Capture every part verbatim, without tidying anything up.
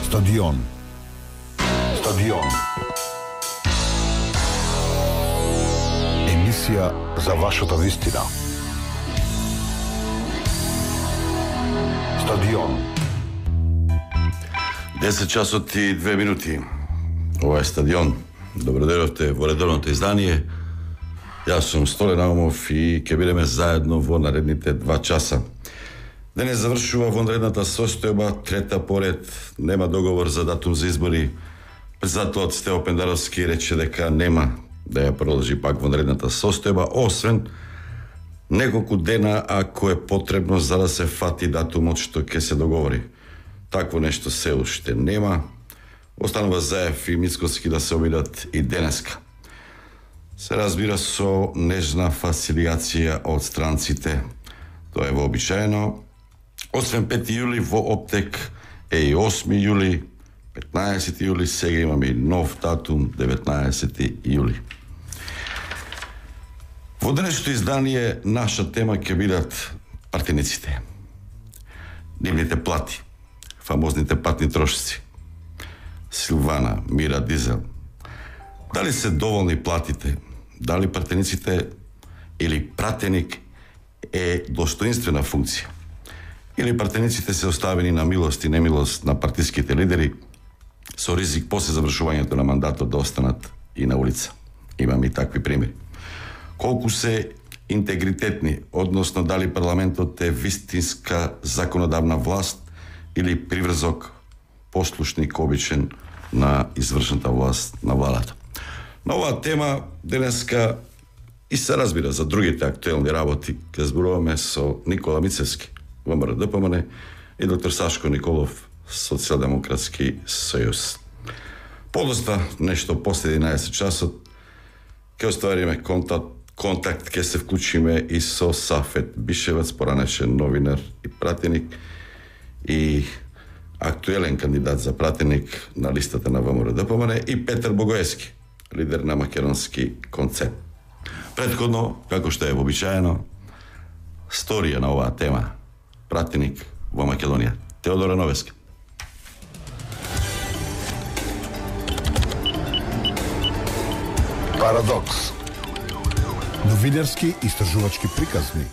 Стадион. Стадион. Емисија за вашата вистина. Стадион. десет часот и две минути. Ова е Стадион. Добродојдовте во редовното издание. Јас сум Столе Наумов и ќе бидеме заедно во наредните два часа. Денес завршува вонредната состојба, трета поред, нема договор за датум за избори. Председателот Стево Пендаровски рече дека нема да ја продолжи пак вонредната состојба, освен неколку дена ако е потребно за да се фати датумот што ќе се договори. Такво нешто се уште нема. Останува Заев и Мицкоски да се обидат и денеска. Се разбира со нежна фасилијација од странците. Тоа е вообичаено. Освен пети јули во Оптек е и осми јули, петнаесети јули, сега имаме и нов датум, деветнаесети јули. Во денешното издание наша тема ќе бидат партениците. Нивните плати, фамозните патни трошици. Силвана, Мира, Дизел. Дали се доволни платите? Дали партениците или пратеник е достоинствена функција? Или партениците се оставени на милост и немилост на партиските лидери со ризик после завршувањето на мандатот да останат и на улица? Имам и такви примери. Колку се интегритетни, односно дали парламентот е вистинска законодавна власт или приврзок, послушник обичен на извршната власт на владата. На оваа тема денеска и се разбира за другите актуелни работи ќе зборуваме со Никола Мицевски, ВМРО Д П М Н, и доктор Сашко Николов, Социјалдемократски сојуз. Подоста нешто после единаесет часот ќе оствариме контакт, контакт ќе се вклучиме и со Сафет Бишевац, поранешен новинар и пратеник и актуелен кандидат за пратеник на листата на ВМРО Д П М Н, и Петар Богоевски, лидер на македонски концепт. Претходно, како што е вообичаено, сторија на оваа тема. Пратеник во Македонија. Теодора Новеска. Парадокс. Новинарски истражувачки приказни.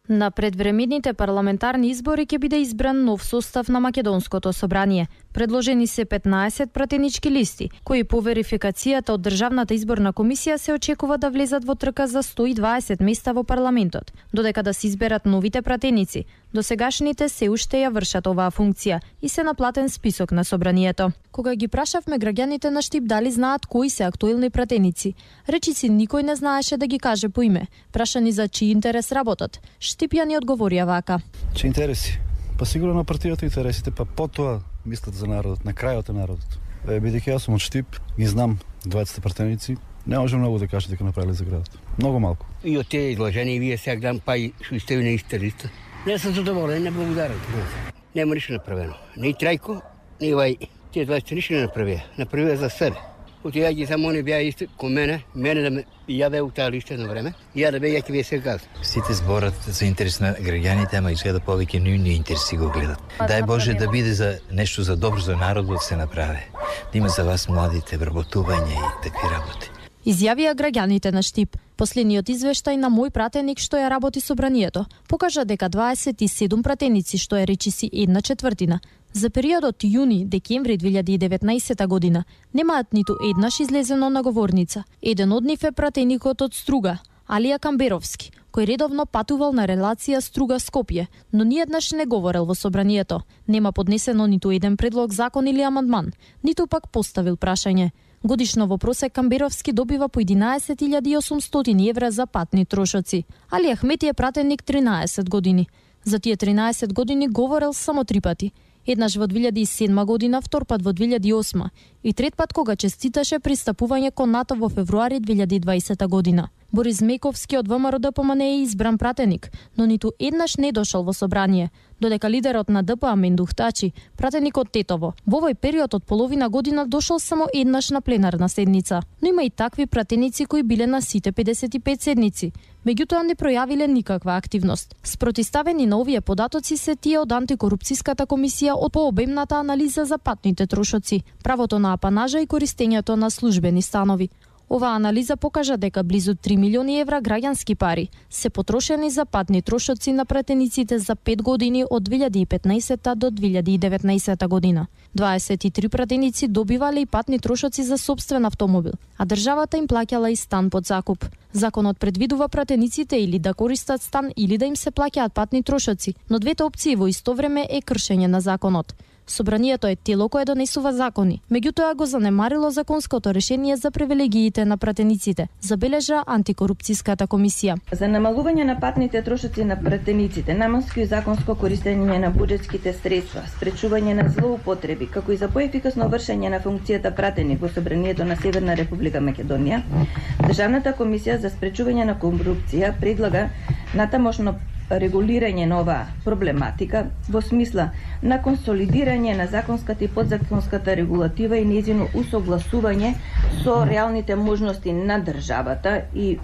На предвремените парламентарни избори ќе биде избран нов состав на Македонското собрание. Предложени се петнаесет пратенички листи, кои по верификацијата од Државната изборна комисија се очекува да влезат во трка за сто и дваесет места во парламентот, додека да се изберат новите пратеници. Досегашните се уште ја вршат оваа функција и се на платен список на собранието. Кога ги прашавме граѓаните на Штип дали знаат кои се актуелни пратеници, речиси никој не знаеше да ги каже по име. Прашани за чиј интерес работат, Штип ја ни одговорија вака. Че интереси? Па сигурно на партијата интересите, па потоа мислат за народот, на крајот е народот. Е, бидејќи јас сум од Штип, ги знам дваесет пратеници, не може многу да кажете дека направиле за градот. Многу малку. И од тие изложени вие сега гледам па и што сте на иста листа. Не сум задоволен, не благодарам. Нема ништо направено. Ни Трајко, ни вај. Тие дваесет ништо не направија. Направија за себе. Отија ги само не беа исти кон мене, мене да ме ја беа у таа листа на време, ја да беа ја ќе ви се каза. Сите зборат за интерес на граѓаните, ама изгледа повеќе нивни интереси го гледат. Дај Боже да биде за нешто за добро за народот се направи. Да има за вас младите вработување и такви работи. Изјавија граѓаните на Штип. Последниот извештај на мој пратеник што ја работи собранието покажа дека дваесет и седум пратеници, што е речиси една четвртина, за периодот јуни-декември две илјади и деветнаесета година немаат ниту еднаш излезено на говорница. Еден од нив е пратеникот од Струга, Алија Камберовски, кој редовно патувал на релација Струга-Скопје, но ниеднаш не говорел во собранието. Нема поднесено ниту еден предлог закон или амандман, ниту пак поставил прашање. Годишно во просек Камберовски добива по единаесет илјади и осумстотини евра за патни трошоци. Али Ахмети е пратеник тринаесет години. За тие тринаесет години говорел само три пати. Еднаш во две илјади и седма година, втор пат во две илјади и осма и трет пат кога честиташе пристапување кон НАТО во февруари две илјади и дваесета година. Борис Мековски од ВМРО-ДПМН е избран пратеник, но ниту еднаш не дошол во собрание, додека лидерот на ДП Мендух Тачи, пратеникот Тетово, во овој период од половина година дошол само еднаш на пленарна седница. Но има и такви пратеници кои биле на сите педесет и пет седници, меѓутоа не пројавиле никаква активност. Спротиставени на овие податоци се тие од антикорупцијската комисија од пообемната анализа за патните трошоци, правото на апанажа и користењето на службени станови. Оваа анализа покажа дека близу три милиони евра граѓански пари се потрошени за патни трошоци на пратениците за пет години од две илјади и петнаесетта до две илјади и деветнаесетта година. дваесет и три пратеници добивале и патни трошоци за сопствен автомобил, а државата им плаќала и стан под закуп. Законот предвидува пратениците или да користат стан или да им се плаќаат патни трошоци, но двете опции во исто време е кршење на законот. Собранието е тело кое донесува закони, меѓутоа го занемарило законското решение за привилегиите на пратениците, забележа антикорупцијската комисија. За намалување на патните трошоци на пратениците, наменско и законско користење на буџетските средства, спречување на злоупотреби, како и за поефикасно вршење на функцијата пратеник во Собранието на Северна Република Македонија, Државната комисија за спречување на корупција предлага натамошно регулирање на оваа проблематика во смисла на консолидирање на законската и подзаконската регулатива и нејзино усогласување со реалните можности на државата и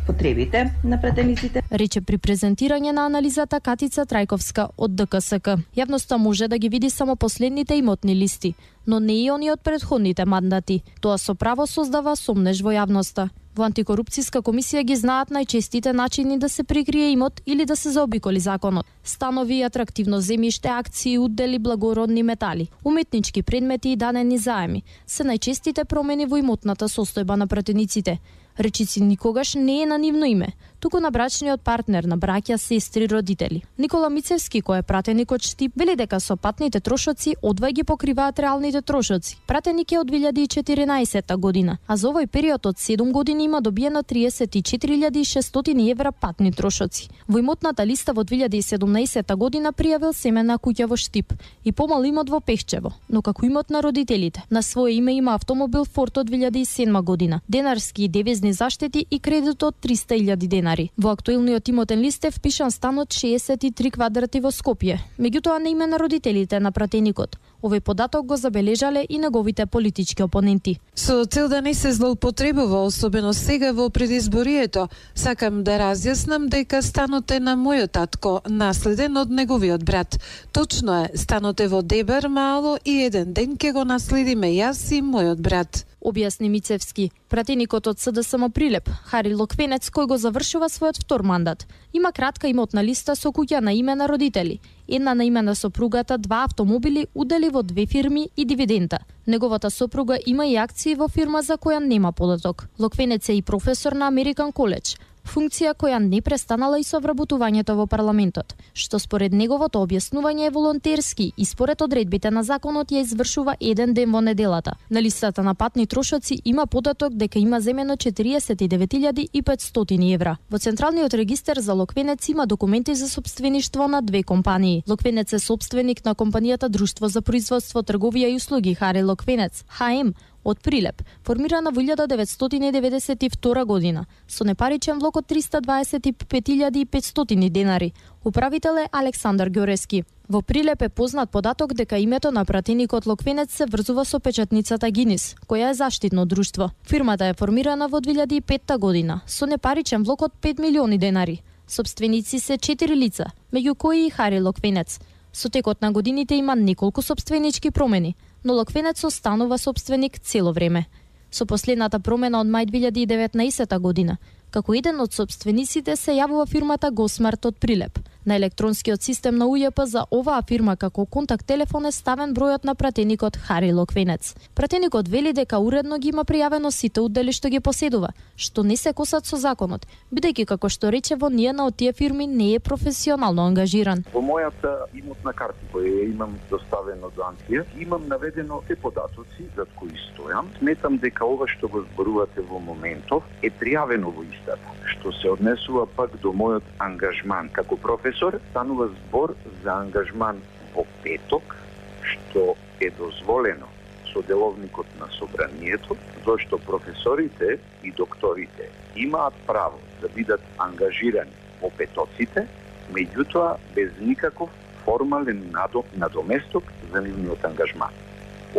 потребите на пратениците. Рече при презентирање на анализата Катица Трајковска од ДКСК. Јавноста може да ги види само последните имотни листи, но не и они од предходните мандати. Тоа со право создава сомнеж во јавноста. Во антикорупцијска комисија ги знаат најчестите начини да се прикрие имот или да се заобиколи законот. Станови, атрактивно земјиште, акции, удели, благородни метали, уметнички предмети и дадени заеми се најчестите промени во имотната состојба на пратениците. Речици никогаш не е на нивно име, туку на брачниот партнер, на браќа, сестри, родители. Никола Мицевски, кој е пратеник од Штип, вели дека со патните трошоци одвај ги покриваат реалните трошоци. Пратеник е од две илјади и четиринаесетта година, а за овој период од седум години има добиено триесет и четири илјади и шестстотини евра патни трошоци. Во имотната листа во две илјади и седумнаесетта година пријавил семена куќа во Штип и помал имот во Пехчево, но како имот на родителите. На свое име има автомобил Форд од две илјади и седма година, денарски и девизни заштети и кредит од триста илјади денари. Во актуелниот имотен лист е впишан стан од шеесет и три квадрати во Скопје, меѓутоа на име на родителите на пратеникот. Овој податок го забележале и неговите политички опоненти. Со цел да не се злоупотребува, особено сега во предизборието, сакам да разјаснам дека станот е на мојот татко, наследен од неговиот брат. Точно е, станот е во Дебар мало и еден ден ќе го наследиме јас и мојот брат. Објасни Мицевски. Пратеникот од СДСМ Прилеп, Хари Локвенец, кој го завршува својот втор мандат, има кратка имотна листа со куќа на име на родители, една на име на сопругата, два автомобили, удели во две фирми и дивиденда. Неговата сопруга има и акции во фирма за која нема податок. Локвенец е и професор на Американ коледж, функција која не престанала и со вработувањето во парламентот, што според неговото објаснување е волонтерски и според одредбите на законот ја извршува еден ден во неделата. На листата на патни трошоци има податок дека има земено четириесет и девет илјади и петстотини евра. Во Централниот регистар за Локвенец има документи за сопствеништво на две компании. Локвенец е сопственик на компанијата Друштво за производство, трговија и услуги Хари Локвенец, Х М, од Прилеп, формирана во илјада деветстотини деветдесет и втора година, со непаричен влог од триста дваесет и пет илјади и петстотини денари. Управител е Александар Ѓорески. Во Прилеп е познат податок дека името на пратеникот Локвенец се врзува со печатницата Гинис, која е заштитно друштво. Фирмата е формирана во две илјади и петта година, со непаричен влог од пет милиони денари. Сопственици се четири лица, меѓу кои и Хари Локвенец. Со текот на годините има неколку сопственички промени, но Локвенец останува сопственик цело време. Со последната промена од мај две илјади и деветнаесетта година, како еден од сопствениците се јавува фирмата Госмарт од Прилеп. На електронскиот систем на У Ј П за оваа фирма како контакт телефон е ставен бројот на пратеникот Хари Локвенец. Пратеникот вели дека уредно ги има пријавено сите удели што ги поседува, што не се косат со законот, бидејќи како што рече во ниједна од тие фирми не е професионално ангажиран. Во мојата имотна карта која имам доставено до Антија, имам наведено се податоци за кои стојам. Сметам дека ова што го зборувате во моментов е пријавено во истата, што се однесува пак до мојот ангажман како професор. Станува збор за ангажман во петок, што е дозволено соделовникот на собранието, зашто професорите и докторите имаат право да бидат ангажирани во петоците, меѓутоа без никаков формален надоместок за нивниот ангажман.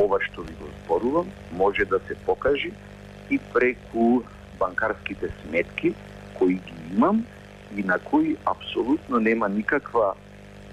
Ова што ви го зборувам може да се покажи и преку банкарските сметки кои ги имам и на кои апсолутно нема никаква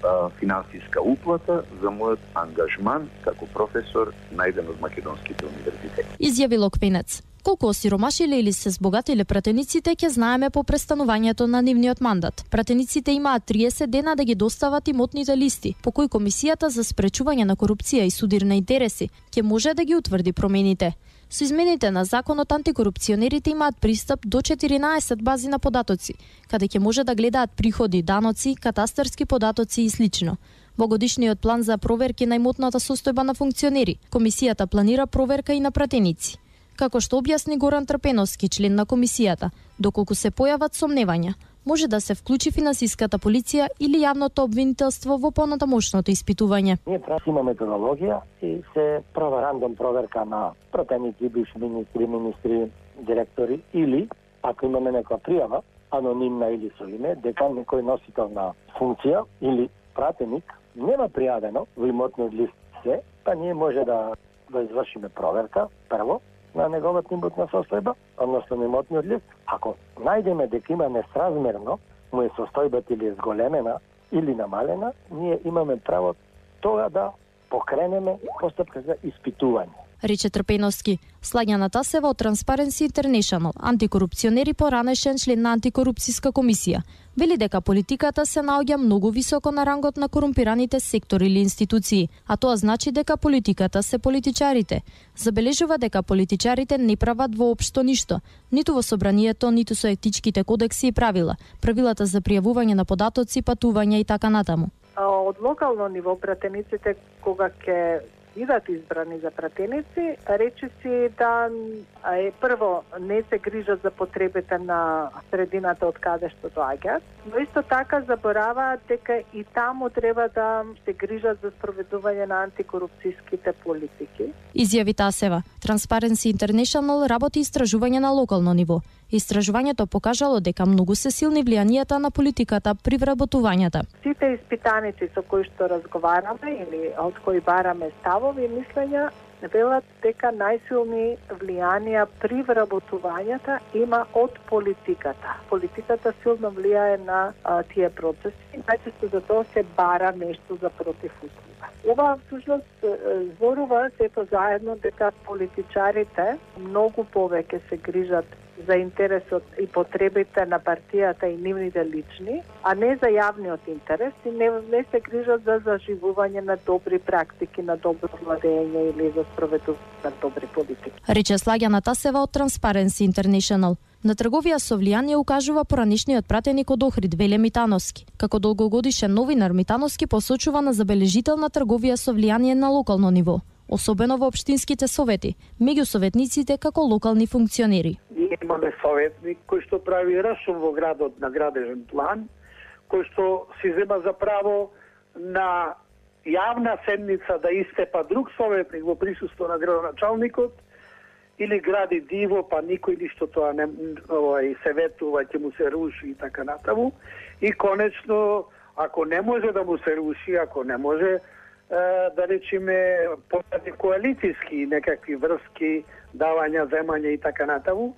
а, финансиска уплата за мојот ангажман како професор на еден од македонските универзитети. Изјави Локвенец. Колку осиромашиле или се збогатиле пратениците ќе знаеме по престанувањето на нивниот мандат. Пратениците имаат триесет дена да ги достават имотните листи, по кои Комисијата за спречување на корупција и судир на интереси ќе може да ги утврди промените. Со измените на законот антикорупционерите имаат пристап до четиринаесет бази на податоци, каде ќе може да гледаат приходи, даноци, катастарски податоци и слично. Во годишниот план за проверки на имотната состојба на функционери, Комисијата планира проверка и на пратеници. Како што објасни Горан Трпеновски, член на Комисијата, доколку се појават сомневања, може да се вклучи финансиската полиција или јавното обвинителство во понатамошното испитување. Ние имаме методологија и се права рандом проверка на пратеници, бивши министри, министри, директори или, ако имаме некоја пријава, анонимна или со име, дека некој носител на функција или пратеник нема пријавено во имотниот лист се, па ние може да, да извршиме проверка, прво, на неговата имотна состојба, односно на имотниот лист. Ако најдеме дека има несразмерно, му е состојбата или е зголемена или намалена, ние имаме право тога да покренеме постапка за испитување. Рече Трпеновски. Слаѓана Тасева од Transparency International, антикорупционери поранешен член на антикорупцијска комисија, вели дека политиката се наоѓа многу високо на рангот на корумпираните сектори или институции, а тоа значи дека политиката се политичарите. Забележува дека политичарите не прават воопшто ништо, ниту во собранието, ниту со етичките кодекси и правила, правилата за пријавување на податоци, патувања и така натаму. Од локално ниво пратениците кога ќе бидат избрани за пратеници, речиси да е прво не се грижат за потребите на средината од каде што доаѓаат, но исто така забораваат дека и таму треба да се грижат за спроведување на антикорупцијските политики. Изјави Тасева. Transparency International работи истражување на локално ниво. Истражувањето покажало дека многу се силни влијанијата на политиката при вработувањата. Сите испитаници со кои што разговараме или од кои бараме ставови и мислења велат дека најсилни влијанија при вработувањата има од политиката. Политиката силно влијае на а, тие процеси, најчесто за тоа се бара нешто за противуслуга. Ова всушност зборува сето заедно дека политичарите многу повеќе се грижат за интересот и потребите на партијата и нивните лични, а не за јавниот интерес и не, не се грижат за заживување на добри практики, на добро владење или за спроведување на добри политики. Рече Слаѓана Тасева од Transparency International. На трговија со влијание укажува поранешниот пратеник од Охрид Веле Митановски. Како долгогодишен новинар Митановски посочува на забележителна трговија со влијание на локално ниво, особено во општинските совети, меѓу советниците како локални функционери. Ние имаме советник кој што прави рашум во градот на градежен план, кој што си зема за право на јавна седница да истепа друг советник во присуство на градоначалникот, или гради диво, па никој ништо тоа не овај се ветува, ќе му се руши и така натаму. И конечно, ако не може да му се руши, ако не може е, да речеме поради коалицијски некакви врски, давања, земања и така натаму,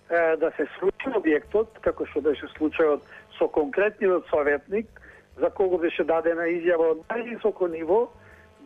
е, да се сруши објектот, како што беше случајот со конкретниот советник, за кого беше дадена изјава од највисоко ниво,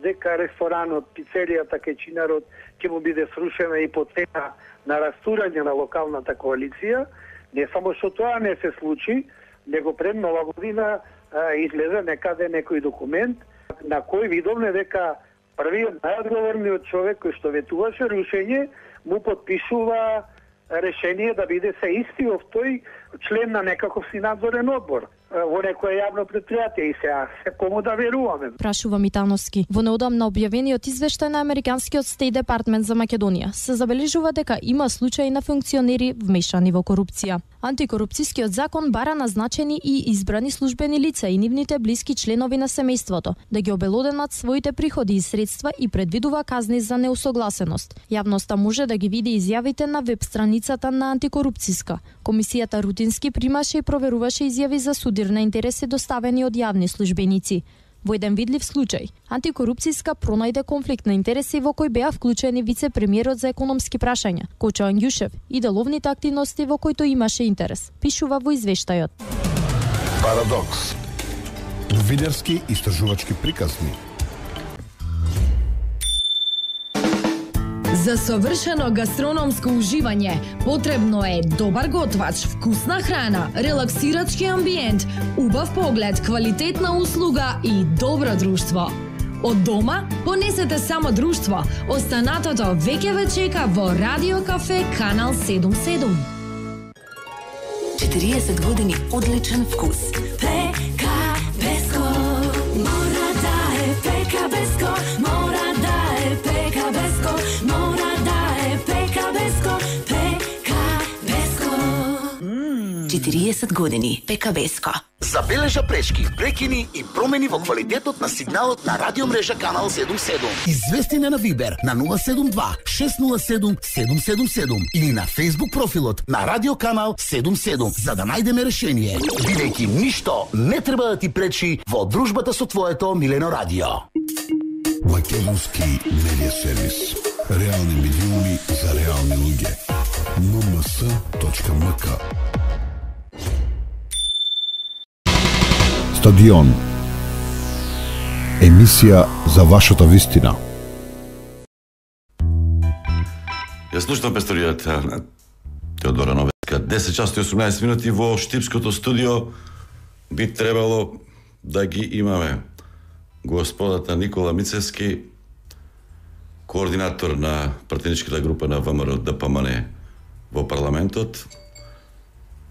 дека ресторанот, пицеријата, кечинарот ќе му биде срушена и по цена на растурање на локалната коалиција. Не само што тоа не се случи, него пред нова година а, излезе некаде некој документ на кој видовме дека првиот најодговорниот човек кој што ветуваше рушење му подпишува решение да биде се истиот тој член на некаков си надзорен одбор во некое јавно предпријатие и сега се кому да веруваме. Прашува Митановски. Во неодамна објавениот извештај на американскиот Стејт Департмент за Македонија се забележува дека има случаи на функционери вмешани во корупција. Антикорупцијскиот закон бара назначени и избрани службени лица и нивните блиски членови на семејството да ги обелоденат своите приходи и средства и предвидува казни за неусогласеност. Јавноста може да ги види изјавите на веб страницата на Антикорупцијска. Комисијата рутински примаше и проверуваше изјави за судир на интереси доставени од јавни службеници. Во еден видлив случај, Антикорупцијска пронајде конфликт на интереси во кој беа вклучени вице-премиерот за економски прашања, Кочо Ангјушев, и деловните активности во кои тој имаше интерес, пишува во извештајот. Парадокс. Новинарски истражувачки приказни. За совршено гастрономско уживање потребно е добар готвач, вкусна храна, релаксирачки амбиент, убав поглед, квалитетна услуга и добро друштво. Од дома понесете само друштво. Останатото веќе ве чека во Радио Кафе Канал седум седум. четириесет години одличен вкус. Пека Беско, мора да е Пека Беско, мора да е Пека Беско, мора да е Пека Беско, Пека Беско. четириесет години Пека Беско. Забележа пречки, прекини и промени во квалитетот на сигналот на радиомрежа Канал седум седум. Извести на Вибер на нула седум два шест нула седум седум седум седум или на Facebook профилот на Радио Канал седум седум за да најдеме решение, бидејќи ништо не треба да ти пречи во дружбата со твоето милено радио. Македонски медиа сервис. Реални медиуми за реални луѓе. ен ем ес точка ем ка. Стадион. Емисија за вашата вистина. Ја слушнав песторијата на Теодора Новецка. десет часот и осумнаесет минути во Штипското студио би требало да ги имаме господата Никола Мицевски, координатор на пратеничката група на ВМРО Д П М Н во парламентот.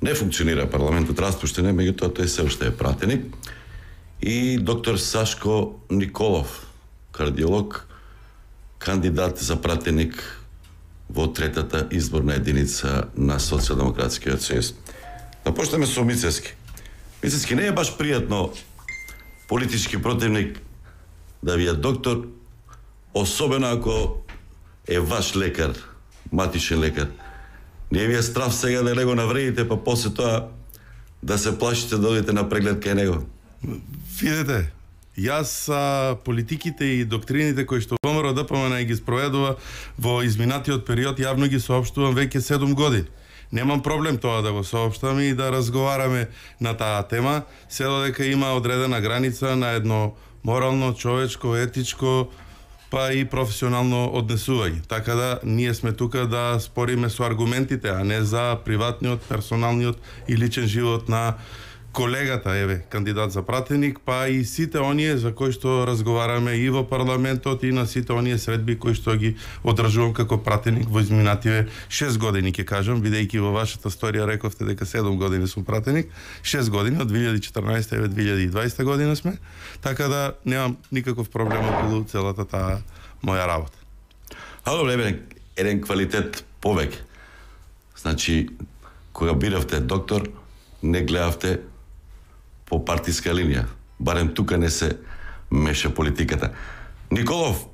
Не функционира парламентот, распуштен е, меѓутоа тој се уште е пратеник. И доктор Сашко Николов, кардиолог, кандидат за пратеник во третата изборна единица на Социјалдемократскиот сојуз. Да почнеме со Мицевски. Мицевски, не е баш пријатно политички противник да ви е доктор, особено ако е ваш лекар, матичен лекар. Не ви е страв сега да не го навредите, па после тоа да се плашите да одите на преглед кај него? Видете, јас а, политиките и доктрините кои што ВМРО Д П М Н ги спроведува во изминатиот период јавно ги соопштувам веќе седум години. Немам проблем тоа да го соопштам и да разговараме на таа тема, се додека има одредена граница на едно морално, човечко, етичко, па и професионално однесување. Така да, ние сме тука да спориме со аргументите, а не за приватниот, персоналниот и личен живот на колегата, еве, кандидат за пратеник, па и сите оние за кои што разговараме и во парламентот и на сите оние средби кои што ги одржувам како пратеник во изминативе шест години, ќе кажам, бидејќи во вашата сторија рековте дека седум години сум пратеник, шест години, од две илјади и четрнаесета еве две илјади и дваесета година сме, така да немам никаков проблем околу целата таа моја работа. А добре, бе, еден квалитет повеќе. Значи, кога биравте доктор, не гледавте по партиска линија. Барем тука не се меша политиката. Николов,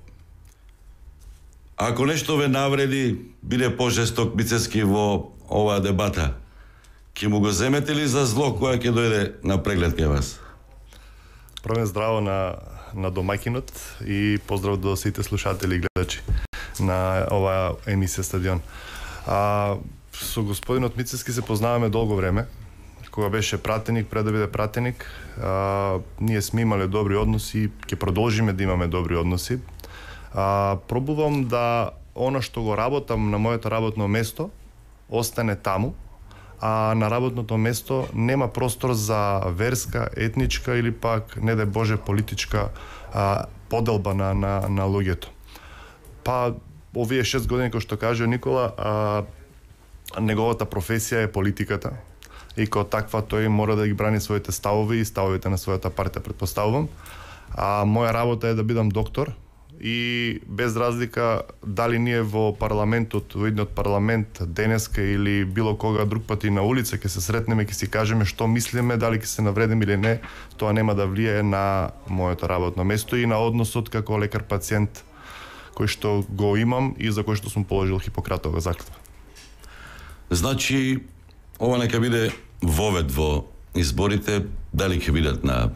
ако нешто ве навреди, биде пожесток Мицевски во оваа дебата, ќе му го земете ли за зло која ќе дојде на преглед кај вас? Првен здраво на, на домакинот и поздрав до сите слушатели и гледачи на оваа емисија Стадион. А, со господинот Мицевски се познаваме долго време. Кога беше пратеник, пред да биде пратеник, а, ние сме имале добри односи, ќе продолжиме да имаме добри односи. А, пробувам да она што го работам на моето работно место остане таму, а на работното место нема простор за верска, етничка или пак, не дај Боже, политичка а, поделба на, на, на луѓето. Па, овие шест години, кој што кажа Никола, а, неговата професија е политиката. И како таква тој мора да ги брани своите ставови и ставовите на својата партија, предпоставувам. А моја работа е да бидам доктор и без разлика дали ние во парламентот, во идниот парламент денеска или било кога друг пат и на улица ќе се сретнеме, ќе си кажеме што мислиме, дали ќе се навредиме или не, тоа нема да влијае на моето работно место и на односот како лекар-пациент кој што го имам и за кој што сум положил Хипократова заклетва. Значи, ова нека биде вовед во изборите, дали ќе бидат на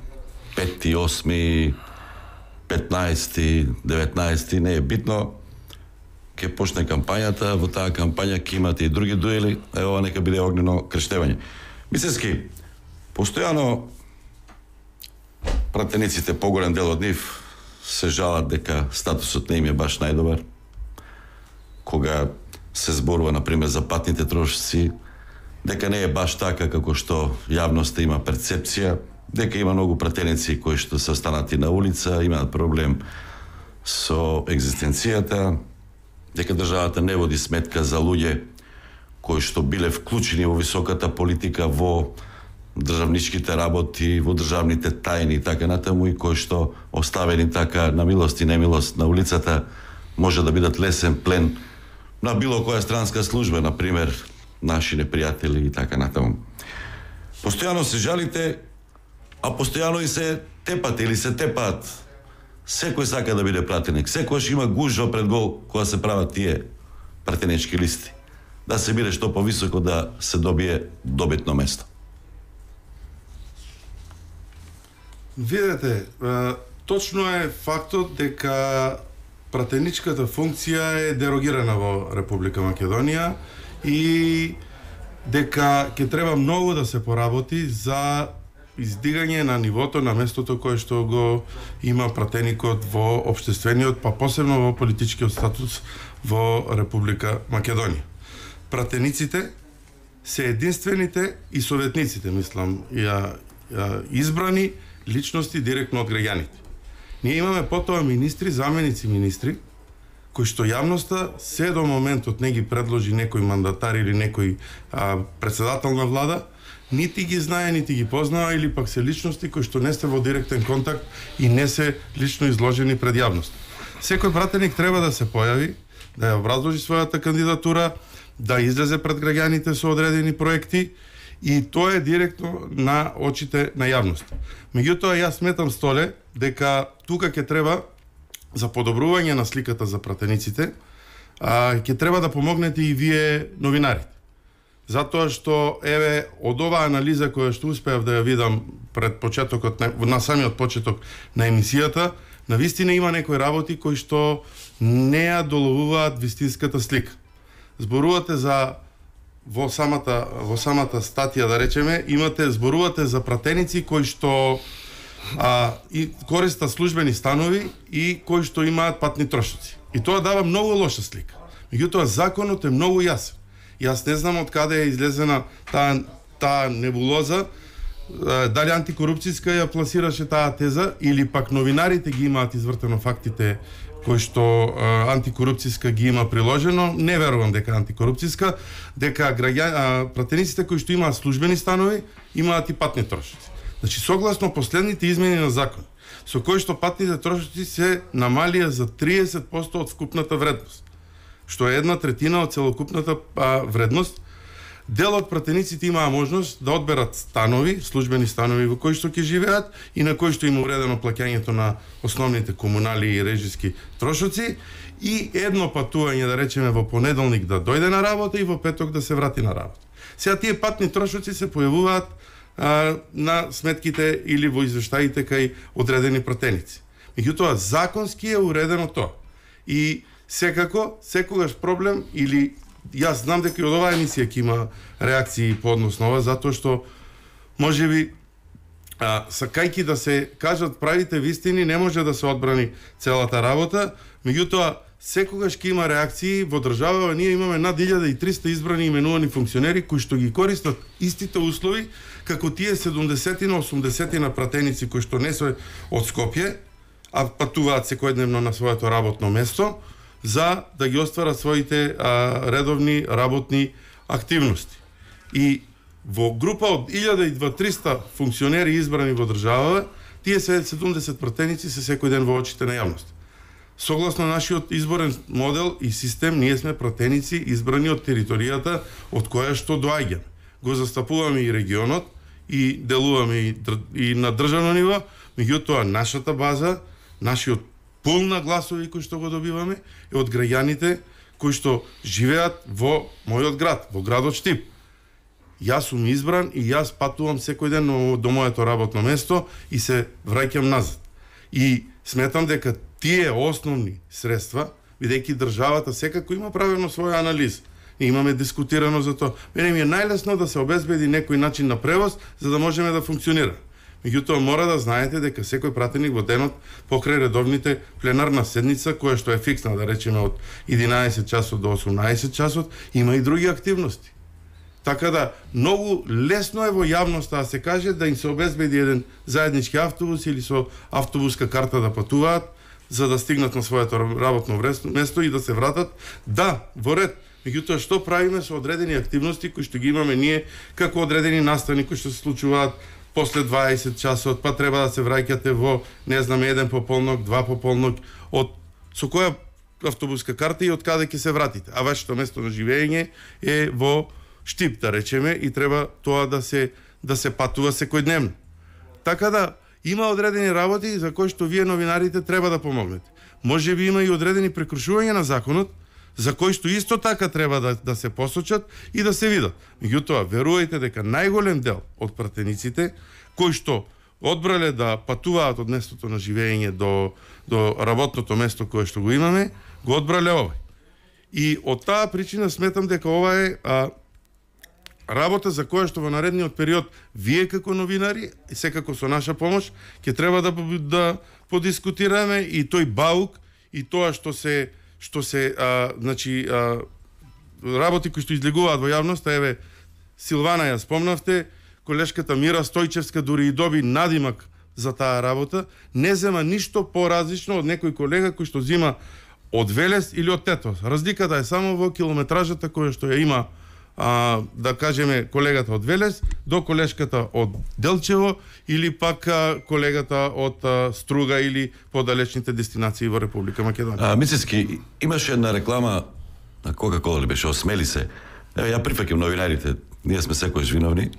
пети, осми, петнаести, деветнаести, не е битно. Ќе почне кампањата, во таа кампања ќе имате и други дуели, е ова нека биде огнено крштевање. Мислески, постојано пратениците, поголем дел од нив, се жалат дека статусот не им е баш најдобар. Кога се зборува, например, за патните трошоци, дека не е баш така како што јавноста има перцепција, дека има многу пратеници кои што се останати на улица, имаат проблем со екзистенцијата, дека државата не води сметка за луѓе кои што биле вклучени во високата политика, во државничките работи, во државните тајни и така натаму, и кои што оставени така на милост и немилост на улицата може да бидат лесен плен на било која странска служба, например, наши непријатели и така натаму. Постојано се жалите, а постојано и се тепате или се тепаат. Секој сака да биде пратеник. Секојаш има гужва пред гол кога се прават тие пратенички листи. Да се биде што повисоко, да се добие добитно место. Видете, точно е фактот дека пратеничката функција е дерогирана во Република Македонија и дека ќе треба многу да се поработи за издигање на нивото на местото кое што го има пратеникот во општествениот, па посебно во политичкиот статус во Република Македонија. Пратениците се единствените и советниците, мислам, ја, ја избрани личности директно од граѓаните. Ние имаме потоа министри, заменици министри, кои што јавноста се до моментот не ги предложи некој мандатар или некој а, председател на влада, нити ги знае, нити ги познава, или пак се личности кои што не се во директен контакт и не се лично изложени пред јавност. Секој пратеник треба да се појави, да ја образложи својата кандидатура, да излезе пред граѓаните со одредени проекти, и тоа е директно на очите на јавност. Меѓутоа, јас сметам, Столе, дека тука ќе треба за подобрување на сликата за пратениците, а, ќе треба да помогнете и вие новинарите. Затоа што, еве, од оваа анализа која што успеав да ја видам пред почетокот, на, на самиот почеток на емисијата, навистина има некои работи кои што не ја доловуваат вистинската слика. Зборувате за во самата во самата статија, да речеме, имате зборувате за пратеници кои што а, и користат службени станови и кои што имаат патни трошоци. И тоа дава многу лоша слика. Меѓутоа, законот е многу јасен. Јас не знам од каде е излезена таа таа небулоза, дали антикорупцијска ја пласираше таа теза или пак новинарите ги имаат извртено фактите кои што а, антикорупцијска ги има приложено. Не верувам дека антикорупцијска, дека граѓани, пратениците кои што имаат службени станови имаат и патни трошоци. Значи, согласно последните измени на закон, со кои што патните трошоци се намалија за триесет проценти од вкупната вредност, што е една третина од целокупната а, вредност, дел од пратениците имаа можност да одберат станови, службени станови во кои што ќе живеат и на кои што има уредено плаќањето на основните комунали и режиски трошоци, и едно патување, да речеме, во понеделник да дојде на работа и во петок да се врати на работа. Сега тие патни трошоци се појавуваат а, на сметките или во извештаите кај одредени пратеници. Меѓутоа, законски е уредено тоа. И секако, секогаш проблем, или јас знам дека и од оваа емисија ќе има реакции по однос на ова, затоа што можеби а, сакајки да се кажат правите вистини, не може да се одбрани целата работа, меѓутоа секогаш ќе има реакции. Во држава ние имаме над илјада и триста избрани и именувани функционери кои што ги користат истите услови како тие седумдесет на осумдесет на пратеници кои што не се од Скопје, а патуваат секојдневно на своето работно место, за да ги остварат своите а, редовни работни активности. И во група од илјада и триста функционери избрани во државава, тие се седумдесет пратеници се секој ден во очите на јавност. Согласно нашиот изборен модел и систем, ние сме пратеници избрани од територијата од која што доаѓаме. Го застапуваме и регионот и делуваме и, и на државно ниво, меѓутоа нашата база, нашиот пул на гласови кои што го добиваме е од граѓаните кои што живеат во мојот град, во градот Штип. Јас сум избран и јас патувам секој ден до моето работно место и се враќам назад. И сметам дека тие основни средства, бидејќи државата секако има правено своја анализ. И имаме дискутирано за тоа. Мене ми е најлесно да се обезбеди некој начин на превоз за да можеме да функционира. Меѓутоа мора да знаете дека секој пратеник во денот покрај редовните пленарна седница која што е фиксна, да речеме од единаесет часот до осумнаесет часот, има и други активности. Така да многу лесно е во јавноста да се каже да им се обезбеди еден заеднички автобус или со автобуска карта да патуваат за да стигнат на своето работно место и да се вратат. Да, во ред. Меѓутоа што правиме со одредени активности кои што ги имаме ние како одредени настани кои што се случуваат после дваесет часот, па треба да се враќате во, не знам, еден пополнок, два пополнок, од со која автобуска карта и од каде ќе се вратите. А вашето место на живење е во Штип, да речеме, и треба тоа да се да се патува секојдневно. Така да има одредени работи за кои што вие новинарите треба да помогнете. Може би има и одредени прекрушувања на законот за кои што исто така треба да, да се посочат и да се видат. Меѓутоа, верувајте дека најголем дел од пратениците кои што одбрале да патуваат од местото на живење до, до работното место кое што го имаме, го одбрале овој. И од таа причина сметам дека ова е а, работа за која што во наредниот период вие како новинари и секако со наша помош ќе треба да да подискутираме и тој баук и тоа што се што се а, значи а, работи кои што излегуваат во јавноста. Еве Силвана ја спомнавте, колешката Мира Стојчевска дури и доби надимак за таа работа, не зема ништо поразлично од некој колега кој што зима од Велес или од Тетос. Разликата е само во километражата која што ја има, а, да кажеме, колегата од Велес до колешката од Делчево или пак а, колегата од а, Струга или подалечните дестинации во Република Македонија. А, Мицевски, имаше една реклама на Кока-Кола ли беше, осмели се. Еве, ја прифаќам новинарите, ние сме секојаш виновни,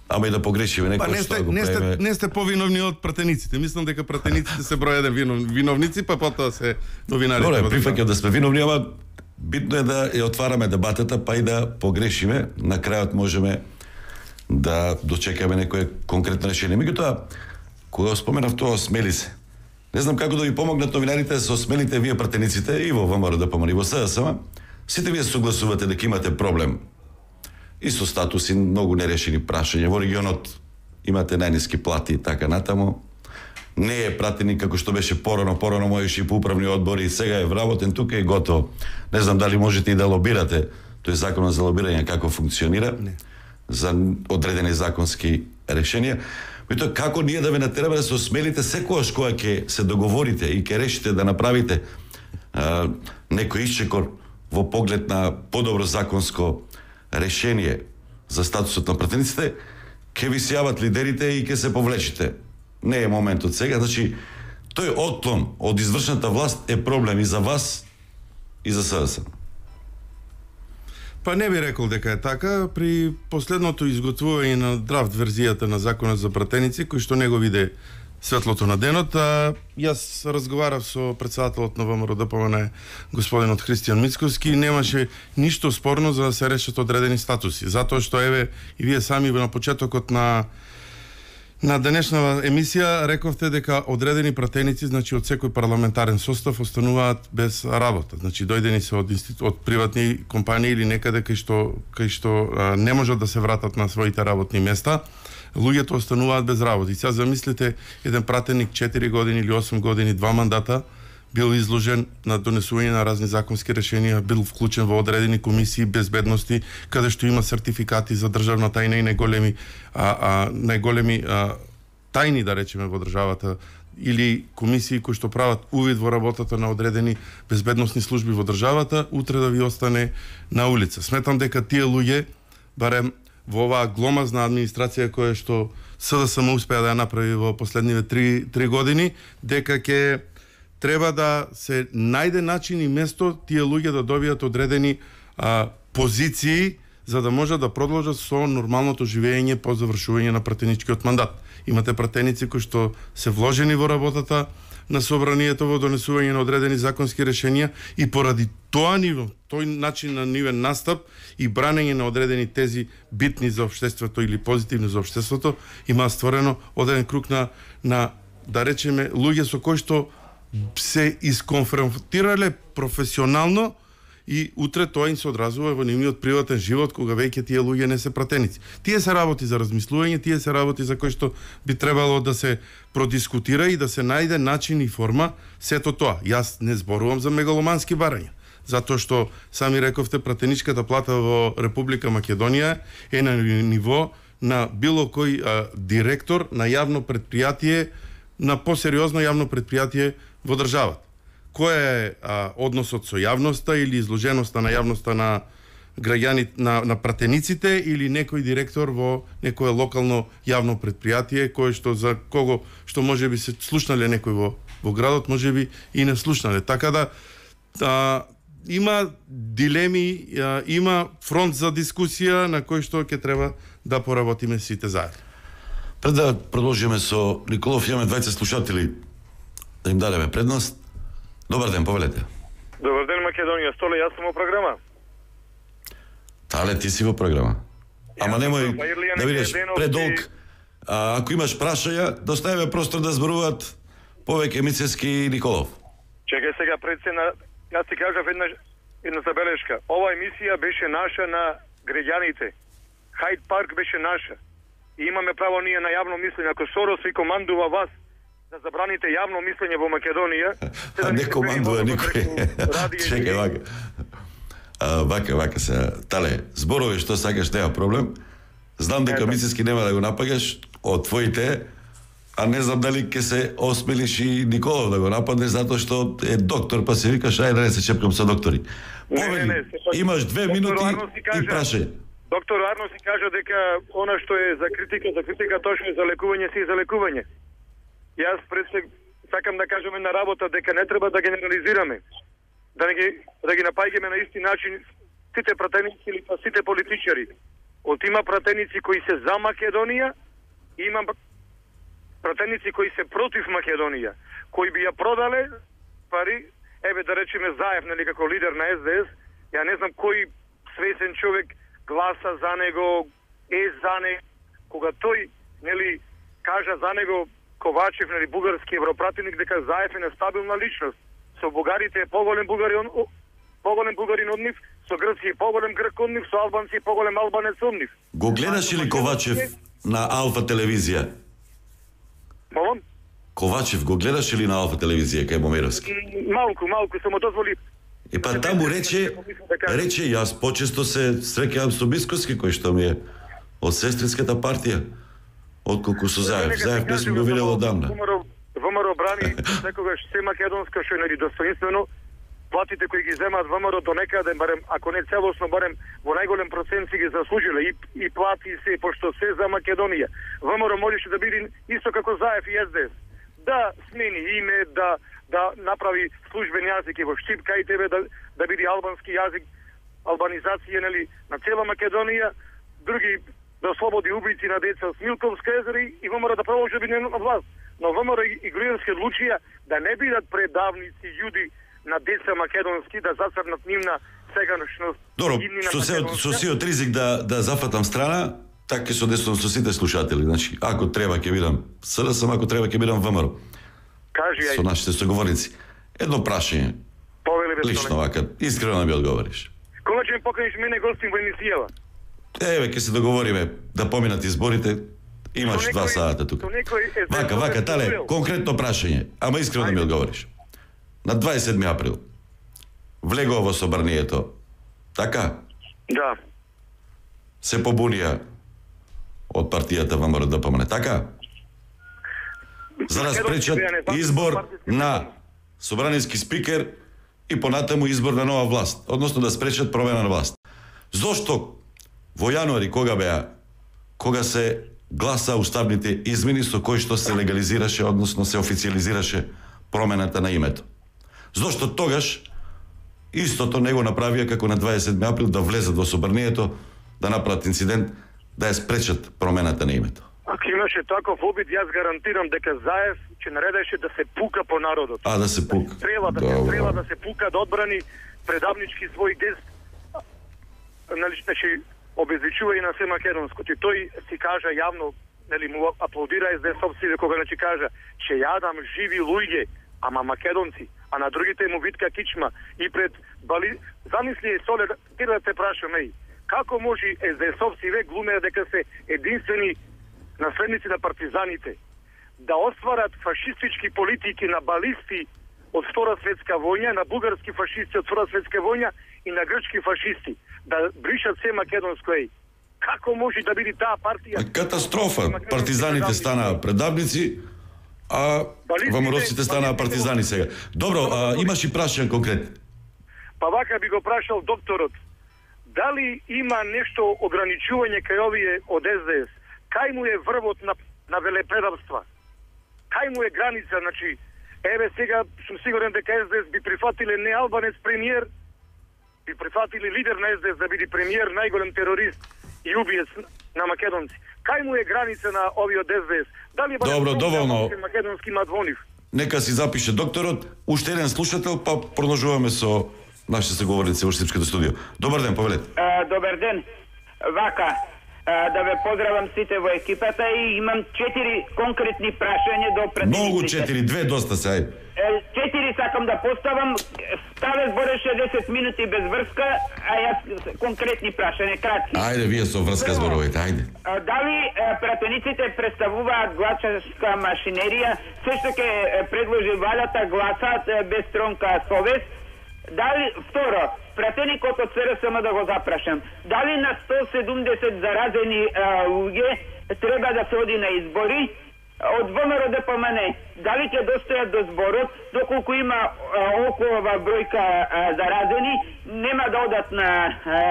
ама и да погрешиме некој па, не сте, што го не сте, правиме. не сте повиновни од пратениците. Мислам дека пратениците се број еден винов, виновници, па потоа се новинарите. Добре, прифаќам да сме виновни, ама битно е да ја отвараме дебатата, па и да погрешиме. На крајот можеме да дочекаме некое конкретно решение. Меѓутоа, кога споменав тоа, смели се. Не знам како да ви помогнат новинарите да се осмелите вие пратениците и во ВМРО-ДПМН и во СДСМ. Сите вие согласувате дека имате проблем и со статуси, многу нерешени прашања. Во регионот имате најниски плати и така натаму. Не е пратеник како што беше порано, порано можеше и по управни одбори, и сега е вработен тука и готово. Не знам дали можете и да лобирате, тој законот за лобирање како функционира, не. За одредени законски решенија. Меѓутоа, како ние да ве натераме да се осмелите секогаш кога ќе се договорите и ќе решите да направите а, некој исчекор во поглед на подобро законско решение за статусот на пратениците, ќе ви се јават лидерите и ќе се повлечите. Не е моментот сега, значи тој отклон од извршната власт е проблем и за вас и за СДСМ. Па не би рекол дека е така. При последното изготвување на драфт верзијата на законот за пратеници, кој што не го виде светлото на денот, а јас разговарав со председателот на ВМРО-ДПМН господинот Христијан Мицковски, немаше ништо спорно за да се решат одредени статуси, затоа што еве и вие сами на почетокот на на денешната емисија рековте дека одредени пратеници, значи од секој парламентарен состав, остануваат без работа. Значи дојдени се од институт, од приватни компании или некаде кај што кај што а, не можат да се вратат на своите работни места. Луѓето остануваат без работа. И сега замислите, еден пратеник четири години или осум години, два мандата, бил изложен на донесување на разни законски решенија, бил вклучен во одредени комисии безбедности, каде што има сертификати за државна тајна и најголеми а, а, најголеми а, тајни, да речеме, во државата, или комисии кои што прават увид во работата на одредени безбедносни служби во државата, утре да ви остане на улица. Сметам дека тие луѓе, барем во оваа гломазна администрација која што СДСМ успеа да ја направи во последниве три, три години, дека ќе треба да се најде начин и место тие луѓе да добијат одредени а, позиции за да може да продолжат со нормалното живење по завршување на пратеничкиот мандат. Имате пратеници кои што се вложени во работата на собранието во донесување на одредени законски решенија и поради тоа ниво, тој начин на нивен настап и бранење на одредени тези битни за општеството или позитивни за општеството, има створено одреден круг на, на да речеме, луѓе со кои што се исконфронтирале професионално и утре тоа им се одразува во нивниот приватен живот кога веќе тие луѓе не се пратеници. Тие се работи за размислување, тие се работи за кои што би требало да се продискутира и да се најде начин и форма сето тоа. Јас не зборувам за мегаломански барања, затоа што сами рековте пратеничката плата во Република Македонија е на ниво на било кој а, директор на јавно предпријатие, на посериозно јавно предпријатие во државата. Кој е а, односот со јавноста или изложеноста на јавноста на граѓани, на, на пратениците или некој директор во некое локално јавно предпријатие кој што за кого што можеби се слушнале некој во во градот, можеби и не слушнале. Така да а, има дилеми, а, има фронт за дискусија на кој што ќе треба да поработиме сите заедно. Пред да продолжиме со Николов, имаме двајца слушатели да им дадеме предност. Добар ден, повелете. Добар ден, Македонија. Столе, јас сум во програма. Тале, ти си во програма. Ама немој да бидеш предолг. А, ако имаш прашања, доставиме простор да зборуваат повеќе Мицевски и Николов. Чекај сега пред се на... Јас ти кажав една, една забелешка. Ова емисија беше наша на граѓаните. Хајд парк беше наша. И имаме право ние на јавно мислење. Ако Сорос ви командува вас да забраните јавно мислење во Македонија... А не командува никој. Чекај, вака. А, вака, вака се. Тале, зборови што сакаш, нема проблем. Знам дека Мицевски нема да го напагаш од твоите, а не знам дали ќе се осмелиш и Николов да го нападнеш затоа што е доктор, па се викаш, ајде да не се чепкам со доктори. Повели, имаш две минути и прашај. Доктор Арно си кажа дека она што е за критика, за критика, точно е за лекување, си е за лекување. Јас пред се сакам да кажеме на работа дека не треба да генерализираме, да не ги да ги напаѓаме на исти начин сите пратеници или па сите политичари. Од има пратеници кои се за Македонија, и има пратеници кои се против Македонија, кои би ја продале пари, еве да речеме Заев, нели како лидер на Ес Де Ес, ја не знам кој свесен човек гласа за него, е за него, кога тој нели кажа за него Ковачев, нели бугарски европратеник, дека Заев е нестабилна личност. Со бугарите е поголем бугарин, поголем бугарин од нив, со грци е поголем грк од нив, со албанци е поголем албанец од нив. Го гледаш ли Ковачев на Алфа телевизија? Молам? Ковачев го гледаш ли на Алфа телевизија кај Момировски? Малку, малку, само дозволи. И па таму рече, рече јас почесто се среќавам со Бисковски, кој што ми е од сестринската партија, отколку со Заев. Заев не сум го видел одамна. ВМРО брани секогаш се македонска, што е нели достоинствено. Платите кои ги земаат ВМРО до некаде, барем, ако не целосно, барем во најголем процент си ги заслужиле и, и плати се, пошто се за Македонија. ВМРО можеше да биде исто како Заев и Ес Де Ес. Да смени име, да да направи службен јазик и во Штипка и тебе да да биде албански јазик, албанизација нели на цела Македонија, други да ослободи убици на деца од Смилковска езера и ВМРО да продолжи да биде на власт. Но ВМРО и Груевски одлучија да не бидат предавници јуди на деца македонски, да зацрнат нивна сегашност. Добро, со се со сиот ризик да да зафатам страна, така со десно со сите слушатели, значи ако треба ќе бидам С Д С, ако треба ќе бидам ВМРО. Кажи ја. Со нашите соговорници. Едно прашање. Повели лично вака, искрено да ми одговориш. Кога ќе ми поканиш мене гостин во емисијава? Еве, ќе се договориме да поминат изборите. Имаш два сата тука. Вака, вака, тале, конкретно прашање, ама искрено да ми одговориш. На дваесет и седми април влегува во собранието, така? Да. Се побунија од партијата ВМРО Д П М Н, така? За да спречат избор на собраниски спикер и понатаму избор на нова власт, односно да спречат промена на власт. Зошто во јануари, кога беа, кога се гласа уставните измени со кои што се легализираше, односно се официализираше промената на името? Зошто тогаш истото не го направија како на дваесет и седми април да влезат во собранието, да направат инцидент, да ја спречат промената на името? Ако имаше таков обид, јас гарантирам дека Заев ќе наредеше да се пука по народот. А, да се пука. Да се стрела, да се стрела, да се пука, да одбрани предавнички свој гест. Нали, значи, обезличува и на се македонско. И тој си кажа јавно, нели, му аплодира ес-де-есовците кога значи кажа, че јадам живи луѓе, ама македонци, а на другите му витка кичма и пред Бали... Замисли, Соле, ти да те прашаме, како може ес-де-есовци век глумеа дека се единствени наследници на партизаните, да остварат фашистички политики на балисти од Втора светска војна, на бугарски фашисти од Втора светска војна и на грчки фашисти, да бришат се македонско еј. Како може да биде таа партија? Катастрофа. Партизаните станаа предавници, а ВМРО-ците станаа партизани сега. Добро, а, имаш и прашање конкретно. Па вака би го прашал докторот, дали има нешто ограничување кај овие од ес-де-ес? Кај му е врвот на, на велепредавства? Кај му е граница? Значи, еве сега сум сигурен дека ес-де-ес би прифатиле не албанец премиер, би прифатили лидер на ес-де-ес да биде премиер, најголем терорист и убиец на македонци. Кај му е граница на овие од ес-де-ес? Дали е Добро, доволно. македонски мадвонив? Нека си запише докторот, уште еден слушател, па продолжуваме со нашите соговорници во Српското студио. Добар ден, повелете. А, добар ден. Вака, а, да ве поздравам сите во екипата и имам четири конкретни прашања до пратениците. Многу четири, две доста се, ајде. Четири сакам да поставам. Ставе збореше десет минути без врска, а јас конкретни прашања, кратки. Ајде, вие со врска зборовите, ајде. А, дали а, пратениците представуваат гласачка машинерија, се што ќе предложи валјата гласаат а, без тронка совест? Дали, второ, пратеникот од се ер ес ем да го запрашам, дали на сто седумдесет заразени а, луѓе треба да се оди на избори? Од ВМРО Д П М Н, дали ќе достојат до зборот, доколку има а, околова бројка а, заразени, нема да одат на а,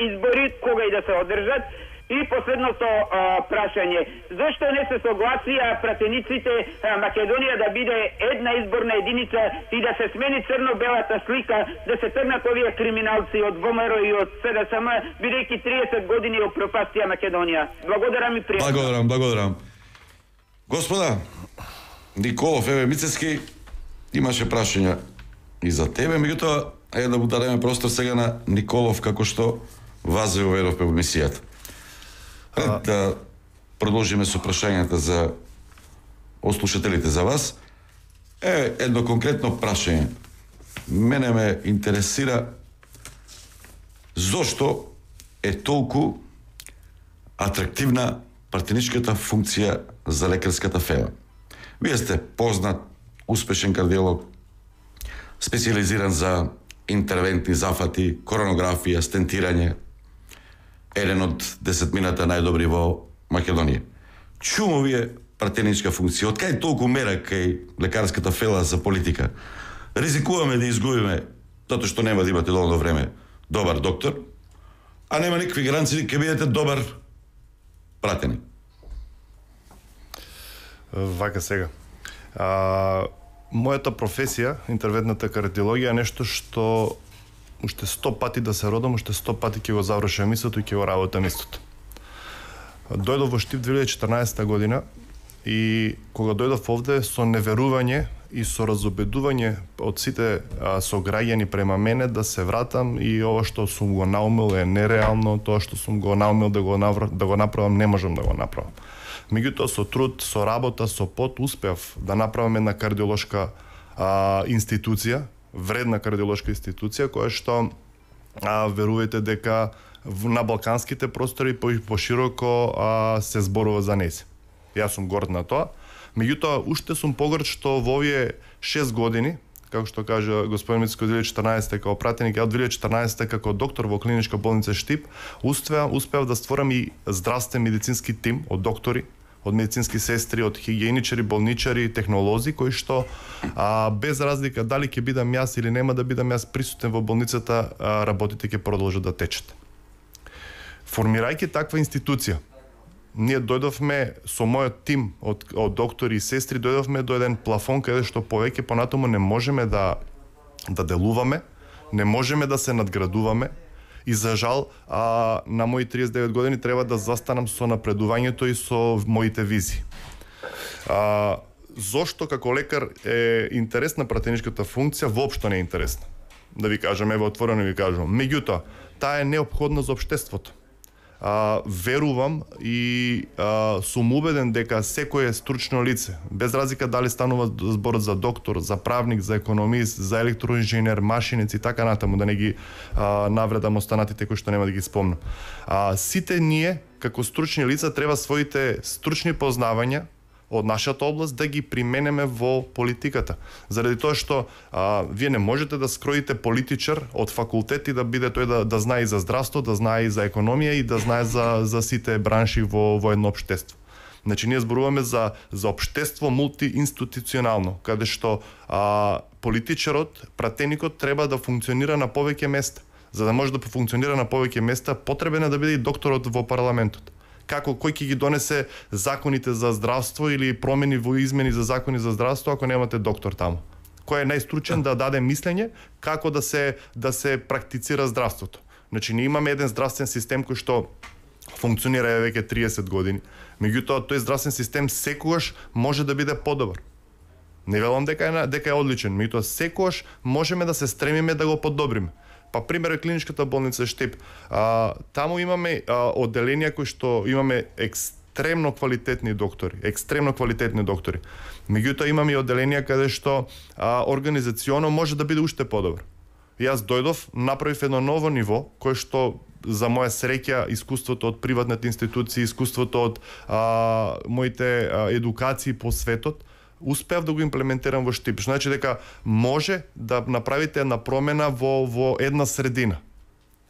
избори, кога и да се одржат? И последното а, прашање, зашто не се согласија пратениците а, Македонија да биде една изборна единица и да се смени црно-белата слика, да се тргнат овие криминалци од ВМРО и од се ер ес ем, бидејќи триесет години опропастија Македонија? Благодарам и пријатно. Благодарам, благодарам. Господа, Николов, еве Мицевски, имаше прашања и за тебе, меѓутоа, ајде да му дадеме простор сега на Николов, како што вас ве уверовме во мисијата. А... Да продолжиме со прашањата за ослушателите за вас. Е, едно конкретно прашање. Мене ме интересира зошто е толку атрактивна партеничката функција за лекарската фела. Вие сте познат, успешен кардиолог, специализиран за интервентни зафати, коронографија, стентирање, еден од десетмината најдобри во Македонија. Чуму вие партеничка функција? Од кај толку мера кај лекарската фела за политика? Ризикуваме да изгубиме, затоа што нема да имате доволно време добар доктор, а нема никакви гаранции ќе бидете добар пратеник. Вака сега. А, мојата професија, интервентната кардиологија, е нешто што уште сто пати да се родам, уште сто пати ќе го завршам истото и ќе го работам истото. Дојдов во Штип две илјади и четрнаесета година и кога дојдов овде со неверување и со разобедување од сите а, сограѓани према мене да се вратам и ова што сум го наумил е нереално, тоа што сум го наумил да го, навр... да го направам не можам да го направам. Меѓутоа со труд, со работа, со пот успеав да направам една кардиолошка а, институција, вредна кардиолошка институција која што а, верувајте дека на балканските простори пошироко а, се зборува за нејзе. Јас сум горд на тоа. Меѓутоа уште сум погорд што во овие шест години, како што кажа господин Мицко, две илјади и четрнаесета како пратеник, ја од две илјади и четрнаесета како доктор во клиничка болница Штип, успеав успеав да створам и здравствен медицински тим од доктори, од медицински сестри, од хигиеничари, болничари, технолози кои што а, без разлика дали ќе бидам јас или нема да бидам јас присутен во болницата, а, работите ќе продолжат да течат. Формирајќи таква институција, ние дојдовме со мојот тим од, од доктори и сестри, дојдовме до еден плафон каде што повеќе понатаму не можеме да да делуваме, не можеме да се надградуваме и за жал а, на мои триесет и девет години треба да застанам со напредувањето и со моите визии. А, зошто како лекар е интересна пратеничката функција? Воопшто не е интересна. Да ви кажам, ево отворено ви кажам. Меѓутоа, таа е неопходна за општеството. А, верувам и а, сум убеден дека секое стручно лице, без разлика дали станува збор за доктор, за правник, за економист, за електроинженер, машинец и така натаму, да не ги а, навредам останатите кои што нема да ги спомнам. А, сите ние, како стручни лица, треба своите стручни познавања од нашата област да ги применеме во политиката. Заради тоа што а, вие не можете да скроите политичар од факултет и да биде тој да, да знае и за здравство, да знае и за економија и да знае за, за сите бранши во, во едно општество. Значи, ние зборуваме за, за општество мултиинституционално, каде што а, политичарот, пратеникот треба да функционира на повеќе места. За да може да функционира на повеќе места, потребен е да биде и докторот во парламентот. Како кој ќе ги донесе законите за здравство или промени во измени за закони за здравство ако немате доктор таму? Кој е најстручен да даде мислење како да се да се практицира здравството? Значи, ние имаме еден здравствен систем кој што функционира веќе триесет години. Меѓутоа, тој здравствен систем секогаш може да биде подобар. Не велам дека е дека е одличен, меѓутоа секогаш можеме да се стремиме да го подобриме. Па пример е клиничката болница Штип. А, таму имаме а, одделенија кои што имаме екстремно квалитетни доктори, екстремно квалитетни доктори. Меѓутоа имаме и одделенија каде што а, организационо може да биде уште подобро. Јас дојдов, направив едно ново ниво кое што за моја среќа искуството од приватните институции, искуството од а, моите а, едукации по светот, успеав да го имплементирам во Штип. Значи дека може да направите една промена во во една средина.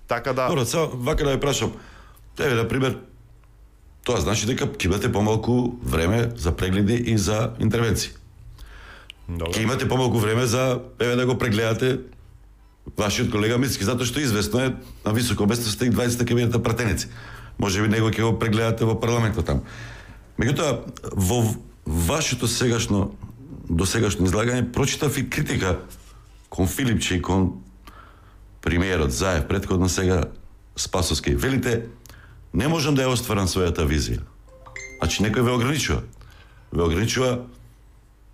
Така да. Добро, сега вака да ја прашам. Еве на пример, тоа значи дека ќе имате помалку време за прегледи и за интервенции. Добро. Ќе имате помалку време за еве да го прегледате вашиот колега Мицки, затоа што известно е на високо место сте и дваесет кабинета пратеници. Може би него ќе го прегледате во парламентот таму. Меѓутоа во вашето сегашно, досегашно излагање прочитав и критика кон Филипче и кон премиерот Заев, претходно сега Спасовски. Велите, не можам да ја остварам својата визија. Значи, некој ве ограничува. Ве ограничува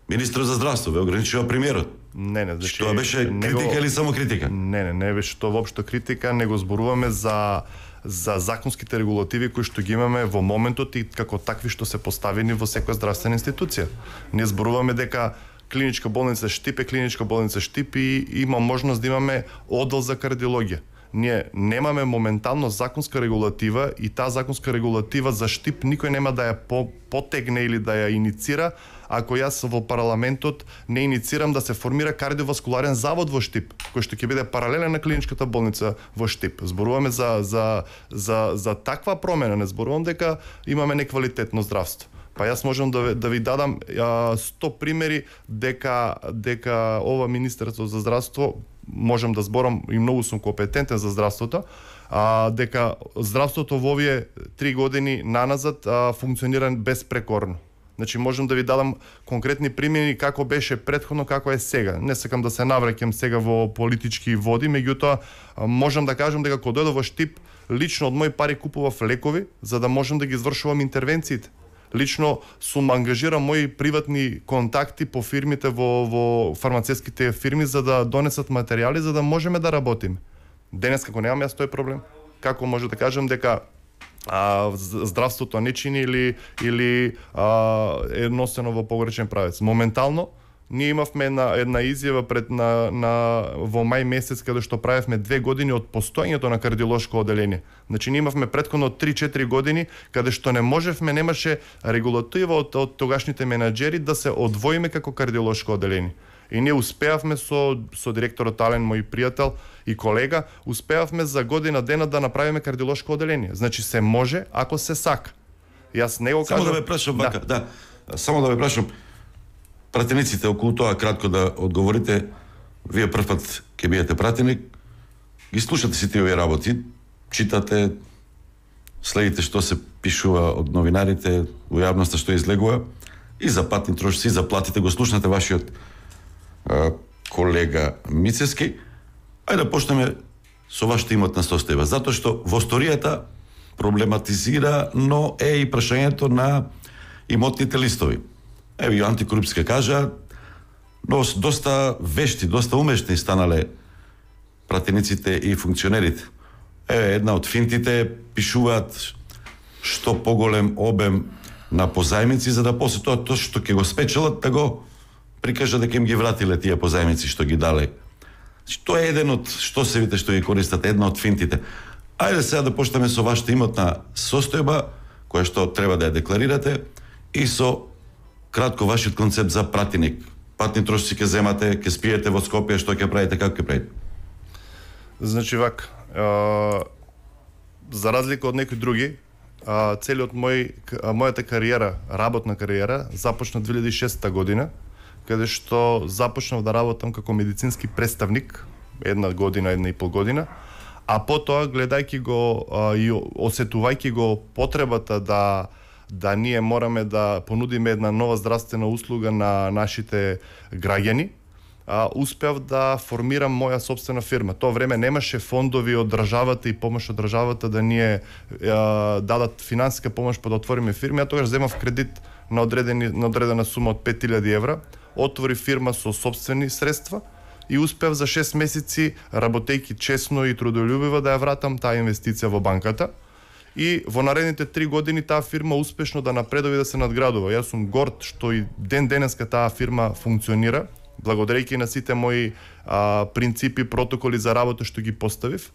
министрот за здравство, ве ограничува премиерот. Не, не, значи, тоа беше критика него... или само критика? Не, не, не беше тоа воопшто критика, него зборуваме за за законските регулативи кои што ги имаме во моментот и како такви што се поставени во секоја здравствена институција. Ние зборуваме дека клиничка болница Штип е клиничка болница Штип и има можност да имаме оддел за кардиологија. Ние немаме моментално законска регулатива и таа законска регулатива за Штип никој нема да ја по, потегне или да ја иницира ако јас во парламентот не иницирам да се формира кардиоваскуларен завод во Штип, кој што ќе биде паралелен на клиничката болница во Штип. Зборуваме за за за за таква промена, не зборувам дека имаме неквалитетно здравство. Па јас можам да, да ви дадам а, сто примери дека дека ова Министерство за здравство, можам да зборам и многу сум компетентен за здравството, а, дека здравството во овие три години наназад а, функционира безпрекорно. Значи можам да ви дадам конкретни примери како беше претходно, како е сега. Не сакам да се навраќам сега во политички води, меѓутоа можам да кажам дека кога дојдов во Штип, лично од мои пари купував лекови за да можам да ги извршувам интервенциите. Лично сум ангажирал мои приватни контакти по фирмите во во фармацевските фирми за да донесат материјали за да можеме да работиме. Денес како немам јас тој проблем, како може да кажам дека а, здравството не чини или или а, е носено во погрешен правец. Моментално ние имавме една една изјава пред на на во мај месец каде што правевме две години од постоењето на кардиолошко одделение. Значи ние имавме претходно три-четири години каде што не можевме, немаше регулатива од, од тогашните менаџери да се одвоиме како кардиолошко одделение. И ние успеавме со со директорот Ален, мој пријател и колега, успеавме за година дена да направиме кардиолошко одделение. Значи се може ако се сака. Јас не го кажам. Само да ве прашам вака, да. да. Само да ве прашам пратениците околу тоа кратко да одговорите. Вие првпат ќе бидете пратеник, ги слушате сите овие работи, читате, следите што се пишува од новинарите во јавноста, што излегува и за патни трошоци, и за платите, го слушнате вашиот колега Мицевски, ајде да почнеме со вашата имотна состојба, затоа што во историјата проблематизира, но е и прашањето на имотните листови. Еве и антикорупција кажа, но доста вешти, доста умешни станале пратениците и функционерите. Еве една од финтите пишуваат што поголем обем на позајмици, за да после тоа тоа што ќе го спечелат да го прикажа дека им ги вратиле тие позајмици што ги дале. Тоа е еден од што се вите што ги користат, една од финтите. Ајде сега да почнеме со вашата имотна состојба, која што треба да ја декларирате, и со кратко вашиот концепт за пратеник. Патни трошци ќе земате, ќе спиете во Скопје, што ќе правите, како ќе правите? Значи вак, а, за разлика од некои други, а, целиот мој а, мојата кариера, работна кариера, започна две илјади и шеста година, каде што започнав да работам како медицински представник, една година, една и пол година, а потоа гледајќи го а, и осетувајќи го потребата да да ние мораме да понудиме една нова здравствена услуга на нашите граѓани, а, успеав да формирам моја собствена фирма. Тоа време немаше фондови од државата и помош од државата да ние а, дадат финансиска помош па да отвориме фирми. Ја тогаш земав кредит на одредени на одредена сума од пет илјади евра, отвори фирма со собствени средства и успеав за шест месеци, работејќи честно и трудолюбиво, да ја вратам таа инвестиција во банката. И во наредните три години таа фирма успешно да напредува и да се надградува. Јас сум горд што и ден денеска таа фирма функционира, благодарејќи на сите мои а, принципи, протоколи за работа што ги поставив.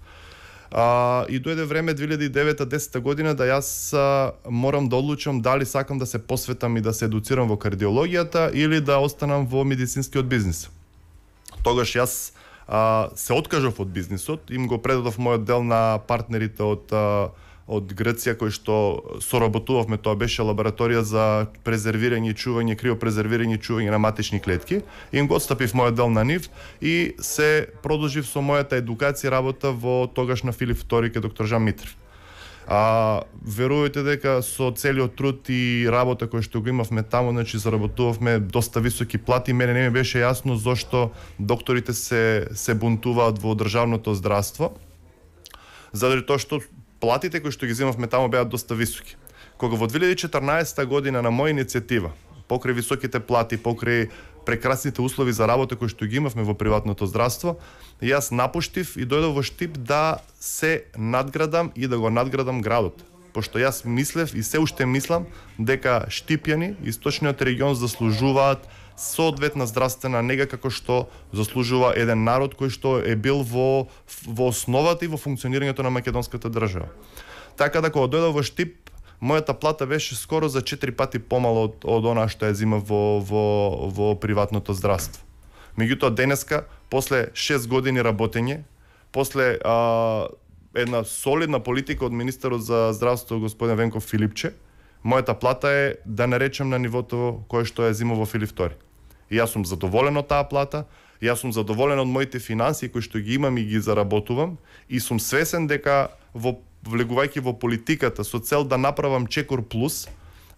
А, и дојде време две илјади и девета до десета година да јас а, морам да одлучам дали сакам да се посветам и да се едуцирам во кардиологијата или да останам во медицинскиот бизнис. Тогаш јас а, се откажав од бизнисот, им го предадов мојот дел на партнерите од а, од Грција, кој што соработувавме, тоа беше лабораторија за презервирање и чување, криопрезервирање и чување на матични клетки. Им го отстапив мојот дел на нив и се продолжив со мојата едукација работа во тогаш на Филип втори ке доктор Жан Митрев. А верувајте дека со целиот труд и работа кој што го имавме таму, значи заработувавме доста високи плати. Мене не ми беше јасно зошто докторите се се бунтуваат во државното здравство. Заради тоа што платите кои што ги земавме таму беа доста високи. Кога во две илјади и четрнаесета година на моја иницијатива, покрај високите плати, покрај прекрасните услови за работа кои што ги имавме во приватното здравство, јас напуштив и дојдов во Штип да се надградам и да го надградам градот. Пошто јас мислев и се уште мислам дека Штипјани, источниот регион, заслужуваат соодветна здравствена нега како што заслужува еден народ кој што е бил во во основата и во функционирањето на македонската држава. Така да кога дојдов во Штип, мојата плата беше скоро за четири пати помала од од она што ја зема во во во приватното здравство. Меѓутоа денеска, после шест години работење, после а, една солидна политика од министерот за здравство господин Венко Филипче, мојата плата е, да не речем, на нивото кое што ја зема во Филип втори. И јас сум задоволен од таа плата, јас сум задоволен од моите финансии кои што ги имам и ги заработувам, и сум свесен дека во влегувајќи во политиката со цел да направам Чекор плюс,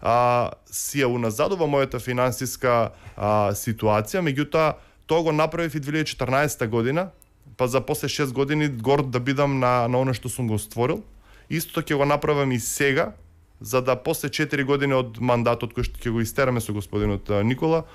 а, си ја уназадува мојата финансиска а, ситуација, меѓутоа тоа го направив и две илјади и четрнаесета година, па за после шест години горд да бидам на на она што сум го створил. Истото ќе го направам и сега, за да после четири години од мандатот кој што ќе го истераме со господинот Никола,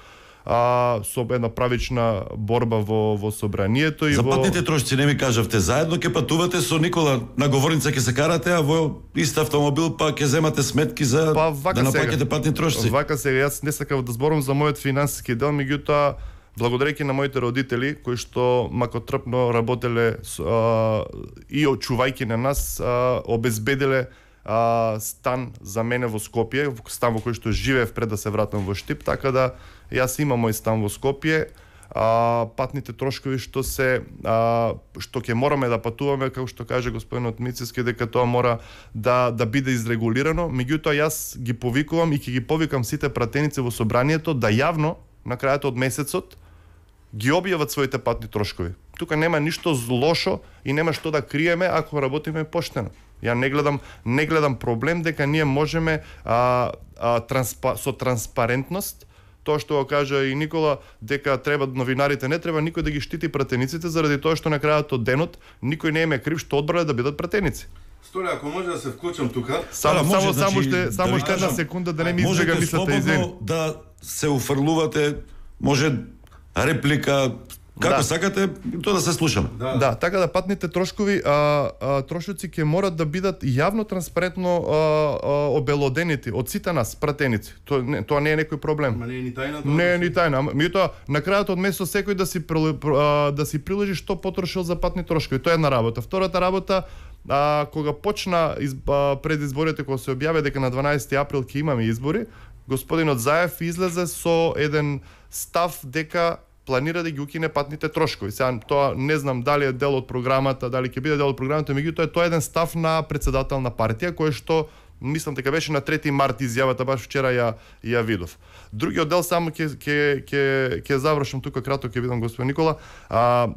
а, со една правична борба во во собранието и за во... патните трошци не ми кажавте, заедно ќе патувате со Никола на говорница, ќе се карате, а во ист автомобил па ќе земате сметки за па, да наплаќате патни трошци. Вака сега, јас не сакав да зборам за мојот финансиски дел, меѓутоа благодарејќи на моите родители кои што макотрпно работеле а, и очувајќи на нас, а, обезбедиле а, стан за мене во Скопје, стан во кој што живеев пред да се вратам во Штип, така да јас имам мој стан во Скопје. А, патните трошкови што се а, што ќе мораме да патуваме, како што каже господинот Мицевски, дека тоа мора да да биде изрегулирано, меѓутоа јас ги повикувам и ќе ги повикам сите пратеници во собранието да јавно на крајот од месецот ги објават своите патни трошкови. Тука нема ништо лошо и нема што да криеме ако работиме поштено. Ја не гледам не гледам проблем дека ние можеме а, а, транспа, со транспарентност, тоа што го кажа и Никола, дека треба новинарите, не треба никој да ги штити пратениците заради тоа што на крајот од денот никој не им е крив што одбрале да бидат пратеници. Столе, ако може да се вклучам тука, само може, само значи, само ще да само ви ще една кажам, секунда да не ми избега можете мислата извини. слободно да се уфрлувате, може реплика, како Да. сакате, тоа да се слушаме. Да, да, така да патните трошкови, а, а, трошоци ќе морат да бидат јавно транспарентно а, а, обелоденети од сите нас пратеници. Тоа не, тоа не е некој проблем. Ма не е ни тајна тоа. Не е ни тајна. Меѓутоа, на крајот од месец секој да си прил- а, да си приложи што потрошил за патни трошкови. Тоа е една работа. Втората работа, а, кога почна из, а, пред изборите, кога се објави дека на дванаесети април ќе имаме избори, господинот Заев излезе со еден став дека планира да ги укине патните трошкови. Сега тоа не знам дали е дел од програмата, дали ќе биде дел од програмата, меѓутоа тоа е еден став на претседател на партија кој што мислам дека беше на трети март изјавата, баш вчера ја ја видов. Другиот дел само ќе ќе ќе ќе завршам тука кратко, ќе видам господин Никола. А,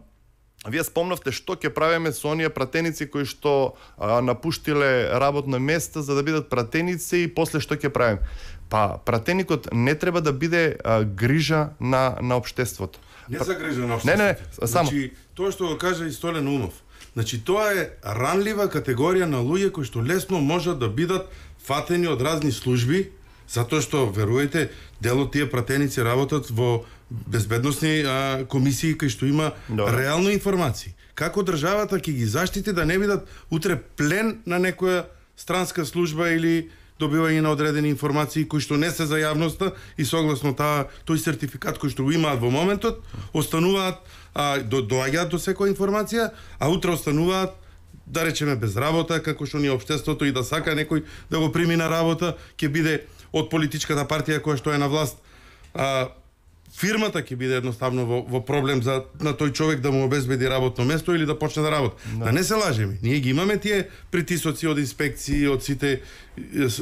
Вие спомнавте што ќе правиме со оние пратеници кои што а, напуштиле работно место за да бидат пратеници и после што ќе правиме? Па пратеникот не треба да биде а, грижа на на општеството. Не за грижа на Не, не, општеството. само. Значи, тоа што го кажа и Столен Умов. Значи, тоа е ранлива категорија на луѓе кои што лесно можат да бидат фатени од разни служби, затоа што, верувајте, дел од тие пратеници работат во безбедносни а, комисии кај што има Добре. реално информации. Како државата ќе ги заштити да не бидат утре плен на некоја странска служба или добивање на одредени информации кои што не се за јавноста и согласно таа тој сертификат кој што го имаат во моментот, остануваат а, до, доаѓаат до секоја информација, а утре остануваат да речеме без работа, како што ни општеството и да сака некој да го прими на работа, ќе биде од политичката партија која што е на власт. А, фирмата ќе биде едноставно во, во проблем за на тој човек да му обезбеди работно место или да почне да работи. Да, да не се лажеме. Ние ги имаме тие притисоци од инспекции, од сите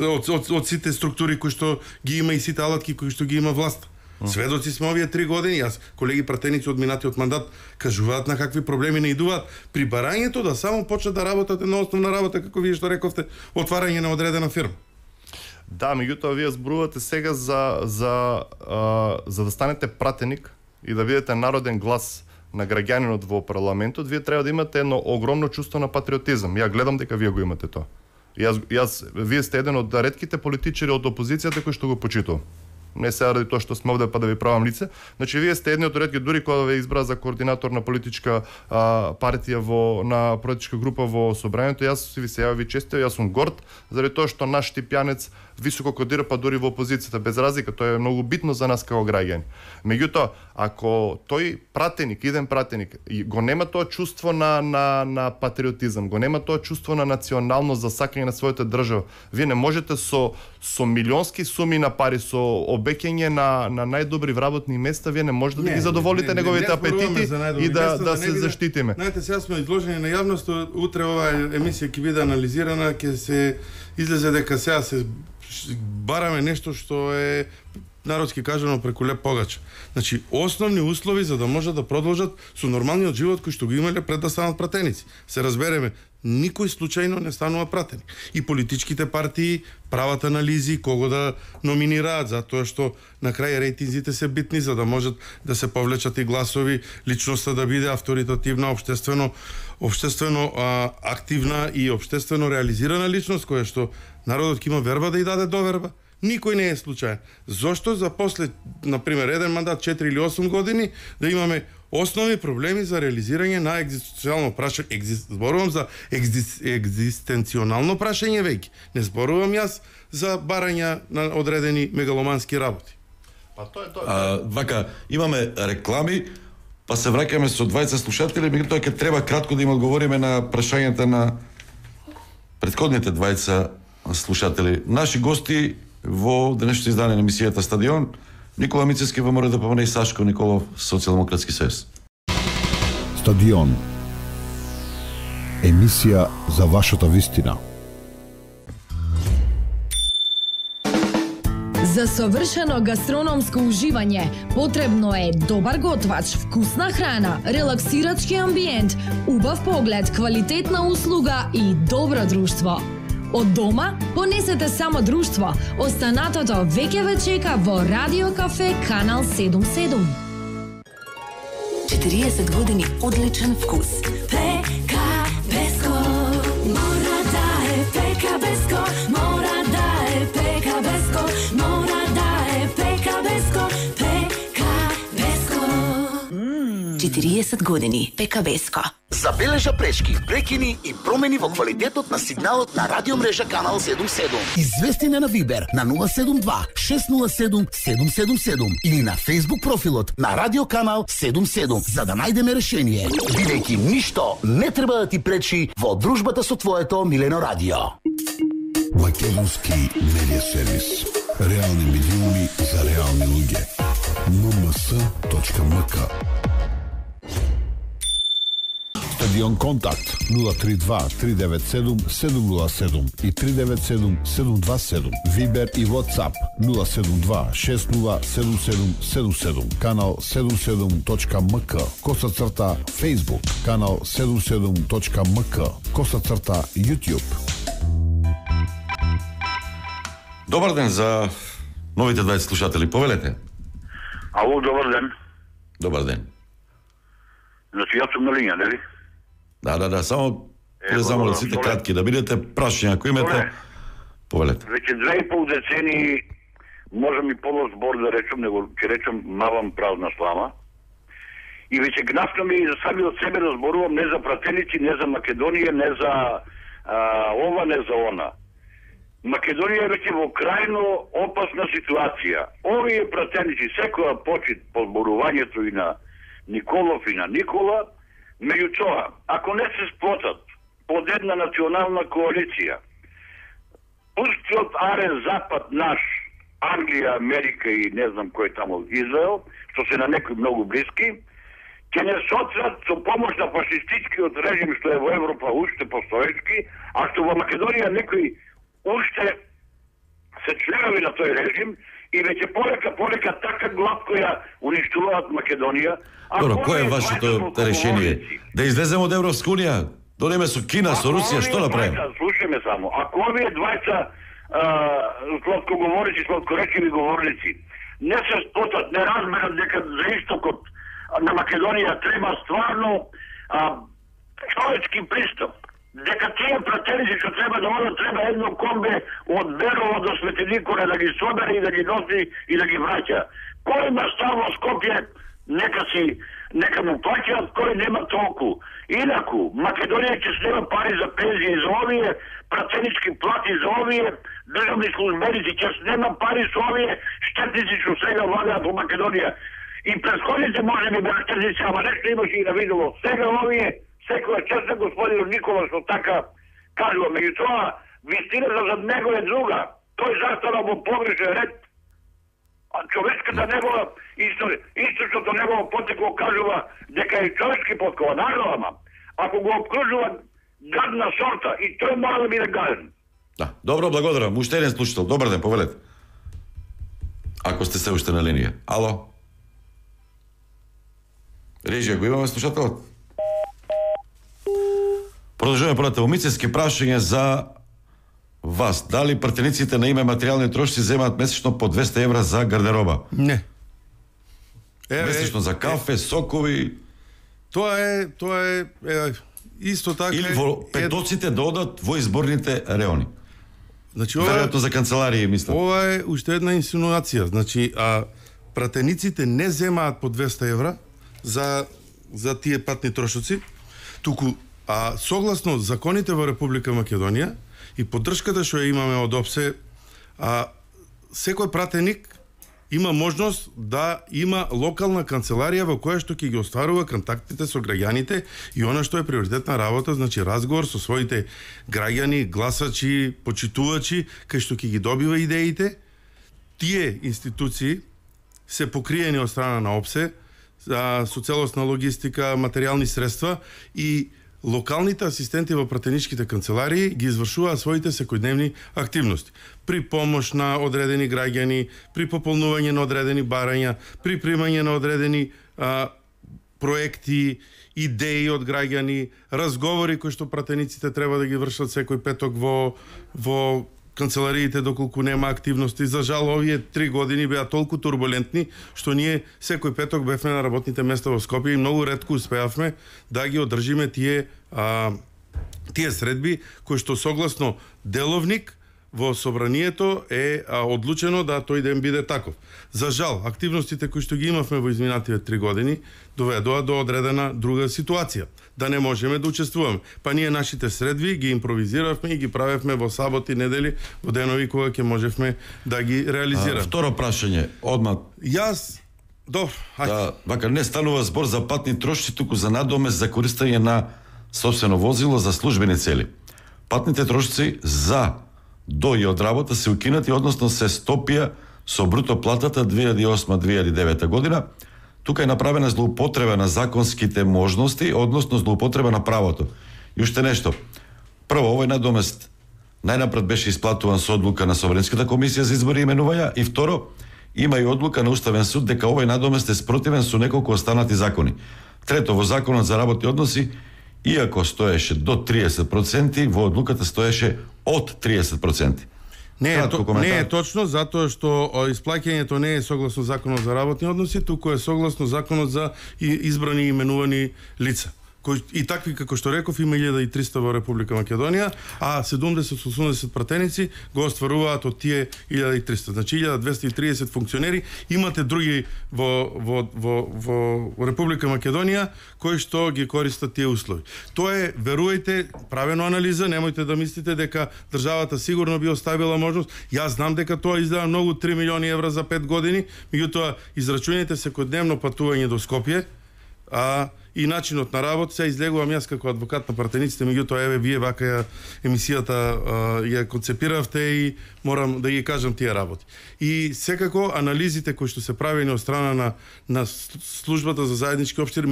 од, од, од сите структури кои што ги има и сите алатки кои што ги има власт. Сведоци сме овие три години. Јас колеги пратеници од минатиот мандат кажуваат на какви проблеми наидуваат при барањето да само почнат да работат на основна работа, како вие што рековте, отварање на одредена фирма. Да, меѓутоа вие зборувате сега за за а, за да станете пратеник и да бидете народен глас на граѓанинот во парламентот, вие треба да имате едно огромно чувство на патриотизам. Ја гледам дека вие го имате тоа. Јас јас вие сте еден од ретките политичари од опозицијата кој што го почитувам. Не сега ради тоа што сме овде па да ви правам лице. Значи вие сте едни од ретки, дури кога ве избра за координатор на политичка а, партија во на политичка група во собранието, јас ви се јави честито, јас сум горд заради тоа што наш Типјанец високо кодира па дури во опозицијата, без разлика, тоа е многу битно за нас како граѓани. Меѓутоа, ако тој пратеник, иден пратеник, го нема тоа чувство на на на патриотизам, го нема тоа чувство на националност за сакање на својата држава, вие не можете со со милионски суми на пари, со обеќање на на најдобри вработни места, вие не можете не, да ги задоволите не, не, неговите не, апетити и да места, да, да се биде, заштитиме. Знаете, сега сме изложени на јавност, утре оваа емисија ќе биде анализирана, ќе се излезе дека сега се бараме нешто што е народски кажано преку леп погач. Значи, основни услови за да можат да продолжат со нормалниот живот кој што го имале пред да станат пратеници. Се разбереме, никој случајно не станува пратеник. И политичките партии прават анализи кого да номинираат, затоа што на крај рейтинзите се битни за да можат да се повлечат и гласови, личноста да биде авторитативна, општествено општествено а, активна и општествено реализирана личност која што народот ќе има верба да ја даде доверба. Никој не е случаен. Зошто за после, например, еден мандат, четири или осум години, да имаме основни проблеми за реализирање на екзистенцијално прашање, екзист, зборувам за екзист, екзистенционално прашање веќе. Не зборувам јас за барање на одредени мегаломански работи. Па тоа е тоа. А, вака, имаме реклами, па се враќаме со двајца слушатели, меѓутоа ќе треба кратко да им одговориме на прашањата на претходните двајца слушатели. Наши гости во денешното издание на емисијата Стадион, Никола Мицевски, ВМРО-ДПМН и Сашко Николов, Социјалдемократски сојуз. Стадион. Емисија за вашата вистина. За совршено гастрономско уживање потребно е добар готвач, вкусна храна, релаксирачки амбиент, убав поглед, квалитетна услуга и добро друштво. Од дома понесете само друштво. Останатото веќе ве чека во Радио Кафе Канал седум седум. четириесет години одличен вкус. Пека Беско, мора да е Пека Беско, мора да е Пека Беско, мора да е Пека Беско, Пека Беско. четириесет години Пека Беско. Забележа пречки, прекини и промени во квалитетот на сигналот на радиомрежа Канал седум седум. Извести на Вибер на нула седум два шест нула седум седум седум седум или на Facebook профилот на Радио Канал седум седум за да најдеме решение. Бидејќи ништо не треба да ти пречи во дружбата со твоето милено радио. Македонски медиа сервис. Реални медиуми за реални луѓе. ен ем ес точка ем ка. Стадион Контакт нула три два три девет седум седум нула седум и три девет седум седум два седум. Вибер и WhatsApp нула седум два шест нула седум седум седум седум. Канал седум седум точка ем ка. Коса црта Facebook. Канал седум седум точка ем ка. Коса црта YouTube. Добар ден за новите дваесет слушатели. Повелете. Ало, добар ден. Добар ден. Значи, јас сум на линија, нели? Да, да, да, само да замолам сите кратки, да бидете прашања, ако имате, повелете. Веќе две и пол децени, можам и полош збор да речем, него ќе речем мавам празна слама. И веќе гнафнам и за сами од себе да зборувам не за пратеници, не за Македонија, не за а, ова, не за она. Македонија е веќе во крајно опасна ситуација. Овие пратеници, секоја почит по зборувањето и на Николов и на Никола, меѓутоа, ако не се сплотат под една национална коалиција, пустиот арен запад наш, Англија, Америка и не знам кој тамо Израел, што се на некои многу блиски, ќе не сотрат со помош на фашистичкиот режим што е во Европа уште постоечки, а што во Македонија некои уште се членови на тој режим и веќе полека полека така главко ја уништуваат Македонија. Добро, кој е вашето решение? Да излеземе од Европска унија? Донеме со Кина, со Русија, што направиме? Слушаме само. Ако овие двајца сладкоговорници, сладкоречиви говорници не се сплотат, не разберат дека за истокот на Македонија треба стварно а, човечки пристап, дека тие пратеници што треба да одат, треба едно комбе од Берово до Свети Николе да ги собере и да ги носи и да ги враќа. Кој има став во Скопје, нека си, нека му плаќаат, кој нема толку. Инаку, Македонија ќе снема пари за пензии за овие, пратенички плати за овие, државни службеници ќе снема пари со овие штетници што сега владеат во Македонија. И претходните може би беа штетници, ама нешто имаше и на видово. Сега овие, секоја чест на господин Никола што така кажува, меѓутоа вистината за него е друга. Тој застана во погрешен ред. А човечката негова историја, источното негово потекло кажува дека е човечки поткова, наravno, ама ако го обкружува гадна сорта и тој мора да биде гаден. Да, добро, благодарам. Уште еден слушател. Добар ден, повелете. Ако сте се уште на линија. Ало? Режија, го имаме слушателот? Продолжуваме понатаму. Мицевски прашање за вас. Дали пратениците на име материјални трошци земаат месечно по двесте евра за гардероба? Не. Е, месечно за кафе, сокови. Тоа е, тоа е, е исто така. Или во петоците да одат во изборните реони. Значи ова веројатно за канцеларија мислам. Ова е уште една инсинуација. Значи, а пратениците не земаат по двесте евра за за тие патни трошоци, туку а согласно законите во Република Македонија и поддршката што ја имаме од ОПСЕ, а секој пратеник има можност да има локална канцеларија во која што ќе ги остварува контактите со граѓаните и она што е приоритетна работа, значи разговор со своите граѓани, гласачи, почитувачи, кај што ќе ги добива идеите. Тие институции се покриени од страна на ОПСЕ со целосна логистика, материјални средства и локалните асистенти во пратеничките канцеларии ги извршуваат своите секојдневни активности. При помош на одредени граѓани, при пополнување на одредени барања, при примање на одредени а, проекти, идеи од граѓани, разговори кои што пратениците треба да ги вршат секој петок во во канцелариите доколку нема активности. За жал, овие три години беа толку турбулентни што ние секој петок бевме на работните места во Скопје и многу ретко успеавме да ги одржиме тие а, тие средби кои што согласно деловник во собранието е а, одлучено да тој ден биде таков. За жал, активностите кои што ги имавме во изминатите три години доведоа до одредена друга ситуација, да не можеме да учествуваме. Па ние нашите средби ги импровизиравме и ги правевме во саботи, недели, во денови кога ќе можевме да ги реализираме. А, второ прашање, одма. Јас Добро, ајде. Да, вака не станува збор за патни трошоци, туку за надомест за користење на собствено возило за службени цели. Патните трошоци за до и од работа се укинати, односно се стопија со бруто платата две илјади и осма две илјади и девета година. Тука е направена злоупотреба на законските можности, односно злоупотреба на правото. И уште нешто. Прво, овој надомест најнапред беше исплатуван со одлука на Собранската комисија за избори и именувања, и второ, има и одлука на Уставен суд дека овој надомест е спротивен со неколку останати закони. Трето, во Законот за работни односи, иако стоеше до триесет проценти, во одлуката стоеше од триесет проценти. Не е, то, не е точно, затоа што исплаќањето не е согласно Законот за работни односи, туку е согласно Законот за избрани и именувани лица. Кој, и такви, како што реков, има илјада и триста во Република Македонија, а седумдесет до осумдесет пратеници го остваруваат од тие илјада и триста. Значи илјада двесте и триесет функционери, имате други во, во, во, во Република Македонија кои што ги користат тие услови. Тоа е, верујте, правено анализа, немојте да мислите дека државата сигурно би оставила можност. Јас знам дека тоа издава многу три милиони евра за пет години, меѓутоа израчуните секојдневно патување до Скопје, а и начинот на работа. Се излегувам јас како адвокат на пратениците, меѓутоа еве вие вака ја емисијата а, ја концепиравте и морам да ги кажам тие работи. И секако анализите кои што се правени од страна на на службата за заеднички општи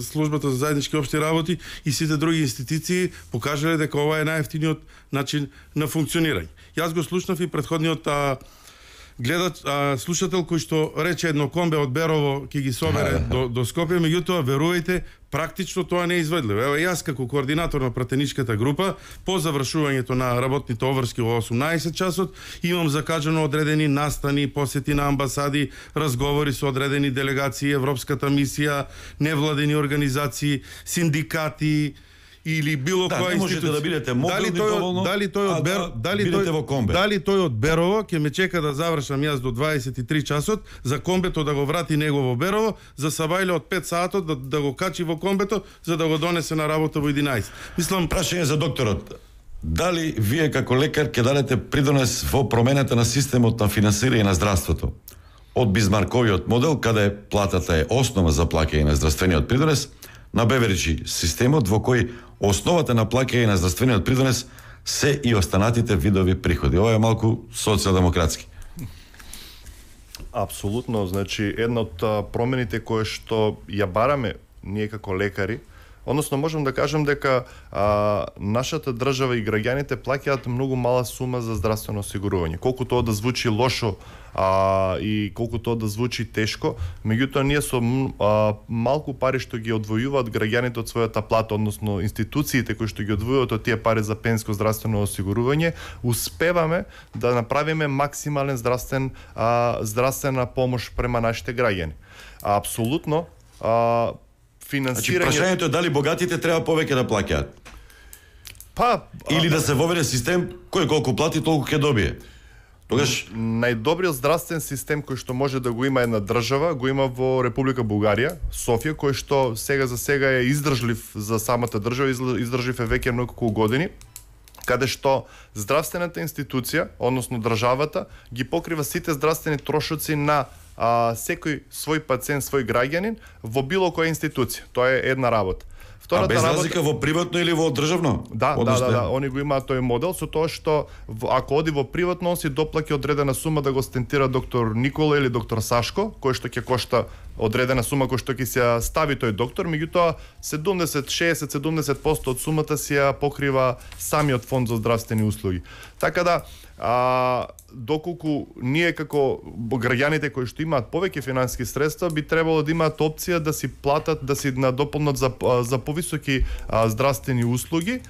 службата за заеднички општи работи и сите други институции покажале дека ова е најевтиниот начин на функционирање. Јас го слушнав и претходниот а, гледач, а, слушател кој што рече едно комбе од Берово ќе ги собере до, до Скопје, меѓутоа верувајте, практично тоа не е изведливо. Ево јас како координатор на пратеничката група по завршувањето на работните обврски во осумнаесет часот имам закажано одредени настани, посети на амбасади, разговори со одредени делегации, Европската мисија, невладени организации, синдикати или било да, која институција. Да, бидете мобилни дали тој, доволно, дали тој од Бер, да дали тој во комбе. Дали тој од Берово ќе ме чека да завршам јас до дваесет и три часот, за комбето да го врати него во Берово, за Савајле од пет сатот да, да го качи во комбето за да го донесе на работа во единаесет. Мислам, прашање за докторот. Дали вие како лекар ќе дадете придонес во промената на системот на финансирање на здравството? Од Бизмарковиот модел, каде платата е основа за плаќање на здравствениот придонес, на Беверичи системот во кој основата на плаќање на здравствениот придонес се и останатите видови приходи. Ова е малку социјалдемократски. Апсолутно, значи една од промените кои што ја бараме ние како лекари, односно можам да кажам дека а, нашата држава и граѓаните плаќаат многу мала сума за здравствено осигурување. Колку тоа да звучи лошо а, и колку тоа да звучи тешко, меѓутоа ние со а, малку пари што ги одвојуваат граѓаните од својата плата, односно институциите кои што ги одвојуваат од тие пари за пенсиско здравствено осигурување, успеваме да направиме максимален здравствен а, здравствена помош према нашите граѓани. А, апсолутно а, финансирање... Значи, прашањето е дали богатите треба повеќе да плаќаат? Па... Или да се воведе систем кој колку плати, толку ќе добие? Тогаш... Најдобриот здравствен систем кој што може да го има една држава, го има во Република Бугарија, Софија, кој што сега за сега е издржлив за самата држава, издржлив е веќе многу години, каде што здравствената институција, односно државата, ги покрива сите здравствени трошоци на а, секој свој пациент, свој граѓанин во било која институција. Тоа е една работа. Втората а без работа... разлика во приватно или во државно? Да, да, да, да, они го имаат тој модел со тоа што ако оди во приватно, он си доплаќа одредена сума да го стентира доктор Никола или доктор Сашко, кој што ќе кошта одредена сума која што ќе се стави тој доктор, меѓутоа седумдесет, шеесет, седумдесет проценти од сумата си ја покрива самиот фонд за здравствени услуги. Така да, а, доколку ние како граѓаните кои што имаат повеќе финансиски средства би требало да имаат опција да си платат, да си надополнат за, за повисоки а, здравствени услуги,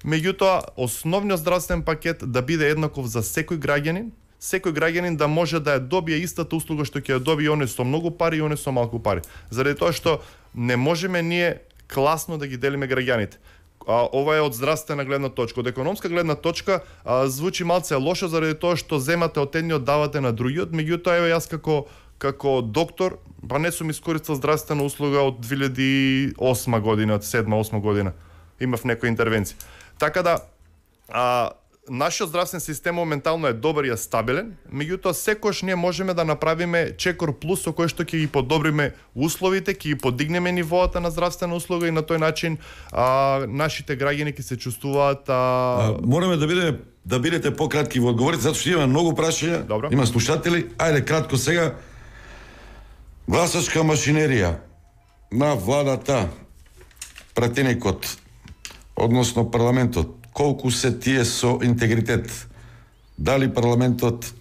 меѓутоа основниот здравствен пакет да биде еднаков за секој граѓанин, секој граѓанин да може да ја добие истата услуга што ќе ја добие оне со многу пари и оне со малку пари. Заради тоа што не можеме ние класно да ги делиме граѓаните. А, ова е од здравствена гледна точка. Од економска гледна точка а, звучи малце лошо заради тоа што земате од едниот давате на другиот, меѓутоа еве јас како како доктор, па не сум искористил здравствена услуга од две илјади и осма година, од седма осма година. Имав некои интервенции. Така да а, нашиот здравствен систем моментално е добар и е стабилен, меѓутоа секојаш ние можеме да направиме чекор плюс со кој што ќе ги подобриме условите, ќе ги подигнеме нивоата на здравствена услуга и на тој начин а, нашите граѓани ќе се чувствуваат а... А, мораме да бидеме да бидете пократки во одговорите, затоа што има многу прашања, Добро. Има слушатели. Ајде кратко сега. Гласачка машинерија на владата, пратеникот, односно парламентот, колку се тие со интегритет? Дали парламентот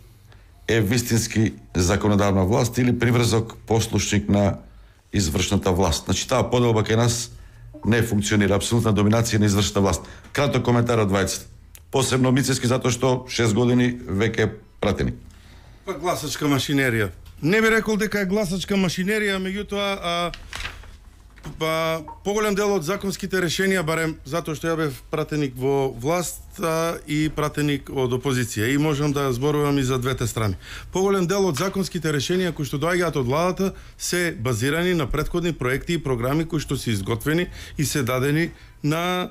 е вистински законодавна власт или приврзок послушник на извршната власт? Значи таа поделба кај нас не функционира, апсолутна доминација на извршната власт. Краток коментар од двајцата. Посебно Мицевски затоа што шест години веќе е пратеник. Па гласачка машинерија. Не би рекол дека е гласачка машинерија, меѓутоа а, па поголем дел од законските решенија, барем затоа што ја бев пратеник во власт а, и пратеник од опозиција и можам да зборувам и за двете страни. Поголем дел од законските решенија кои што доаѓаат од владата се базирани на претходни проекти и програми кои што се изготвени и се дадени на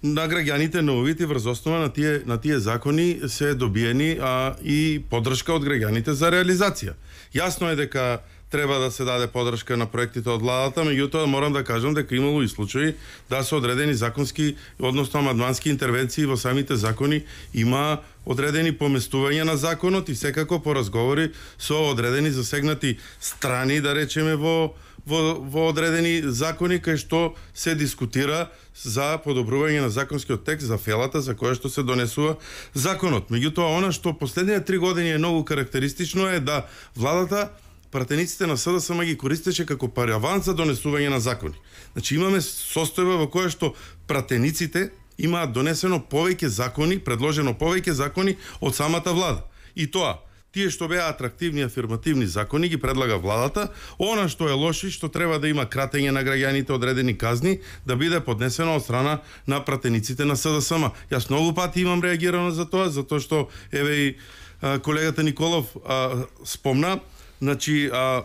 на граѓаните на овите врз основа на тие на тие закони се добиени а, и поддршка од граѓаните за реализација. Јасно е дека треба да се даде поддршка на проектите од владата, меѓутоа морам да кажам дека имало и случаи да се одредени законски, односно амандмански интервенции во самите закони, има одредени поместувања на законот и секако по разговори со одредени засегнати страни, да речеме во во во одредени закони кај што се дискутира за подобрување на законскиот текст за фелата за која што се донесува законот. Меѓутоа она што последните три години е многу карактеристично е да владата пратениците на СДСМ ги користеше како параван за донесување на закони. Значи имаме состојба во која што пратениците имаат донесено повеќе закони, предложено повеќе закони од самата влада. И тоа, тие што беа атрактивни афирмативни закони ги предлага владата, она што е лошо што треба да има кратење на граѓаните одредени казни да биде поднесено од страна на пратениците на СДСМ. Јас многу пати имам реагирано за тоа, затоа што еве и а, колегата Николов а, спомна. Значи, а,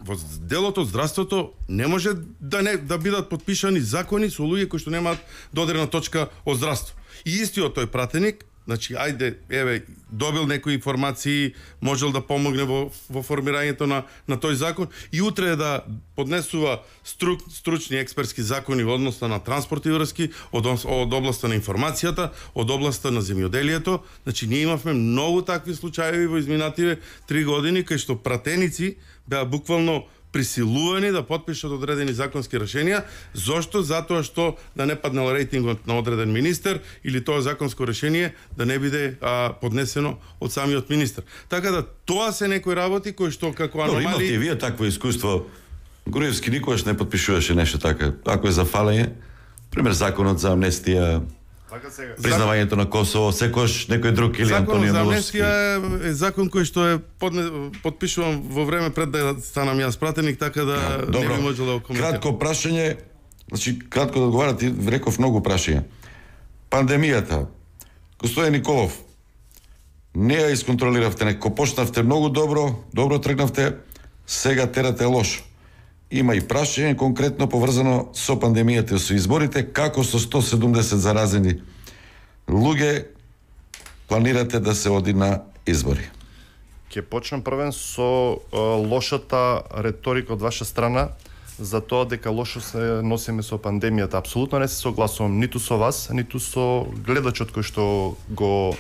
во делот од здравството не може да не да бидат подпишани закони со луѓе кои што немаат додирна точка од здравство. И истиот тој пратеник, значи, ајде, еве, добил некои информации, можел да помогне во, во формирањето на, на тој закон и утре да поднесува стру, стручни експертски закони во односно на транспорт и врски, од, од областа на информацијата, од областа на земјоделието. Значи, ние имавме многу такви случаи во изминативе три години, кај што пратеници беа буквално присилувани да подпишат одредени законски решенија. Зошто? Затоа што да не паднал рейтингот на одреден министер или тоа законско решение да не биде а, поднесено од самиот министер. Така да тоа се некои работи кои што како аномалии... Но имате и вие такво искуство. Груевски никогаш не подпишуваше нешто така. Ако е за фалење, пример законот за амнестија, признавањето на Косово, секојаш некој друг или Антонио Миловски. Законот за амнестија е закон кој што е подне, подпишуван во време пред да станам јас пратеник, така да а, не би можел да го коментирам. Кратко прашање, значи кратко да одговарате, реков многу прашања. Пандемијата. Господин Николов, не ја исконтролиравте, неко почнавте многу добро, добро тргнавте, сега терате лошо. Има и прашање конкретно поврзано со пандемијата и со изборите, како со сто седумдесет заразени луѓе планирате да се оди на избори? Ќе почнам првен со е, лошата реторика од ваша страна за тоа дека лошо се носиме со пандемијата. Апсолутно не се согласувам ниту со вас, ниту со гледачот кој што го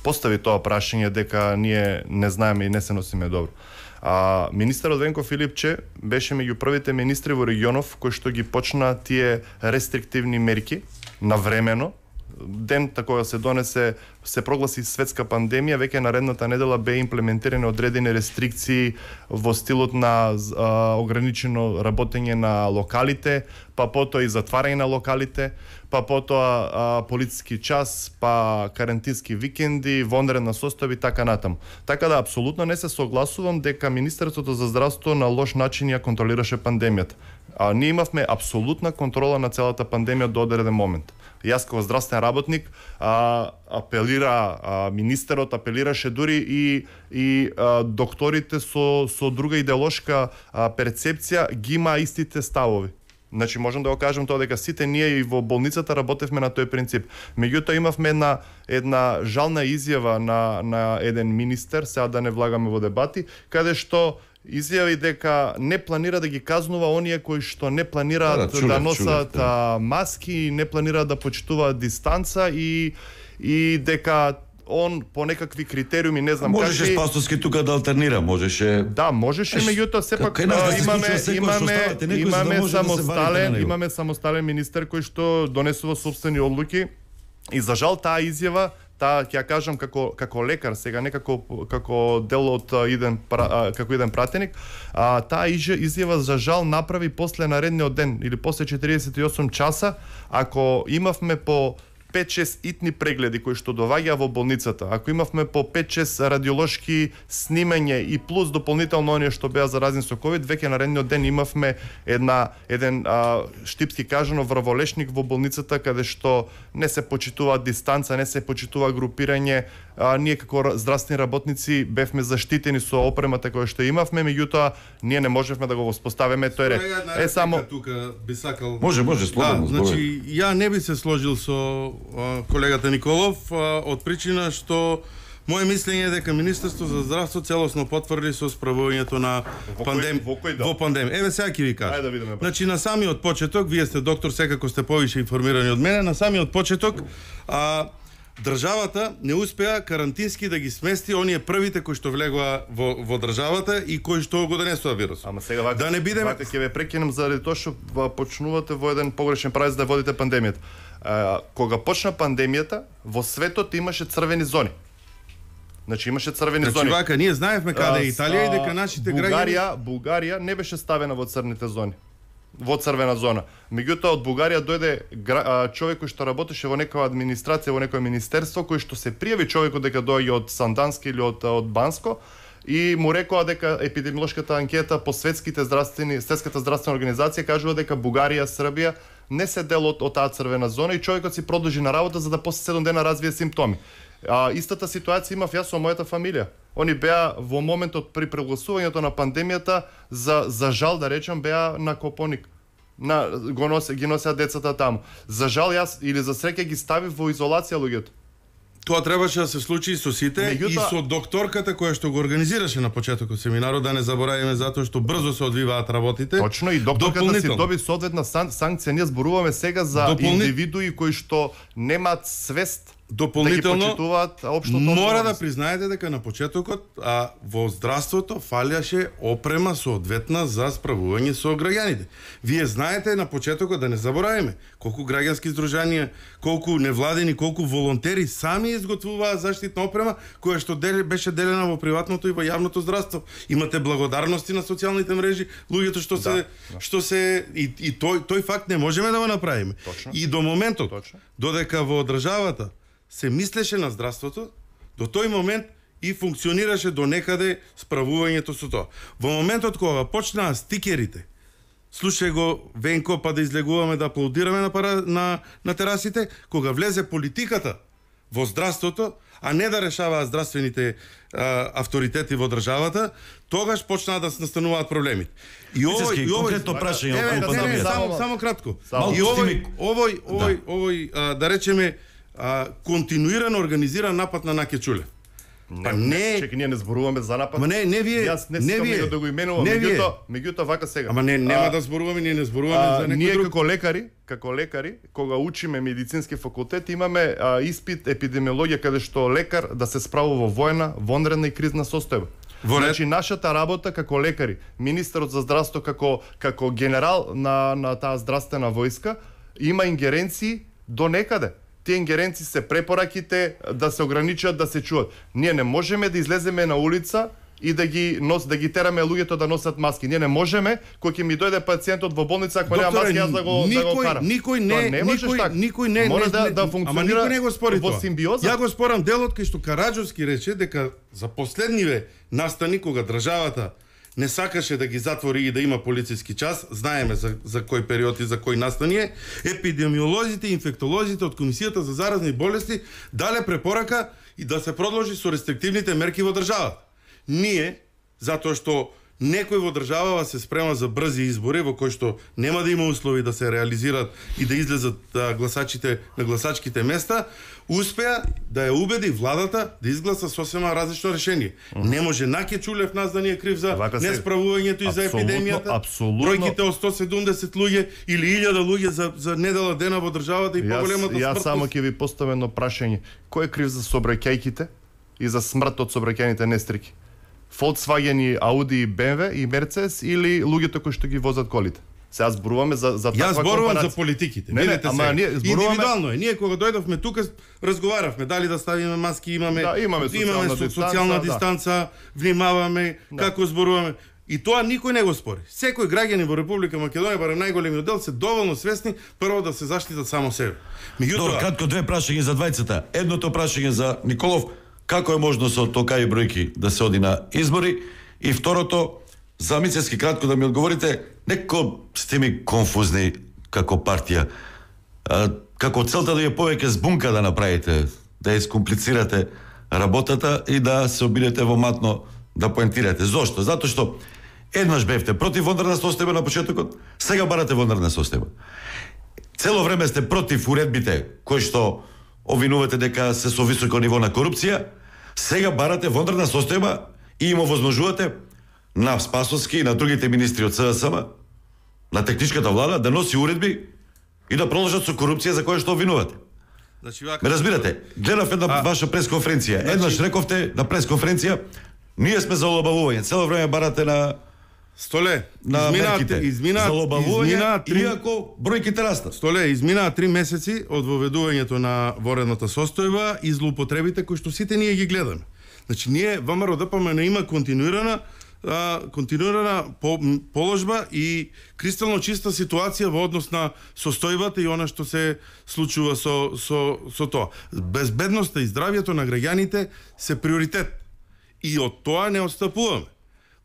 постави тоа прашање дека ние не знаеме и не се носиме добро. А министерот Венко Филипче беше меѓу првите министри во регионов кои што ги почна тие рестриктивни мерки навремено. Ден кога се донесе, се прогласи светска пандемија, веќе наредната недела бе имплементирани одредени рестрикции во стилот на а, ограничено работење на локалите, па потоа и затварање на локалите, па потоа а, полициски час, па карантински викенди, вонредна состојба и така натаму. Така да апсолутно не се согласувам дека Министерството за здравство на лош начин ја контролираше пандемијата. А ние имавме апсолутна контрола на целата пандемија до одреден момент. Јас како здравствен работник а, апелира а, министерот апелираше дури и и а, докторите со со друга идеолошка а, перцепција ги има истите ставови. Значи можам да го кажам тоа дека сите ние и во болницата работевме на тој принцип. Меѓутоа имавме една една жална изјава на на еден министер, сега да не влагаме во дебати, каде што изјави дека не планира да ги казнува оние кои што не планираат да, да, да носат да. маски, не планираат да почитуваат дистанца и и дека он по некакви критериуми, не знам можеше какви... Спасовски тука да алтернира, можеше. Да, можеше, меѓутоа сепак да имаме имаме имаме да самостален, да имаме самостален министер кој што донесува собствени одлуки и за жал таа изјава, таа ќе ја кажам како како лекар, сега не како како дел од еден како еден пратеник, а таа изјава за жал направи после наредниот ден или после четириесет и осум часа, ако имавме по пет-шест итни прегледи кои што доаѓаа во болницата, ако имавме по пет-шест радиолошки снимања и плюс дополнително оние што беа заразни со ковид, веќе наредниот ден имавме една еден а, штипски кажано врволешник во болницата каде што не се почитува дистанца, не се почитува групирање. А, ние како здравствени работници бевме заштитени со опремата која што имавме, меѓутоа ние не можевме да го воспоставиме тој ред. Е само тука би сакал. Може, може, слободно. Да, значи ја не би се сложил со а, колегата Николов а, од причина што моје мислење е дека Министерство за здравство целосно потврди со справувањето на пандемија во, да. во пандемија. Еве сега ќе ви кажам. Да видиме, значи на самиот почеток, вие сте доктор, секако сте повише информирани од мене, на самиот почеток а државата не успеа карантински да ги смести оние првите кои што влегоа во, во државата и кои што го донесува вирус. Ама сега вака, да не бидеме... вака ќе ве прекинем заради тоа што почнувате во еден погрешен правец да водите пандемијата. А, кога почна пандемијата, во светот имаше црвени зони. Значи имаше црвени значи, зони. Значи вака, ние знаевме каде е Италија и дека нашите граѓани... Бугарија, Бугарија не беше ставена во црните зони, во црвена зона. Меѓутоа од Бугарија дојде човек кој што работеше во некоја администрација, во некое министерство, кој што се пријави човекот дека доаѓа од Сандански или од од Банско и му рекоа дека епидемиолошката анкета по светските здравствени, светската здравствена организација кажува дека Бугарија, Србија не се дел од, од таа црвена зона и човекот си продолжи на работа за да после седум дена развие симптоми. А, истата ситуација имав јас со мојата фамилија. Они беа во моментот при прегласувањето на пандемијата за за жал да речам беа на Копоник. На го носе ги носеа децата таму. За жал јас или за среќа ги ставив во изолација луѓето. Тоа требаше да се случи и со сите Меѓута... и со докторката која што го организираше на почетокот семинарот, да не забораваме затоа што брзо се одвиваат работите. Точно и докторката си доби соодветна сан... санкција. Ние зборуваме сега за Дополни... индивидуи кои што немаат свест дополнително да мора да признаете дека на почетокот а, во здравството фалиаше опрема соодветна за справување со граѓаните. Вие знаете на почетокот, да не забораваме, колку граѓански здружанија, колку невладени, колку волонтери сами изготвуваа заштитна опрема која што дел, беше делена во приватното и во јавното здравство. Имате благодарности на социјалните мрежи, луѓето што се да, да. што се и, и тој тој факт не можеме да го направиме. Точно. И до моментот Точно. додека во државата се мислеше на здравството, до тој момент и функционираше до некаде справувањето со тоа. Во моментот кога почнаа стикерите, слушај го Венко, па да излегуваме да аплаудираме на, пара, на, на терасите, кога влезе политиката во здравството, а не да решаваа здравствените а, авторитети во државата, тогаш почнаа да се настануваат проблемите. И овој и конкретно прашање околу пандемијата. Само само кратко. И овој овој овој овој а, да речеме а, континуирано организиран напад на Наке Чулев. Па не, чек, ние не зборуваме за напад. Ма не, не вие, Јас не не вие да го именувам, меѓутоа, меѓутоа вака сега. Ама не, нема а, да зборуваме, ние не зборуваме а, за некој ние друг. како лекари, како лекари, кога учиме медицински факултет, имаме а, испит епидемиологија каде што лекар да се справува во воена, вонредна и кризна состојба. Значи нашата работа како лекари, министерот за здравство како како генерал на на таа здравствена војска има ингеренции до некаде. Тие ингеренции се препораките да се ограничат, да се чуат. Ние не можеме да излеземе на улица и да ги нос да ги тераме луѓето да носат маски. Ние не можеме кога ќе ми дојде пациентот во болница ако нема маски јас да го никој, да го карам. Никој не, не никој, така. никој не Мора не, да, не, да функционира ама никој не го спори во тоа. симбиоза. Ја го спорам делот кај што Караджовски рече дека за последниве настани кога државата не сакаше да ги затвори и да има полициски час, знаеме за, за кој период и за кој настани е, епидемиолозите и инфектолозите од Комисијата за заразни болести дале препорака и да се продолжи со рестриктивните мерки во државата. Ние, затоа што некој во државава се спрема за брзи избори во кои што нема да има услови да се реализираат и да излезат а, гласачите на гласачките места, успеа да ја убеди владата да изгласа сосема различно решение. Mm. Не може Наке Чулев нас да ни е крив за несправувањето и за епидемијата. Абсолютно. Бројките од сто седумдесет луѓе или илјада луѓе за за недела дена во државата и поголемата смртност. Јас само ќе ви поставам едно прашање. Кој е крив за сообраќајките и за смрт од сообраќајните нестрики? Volkswagen и Audi, бэ ем вэ и Mercedes или луѓето кои што ги возат колите? Сега зборуваме за за таква компарација. Јас зборувам за политиките. Не, не, ама ние зборуваме индивидуално е. Ние кога дојдовме тука разговаравме дали да ставиме маски, имаме да, имаме социјална, имаме дистанца, социјална да. дистанца, внимаваме да. Како зборуваме. И тоа никој не го спори. Секој граѓанин во Република Македонија, барем најголемиот дел, се доволно свесни прво да се заштитат само себе. Меѓутоа, добро, кратко две прашања за двајцата. Едното прашање за Николов, како е можно со толкави бројки да се оди на избори, и второто за Мицевски кратко да ми одговорите, некако сте ми конфузни како партија. А, како целта да ја повеќе збунка да направите, да ја искомплицирате работата и да се обидете во матно да поентирате. Зошто? Затоа што еднаш бевте против вондарна состојба на почетокот, сега барате вондарна состојба. Цело време сте против уредбите кои што обвинувате дека се со високо ниво на корупција, сега барате вондарна состојба и им овозможувате на Спасовски и на другите министри од СДСМ, на техничката влада, да носи уредби и да продолжат со корупција за која што обвинувате. Значи, вака... Ме разбирате, гледав една а... ваша пресконференција. Значи... Еднаш рековте на пресконференција, ние сме за олабавување. Цело време барате на Столе, на измина, мерките. Измина, за олабавување, измина, три... иако бројките растат. Столе, изминаа три месеци од воведувањето на воредната состојба и злоупотребите кои што сите ние ги гледаме. Значи, ние, ВМРО Д П М Н има континуирана а, континуирана по, положба и кристално чиста ситуација во однос на состојбата и она што се случува со, со, со тоа. Безбедноста и здравјето на граѓаните се приоритет. И од тоа не отстапуваме.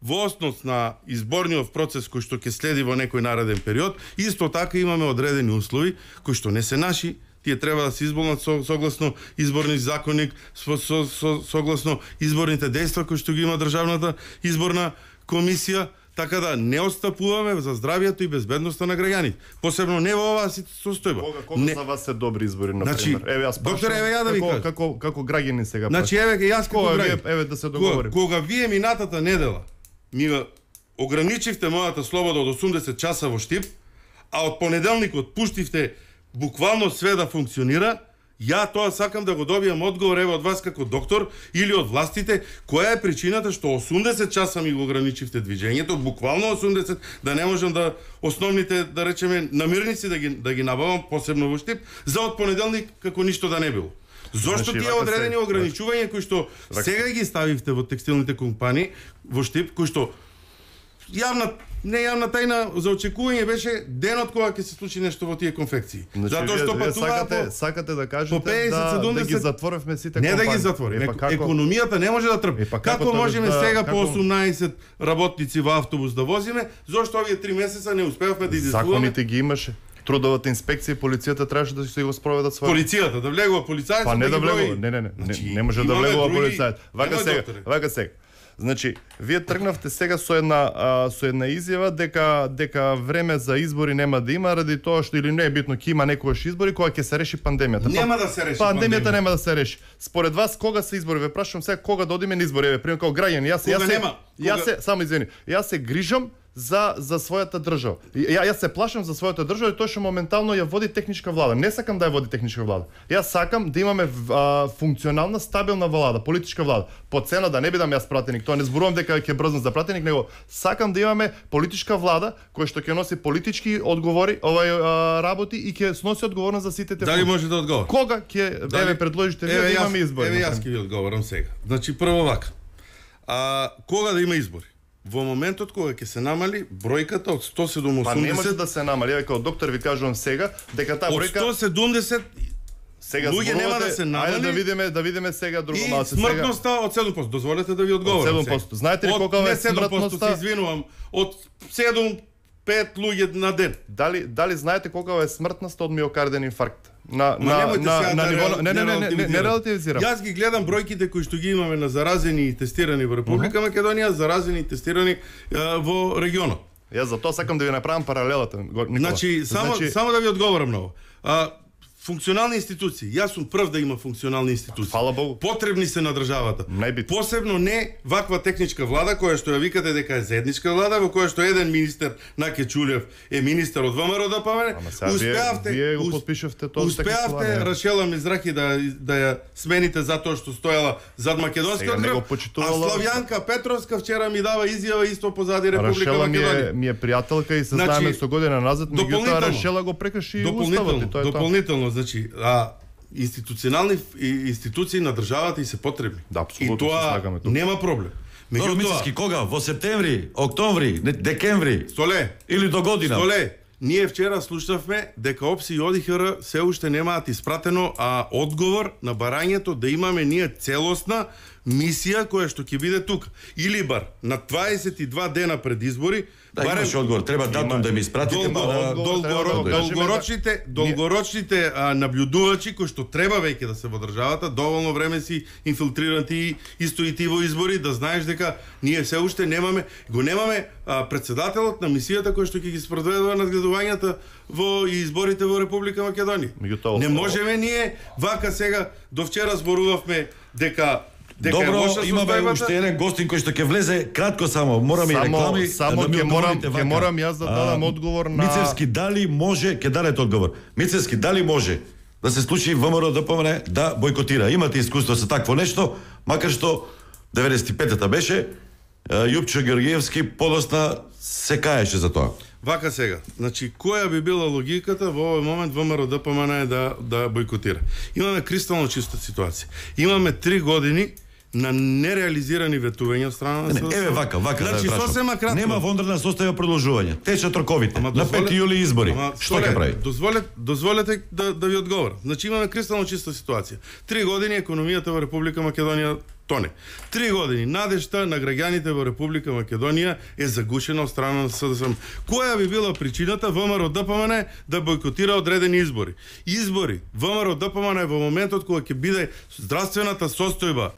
Во основ на изборниот процес кој што ќе следи во некој нареден период, исто така имаме одредени услови кои што не се наши, тие треба да се изболнат со, согласно изборни законник, со, со, со, согласно изборните дејства кои што ги има државната изборна комисија, така да не отстапуваме за здравјето и безбедноста на граѓаните. Посебно не во оваа состојба. Кога, кога не... за вас се добри избори, на значи, пример? Еве јас доктор, еве ја да ви кажам. Како како граѓани сега. Значи еве јас како граѓани. Еве да се договориме. Кога, кога вие минатата недела ми ограничивте мојата слобода од осумдесет часа во Штип, а од понеделникот пуштивте буквално све да функционира, ја тоа сакам да го добијам одговор еве од вас како доктор или од властите, која е причината што осумдесет часа ми го ограничивте движењето, буквално осумдесет, да не можам да основните, да речеме, намирници да ги да ги набавам, посебно во Штип, за од понеделник како ништо да не било. Зошто значи, тие одредени ограничувања кои што вака... сега ги ставивте во текстилните компании во Штип, кои што јавна не јавна тајна за очекување беше денот кога ќе се случи нешто во тие конфекции. Значи, затоа што патуваа сакате, по, сакате да кажете по петдесет седумдесет, да, да ги затворевме сите не компании. да ги затвориме. Е, како... Економијата не може да трпи. Е, како, како можеме да, сега како... по осумнаесет работници во автобус да возиме, зошто овие три месеца не успеавме да изискуваме? Законите ги имаше. Трудовата инспекција и полицијата требаше да се го спроведат своја. Полицијата да влегува полицајцот. Па не да, да влегува, не, не, не, значи, не, не може да влегува други... полицајот. Вака сега, вака сега. Значи, вие тргнавте сега со една а, со една изјава дека дека време за избори нема да има ради тоа што или не е битно ќе има некогаш избори кога ќе се реши пандемијата. Нема да се реши пандемијата. Пандемијата нема да се реши. Според вас кога се избори? Ве прашувам сега кога да одиме на избори, еве пример како граѓани. Јас кога јас се нема? јас Кога... се само извини. Јас се грижам за за својата држава. Ја јас се плашам за својата држава и тоа што моментално ја води техничка влада. Не сакам да ја води техничка влада. Јас сакам да имаме а, функционална, стабилна влада, политичка влада. По цена да не бидам јас пратеник, тоа не зборувам дека ќе брзнам за пратеник, него сакам да имаме политичка влада која што ќе носи политички одговори, овај а, работи и ќе сноси одговорност за сите те. Дали може да одговори? Кога ќе Дали... еве предложите вие да имаме избори? Еве јас ќе ви одговорам сега. Значи прво вака. А кога да има избори? Во моментот кога ќе се намали бројката од сто седумдесет. Па не може да се намали, еве како доктор ви кажувам сега дека таа бројка од сто седумдесет сега луѓе нема да се намали. Ајде да видиме, да видиме сега друго малку сега. И смртноста од седум проценти. Дозволете да ви одговорам. Од седум проценти. Знаете ли колку е смртноста? Се извинувам, од седум пет луѓе на ден. Дали дали знаете колку е смртноста од миокарден инфаркт? На Ма на на, на, на ниво не не не не, не, не релативизирам. Јас ги гледам бројките кои што ги имаме на заразени и тестирани во Република uh -huh. Македонија, заразени и тестирани а, во регионот. Јас за тоа сакам да ви направам паралелата, Никола. Значи само значи... само да ви одговорам на ова. А, функционални институции. Јас сум прв да има функционални институции. Фала Богу. Потребни се на државата. Најбит. Посебно не ваква техничка влада која што ја викате дека е заедничка влада, во која што еден министер Наке Чулев е министер од ВМРО-ДПМН. Успеавте, вие го подпишавте тоа. Успеавте Рашела Мизрахи да да ја смените затоа што стоела зад македонскиот грб. А Славјанка Петровска вчера ми дава изјава исто позади Република Рашела Македонија. Ми е, ми е пријателка и се знаеме со година назад, меѓутоа Рашела го прекрши уставот и тоа е тоа. Дополнително, значи, а институционални институции на државата и се потребни. Да, и тоа нема проблем. Меѓутоа, кога? Во септември, октомври, декември? Столе. Или до година? Столе. Ние вчера слушнавме дека ОПС и ОДИХР се уште немаат испратено а одговор на барањето да имаме ние целосна мисија која што ќе биде тука. Или бар на дваесет и два дена пред избори, да, барем имаш одговор, треба датум да ми испратите, долго, да, долго, да долгорочните, долгорочните а, наблюдувачи кои што треба веќе да се во државата, доволно време си инфилтрирани исто и ти во избори, да знаеш дека ние се уште немаме, го немаме а, председателот на мисијата кој што ќе ги спроведува надгледувањата во изборите во Република Македонија. Не можеме ние вака сега до вчера зборувавме дека Дека добро, имаме уште еден гостин кој што ќе влезе кратко само, мораме и реклами. Само ќе морам, ќе морам јас да дадам а, одговор на Мицевски дали може, ќе дадете одговор. Мицевски дали може да се случи ВМРО-ДПМН да бойкотира. Имате искуство со такво нешто, макар што деветдесет и петата беше, Јупчо Георгиевски подосна се каеше за тоа. Вака сега, значи која би била логиката во овој момент ВМРО-ДПМН е да да бойкотира? Имаме кристално чиста ситуација. Имаме три години на нереализирани ветувања од страна на СДСМ. Еве вака, вака значи, да сосема кратко. Нема вонредна состојба продолжување. Течат роковите. Ама, на пети јули избори. Ама, што ќе прави? Дозволете, дозволете да да ви одговорам. Значи имаме кристално чиста ситуација. Три години економијата во Република Македонија тоне. Три години надежта на граѓаните во Република Македонија е загушена од страна на СДСМ. Која би била причината ВМРО-ДПМН да бойкотира одредени избори? Избори ВМРО-ДПМН во моментот кога ќе биде здравствената состојба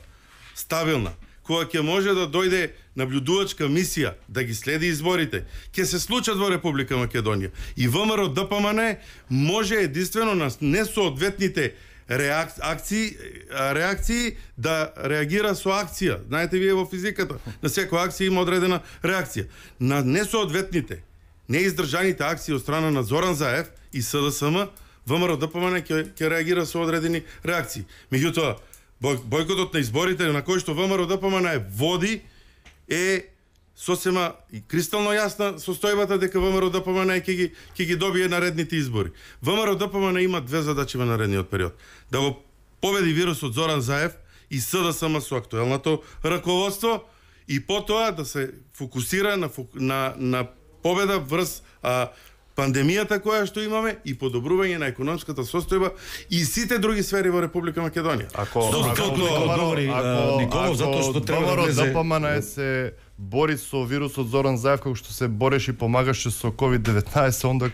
стабилна, кога ќе може да дојде наблюдувачка мисија да ги следи изборите, ќе се случат во Република Македонија. И ВМРО-ДПМН може единствено на несоодветните реакции, реакции да реагира со акција. Знаете вие во физиката, на секоја акција има одредена реакција. На несоодветните, неиздржаните акции од страна на Зоран Заев и СДСМ, ВМРО-ДПМН ќе ќе реагира со одредени реакции. Меѓутоа, бојкотот на изборите на кој што ВМРО-ДПМН води е сосема и кристално јасна состојбата дека ВМРО-ДПМН ќе ги ќе ги добие наредните избори. ВМРО-ДПМН има две задачи во наредниот период: да го победи вирусот Зоран Заев и СДСМ со актуелното раководство и потоа да се фокусира на на на победа врз а, пандемијата која што имаме и подобрување на економската состојба и сите други сфери во Република Македонија. Ако Николов затоа што треба да влезе ДПМН се бори со вирусот Зоран Заев како што се бореше и помагаше со ковид деветнаесет, онда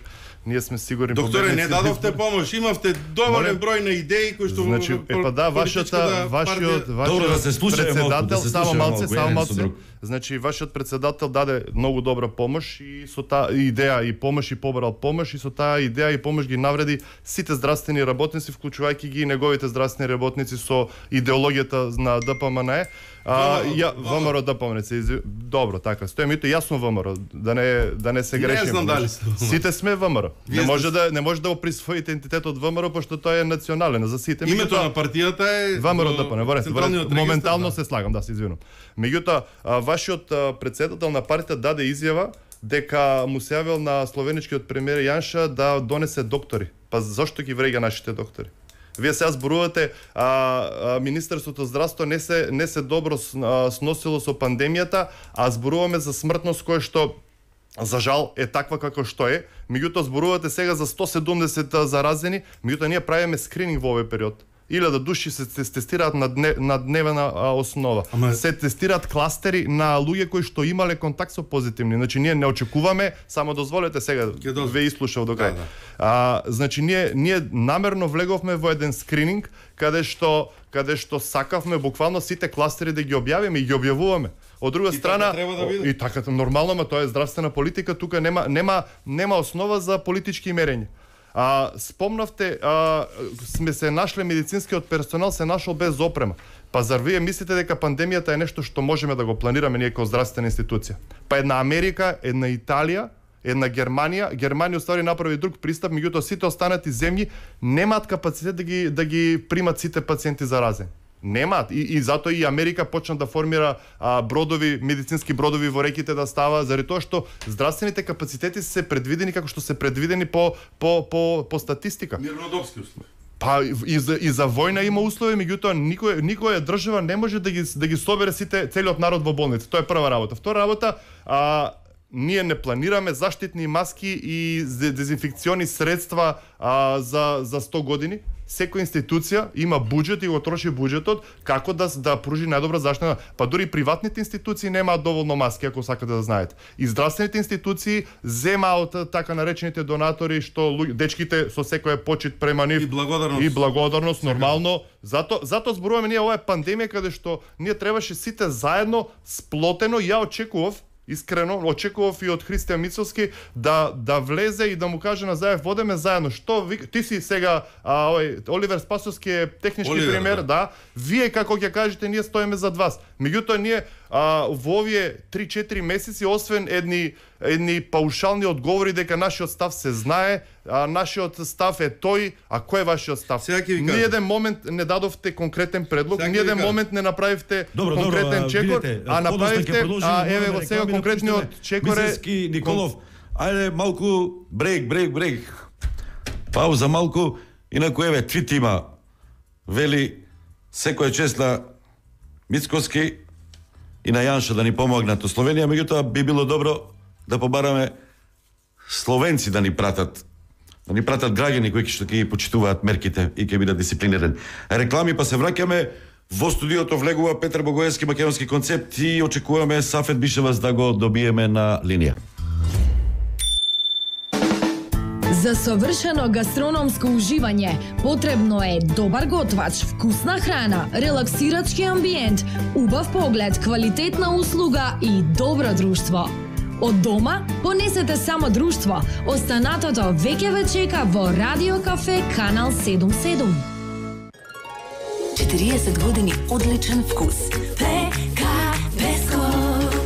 ние сме сигурни Докторе, не дадовте помош, имавте доволен број на идеи кои што значи е па да вашата вашиот Добро да се слушаме председател малку, само малце, само еден со малце. друг. Значи вашиот председател даде многу добра помош и со таа идеја и помош и побрал помош и со таа идеја и помош ги навреди сите здравствени работници, вклучувајќи ги и неговите здравствени работници со идеологијата на ДПМН. А ја ВМРО ДПМН се из... добро, така. Стојмето јасно ВМРО, да не да не се грешиме. Не знам дали сте. Сите сме ВМРО. Не може да не може да го присвоите идентитетот ВМРО пошто тој е национален за сите. Името на партијата е ВМРО ДПМН, во ред, Централниот регистар. моментално се слагам, да се извинувам. Меѓутоа, вашиот претседател на партијата даде изјава дека му се јавил на словеничкиот премиер Јанша да донесе доктори. Па зошто ги вреѓа нашите доктори? Вие сега зборувате, а, а Министерството здравство не се не се добро а, сносило со пандемијата, а зборуваме за смртност која што за жал е таква како што е. Меѓутоа зборувате сега за сто седумдесет заразени, меѓутоа ние правиме скрининг во овој период. Илјада души се тестираат на, дне, на дневна а, основа. Ама... Се тестираат кластери на луѓе кои што имале контакт со позитивни. Значи ние не очекуваме, само дозволете сега ве изслушав до крај. Да, да. А, значи ние ние намерно влеговме во еден скрининг каде што каде што сакавме буквално сите кластери да ги објавиме и ги објавуваме. Од друга и страна така да и така нормално, ма тоа е здравствена политика, тука нема нема нема основа за политички мерења. А, спомнавте, а, сме се нашле медицинскиот персонал се нашол без опрема. Па зар вие мислите дека пандемијата е нешто што можеме да го планираме ние како здравствена институција? Па една Америка, една Италија, една Германија, Германија уствари направи друг пристап, меѓутоа сите останати земји немаат капацитет да ги да ги примат сите пациенти заразени. Немаат и, и затоа и Америка почна да формира а, бродови, медицински бродови во реките да става, заради тоа што здравствените капацитети се предвидени како што се предвидени по по по по статистика. Мирнодопски услови. Па и за и за војна има услови, меѓутоа никој никоја држава не може да ги да ги собере сите целиот народ во болница. Тоа е прва работа. Втора работа, а ние не планираме заштитни маски и дезинфекциони средства а, за за сто години. Секоја институција има буџет и го троши буџетот како да да пружи најдобра заштита. Па дури приватните институции немаат доволно маски, ако сакате да знаете. И здравствените институции земаат од така наречените донатори што дечките со секој почит према нив и благодарност. И благодарност нормално. Зато зато зборуваме ние ова е пандемија каде што ние требаше сите заедно сплотено. Ја очекував искрено очекував и од Христијан Мицовски да да влезе и да му каже на Заев водеме заедно. Што ви, ти си сега а, овој Оливер Спасовски е технички Оливер, премиер, да. да. Вие како ќе кажете ние стоиме зад вас. Меѓутоа ние а, во овие три-четири месеци освен едни едни паушални одговори дека нашиот став се знае, а нашиот став е тој, а кој е вашиот став? Ни еден момент не дадовте конкретен предлог, ни еден момент не направивте добро, конкретен добро, чекор, видите, а направивте, а еве го сега конкретниот чекор е... Мисески Николов, ајде малку брейк, брейк, брейк. Пауза малку, инаку еве твит има, вели секоја чест на Мицковски и на Јанша да ни помогнат у Словенија, меѓутоа би било добро да побараме словенци да ни пратат, да ни пратат граѓани кои што ќе ги почитуваат мерките и ќе бидат дисциплинирани. Реклами, па се враќаме во студиото влегува Петар Богоевски, македонски концепт и очекуваме Сафет Бишевас да го добиеме на линија. За совршено гастрономско уживање потребно е добар готвач, вкусна храна, релаксирачки амбиент, убав поглед, квалитетна услуга и добро друштво. Од дома понесете само друштво. Останатото веќе ве чека во Радио Кафе Канал седумдесет и седум. четириесет години одличен вкус. Пека Беско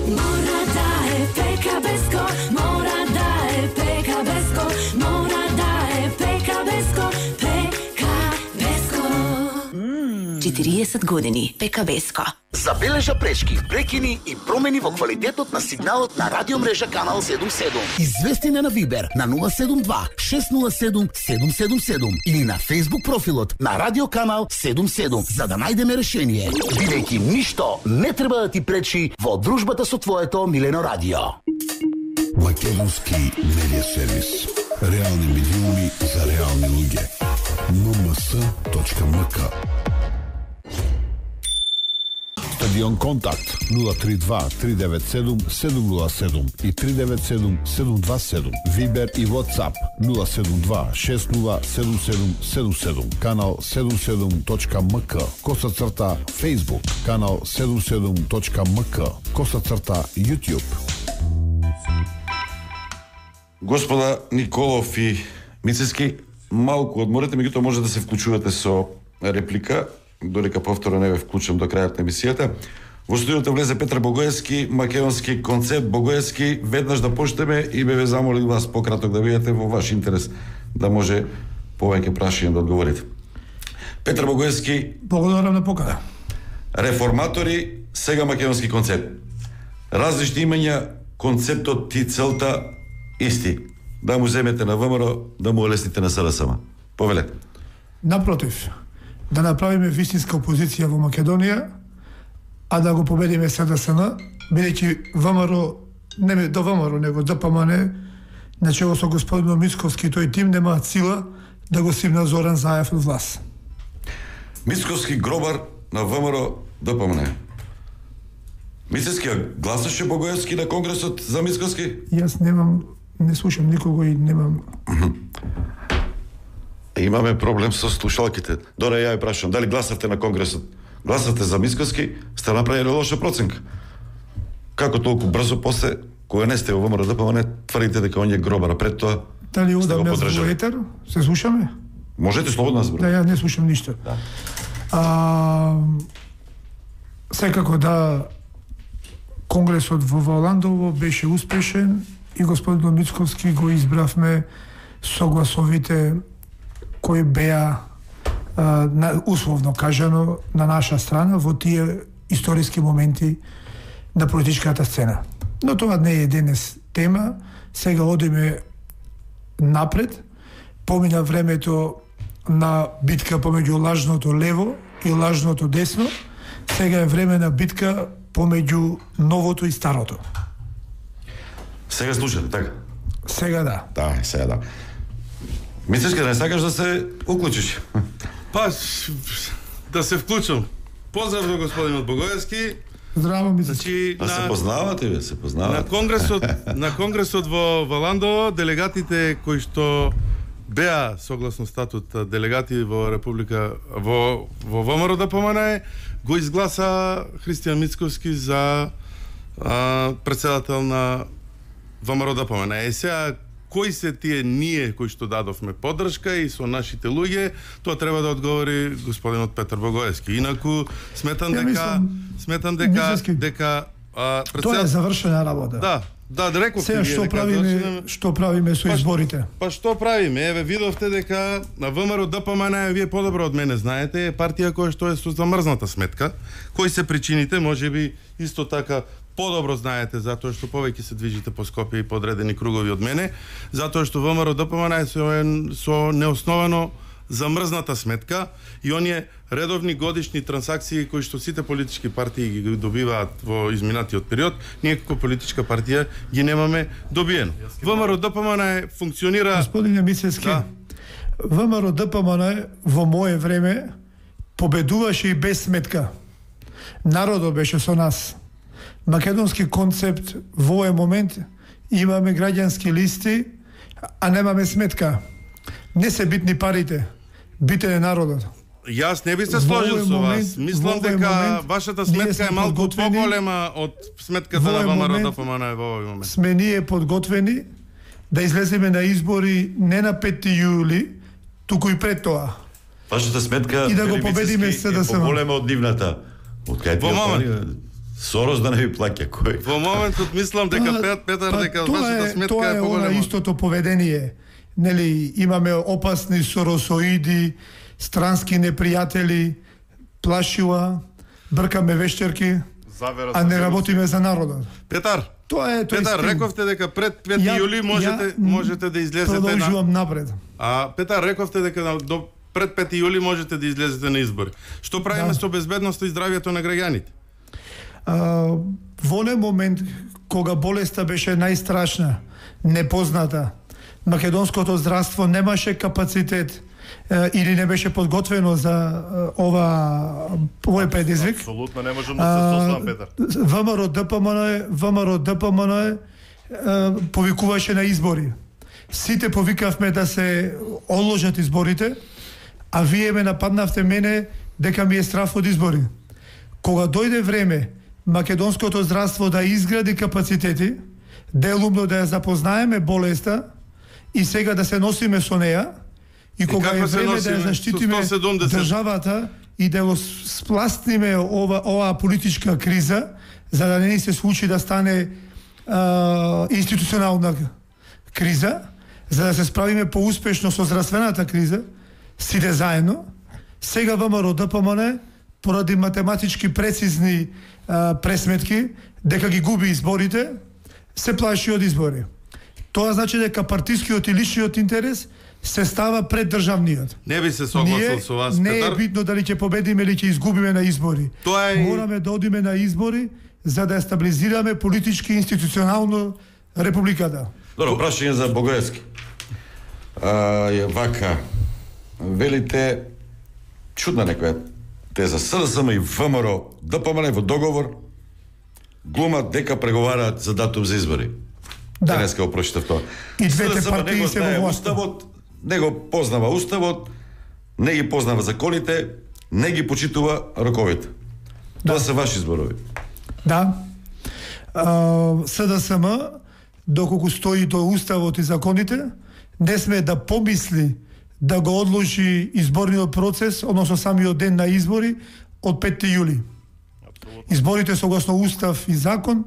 мора да е Пека Беско, мора да е Пека Беско, мора да е Пека Беско, Пека Беско. четириесет години Пека Беско. Забележа пречки, прекини и промени во квалитетот на сигналот на радиомрежа Канал седумдесет и седум. Извести на Вибер на нула седум два шест нула седум седум седум седум или на Facebook профилот на Радио Канал седумдесет и седум за да најдеме решение. Бидејќи ништо не треба да ти пречи во дружбата со твоето милено радио. Македонски медиа сервис. Реални медиуми за реални луѓе. ем ем ес точка ем ка Стадион Контакт нула три два три девет седум седум нула седум и три девет седум седум два седум. Вибер и WhatsApp нула седум два шест нула седум седум седум седум. Канал седум седум точка ем ка. Коса црта Facebook. Канал седум седум точка ем ка. Коса црта YouTube. Господа Николов и Мицески, малку одморете, меѓутоа може да се вклучувате со реплика, додека повторно не ве вклучам до крајот на емисијата. Во студиото влезе Петар Богоевски, македонски концепт Богоевски. Веднаш да почнеме и бе ве замолил вас пократок да бидете во ваш интерес, да може повеќе прашања да одговорите. Петар Богоевски, благодарам на покана. Реформатори, сега македонски концепт. Различни имања, концептот и целта исти. Да му земете на ВМРО, да му олесните на СДСМ. Повелете. Напротив, да направиме вистинска опозиција во Македонија, а да го победиме СДСМ, бидејќи ВМРО, не до ВМРО, него ДПМН, начело со господин Мицковски и тој тим немаат сила да го симна Зоран Заев од власт. Мицковски гробар на ВМРО ДПМН. Мицевски гласаше Богоевски на конгресот за Мицковски? Јас немам, не слушам никого и немам... Имаме проблем со слушалките. Доре, ја ја прашам, дали гласавте на конгресот? Гласавте за Мицковски, сте направили лоша проценка. Како толку брзо после, кога не сте во ВМРО ДПМН, тврдите дека он е гробар, а пред тоа дали одам јас во етер? Се слушаме? Можете слободно да зборувате. Да, ја не слушам ништо. Да. А, секако да, конгресот во Валандово беше успешен и господин Мицковски го избравме со гласовите кои беа на, условно кажано на наша страна во тие историски моменти на политичката сцена. Но тоа не е денес тема, сега одиме напред, помина времето на битка помеѓу лажното лево и лажното десно, сега е време на битка помеѓу новото и старото. Сега слушате, така? Сега да. Да, сега да. Мислиш да не сакаш да се уклучиш? Па, да се вклучам. Поздрав до господинот Богоевски. Здраво, мислиш. Значи, а на... се познавате, бе, се познавате. На конгресот, на конгресот во Валандово, делегатите кои што беа согласно статут делегати во Република во во ВМРО ДПМН го изгласа Христијан Мицковски за а, председател на ВМРО ДПМН. Е сега кои се тие ние кои што дадовме поддршка и со нашите луѓе, тоа треба да одговори господинот Петар Богоевски. Инаку сметам дека мислам, сметам дека мислески, дека а, председател... Тоа е завршена работа. Да. Да, да реков сега што правиме, дека... што правиме со изборите? Па, па што правиме? Еве видовте дека на ВМРО ДПМН, вие подобро од мене знаете, е партија која што е со замрзната сметка. Кои се причините? Можеби исто така подобро знаете, затоа што повеќе се движите по Скопје и подредени кругови од мене, затоа што ВМРО ДПМН е со, со неосновано замрзната сметка и оние редовни годишни трансакции кои што сите политички партии ги добиваат во изминатиот период, ние како политичка партија ги немаме добиено. ВМРО ДПМН функционира... Господине Мицевски, да. ВМРО ДПМН во мое време победуваше и без сметка. Народот беше со нас. Македонски концепт во овој момент имаме граѓански листи, а немаме сметка. Не се битни парите, битен е народот. Јас не би се сложил со вас. Мислам дека вашата сметка е малку поголема од сметката на ВМРО ДПМН во овој момент. Сме ние подготвени да излеземе на избори не на пети јули, туку и пред тоа. Вашата сметка и да го победиме СДСМ. Е поголема од нивната. Од кај во момент Сорос да не ви плаќа кој. Во моментот мислам дека Пет Петар па, дека вашата сметка тоа е поголема. Тоа е истото поведение. Нели имаме опасни соросоиди, странски непријатели, плашила, бркаме вештерки, а не работиме за народот. Петар, тоа е тој Петар, стил. рековте дека пред пети јули можете ја, можете да излезете на Продолжувам напред. А Петар, рековте дека до пред пети јули можете да излезете на избори. Што правиме да. со безбедноста и здравјето на граѓаните? Uh, во онен момент кога болеста беше најстрашна, непозната, македонското здравство немаше капацитет или не беше подготвено за ова овој предизвик. Апсолутно не можам да се сослам, Петар. ВМРО ДПМН, ВМРО ДПМН повикуваше на избори. Сите повикавме да се одложат изборите, а вие ме нападнавте мене дека ми е страф од избори. Кога дојде време македонското здравство да изгради капацитети, делумно да ја запознаеме болеста и сега да се носиме со неа, и кога е време да ја заштитиме државата и да го спластиме ова, оваа политичка криза, за да не ни се случи да стане а, институционална криза, за да се справиме поуспешно со здравствената криза, сите заедно, сега ВМРО ДПМН поради математички прецизни а, пресметки дека ги губи изборите, се плаши од избори. Тоа значи дека партискиот и личниот интерес се става пред државниот. Не би се согласил со вас, не Петар. Не е битно дали ќе победиме или ќе изгубиме на избори. Тоа е... Мораме да одиме на избори за да стабилизираме политички и институционално републиката. Добро, прашање за Богоевски. А, е, вака, велите, чудна некоја теза, СДСМ и ВМРО ДПМН во договор глумат дека преговараат за датум за избори. Да. Денеска го прочитав тоа. И двете партии се во власт. Уставот, не го познава уставот, не ги познава законите, не ги почитува роковите. Да. Тоа се ваши зборови. Да. А, СДСМ, доколку стои до уставот и законите, не сме да помисли да го одложи изборниот процес, односно самиот ден на избори, од петти јули. Изборите согласно устав и закон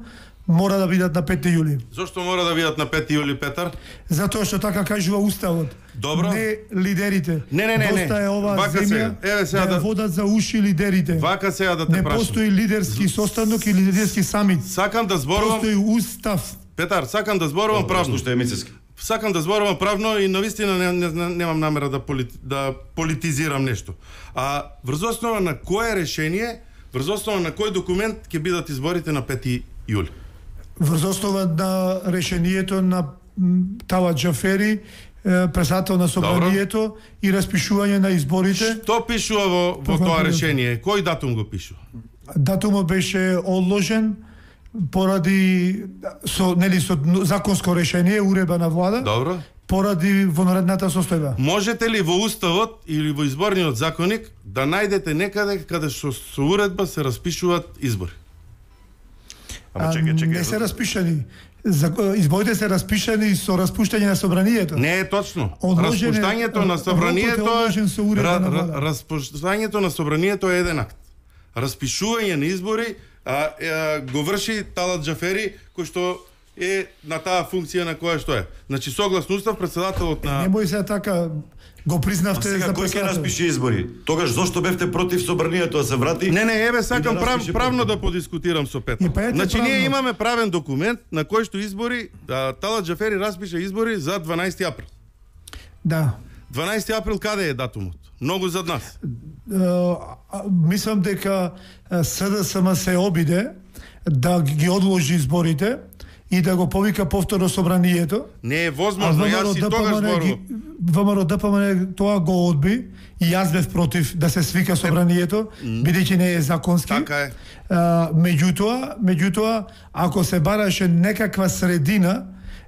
мора да бидат на петти јули. Зошто мора да бидат на петти јули, Петар? Затоа што така кажува уставот. Добро. Не лидерите. Не, не, не, Доста е оваа Вака земја Еве сега да, да водат за уши лидерите. Вака сега да те не прашам. Не постои лидерски состанок и лидерски самит. Сакам да зборувам. Постои устав. Петар, сакам да зборувам правно. Што е Мицевски. Сакам да зборувам правно и навистина не, не, не, немам намера да, полит, да политизирам нешто. А врз основа на кое решение, врз основа на кој документ ќе бидат изборите на петти јули? Врз основа на решението на Талат Џафери, председател на собранието, Добро. И распишување на изборите. Што пишува во, во тоа решение? Кој датум го пишува? Датумот беше одложен поради со нели со законско решение, уредба на влада. Добро. Поради вонредната состојба. Можете ли во уставот или во изборниот законник да најдете некаде каде што со уредба се распишуваат избори? Ама чекай, чекай. Не се распишани. Изборите се распишани со распуштање на собранието. Не е точно. Одложене, распуштањето на собранието е распуштањето на собранието е еден акт. Распишување на избори а, а, го врши Талат Џафери, кој што е на таа функција на која што е. Значи согласно устав председателот на Немој се така го признавте за председател. Кој ќе распише избори? Тогаш зошто бевте против собранието да се врати? Не, не, еве сакам да прав, правно да подискутирам со Петар. Значи правно. Ние имаме правен документ на кој што избори, да, Талат Џафери распише избори за дванаесети април. Да. дванаесети април каде е датумот? Многу зад нас. Uh, мислам дека СДСМ се обиде да ги одложи изборите и да го повика повторно собранието. Не е возможно, јас и тогаш зборувам. ВМРО ДПМН тоа го одби и јас бев против да се свика собранието, бидејќи не е законски. Така е. Uh, меѓутоа, меѓутоа, ако се бараше некаква средина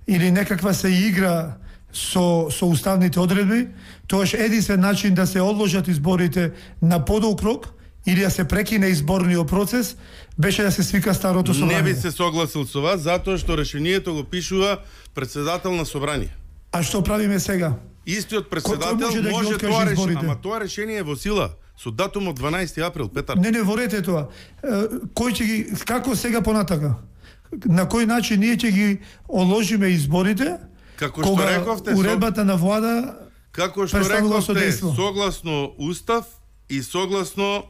или некаква се игра со со уставните одредби, тоаш единствен начин да се одложат изборите на подолг рок или да се прекине изборниот процес беше да се свика старото собрание. Не би се согласил со вас затоа што решението го пишува председател на собрание. А што правиме сега? Истиот председател може, да може тоа решение, ама тоа решение е во сила со датум од дванаесети април, Петар. Не, не ворете тоа. Кој ќе ги како сега понатака? На кој начин ние ќе ги одложиме изборите? Како што рековте, уредбата на влада како што рековте, согласно устав и согласно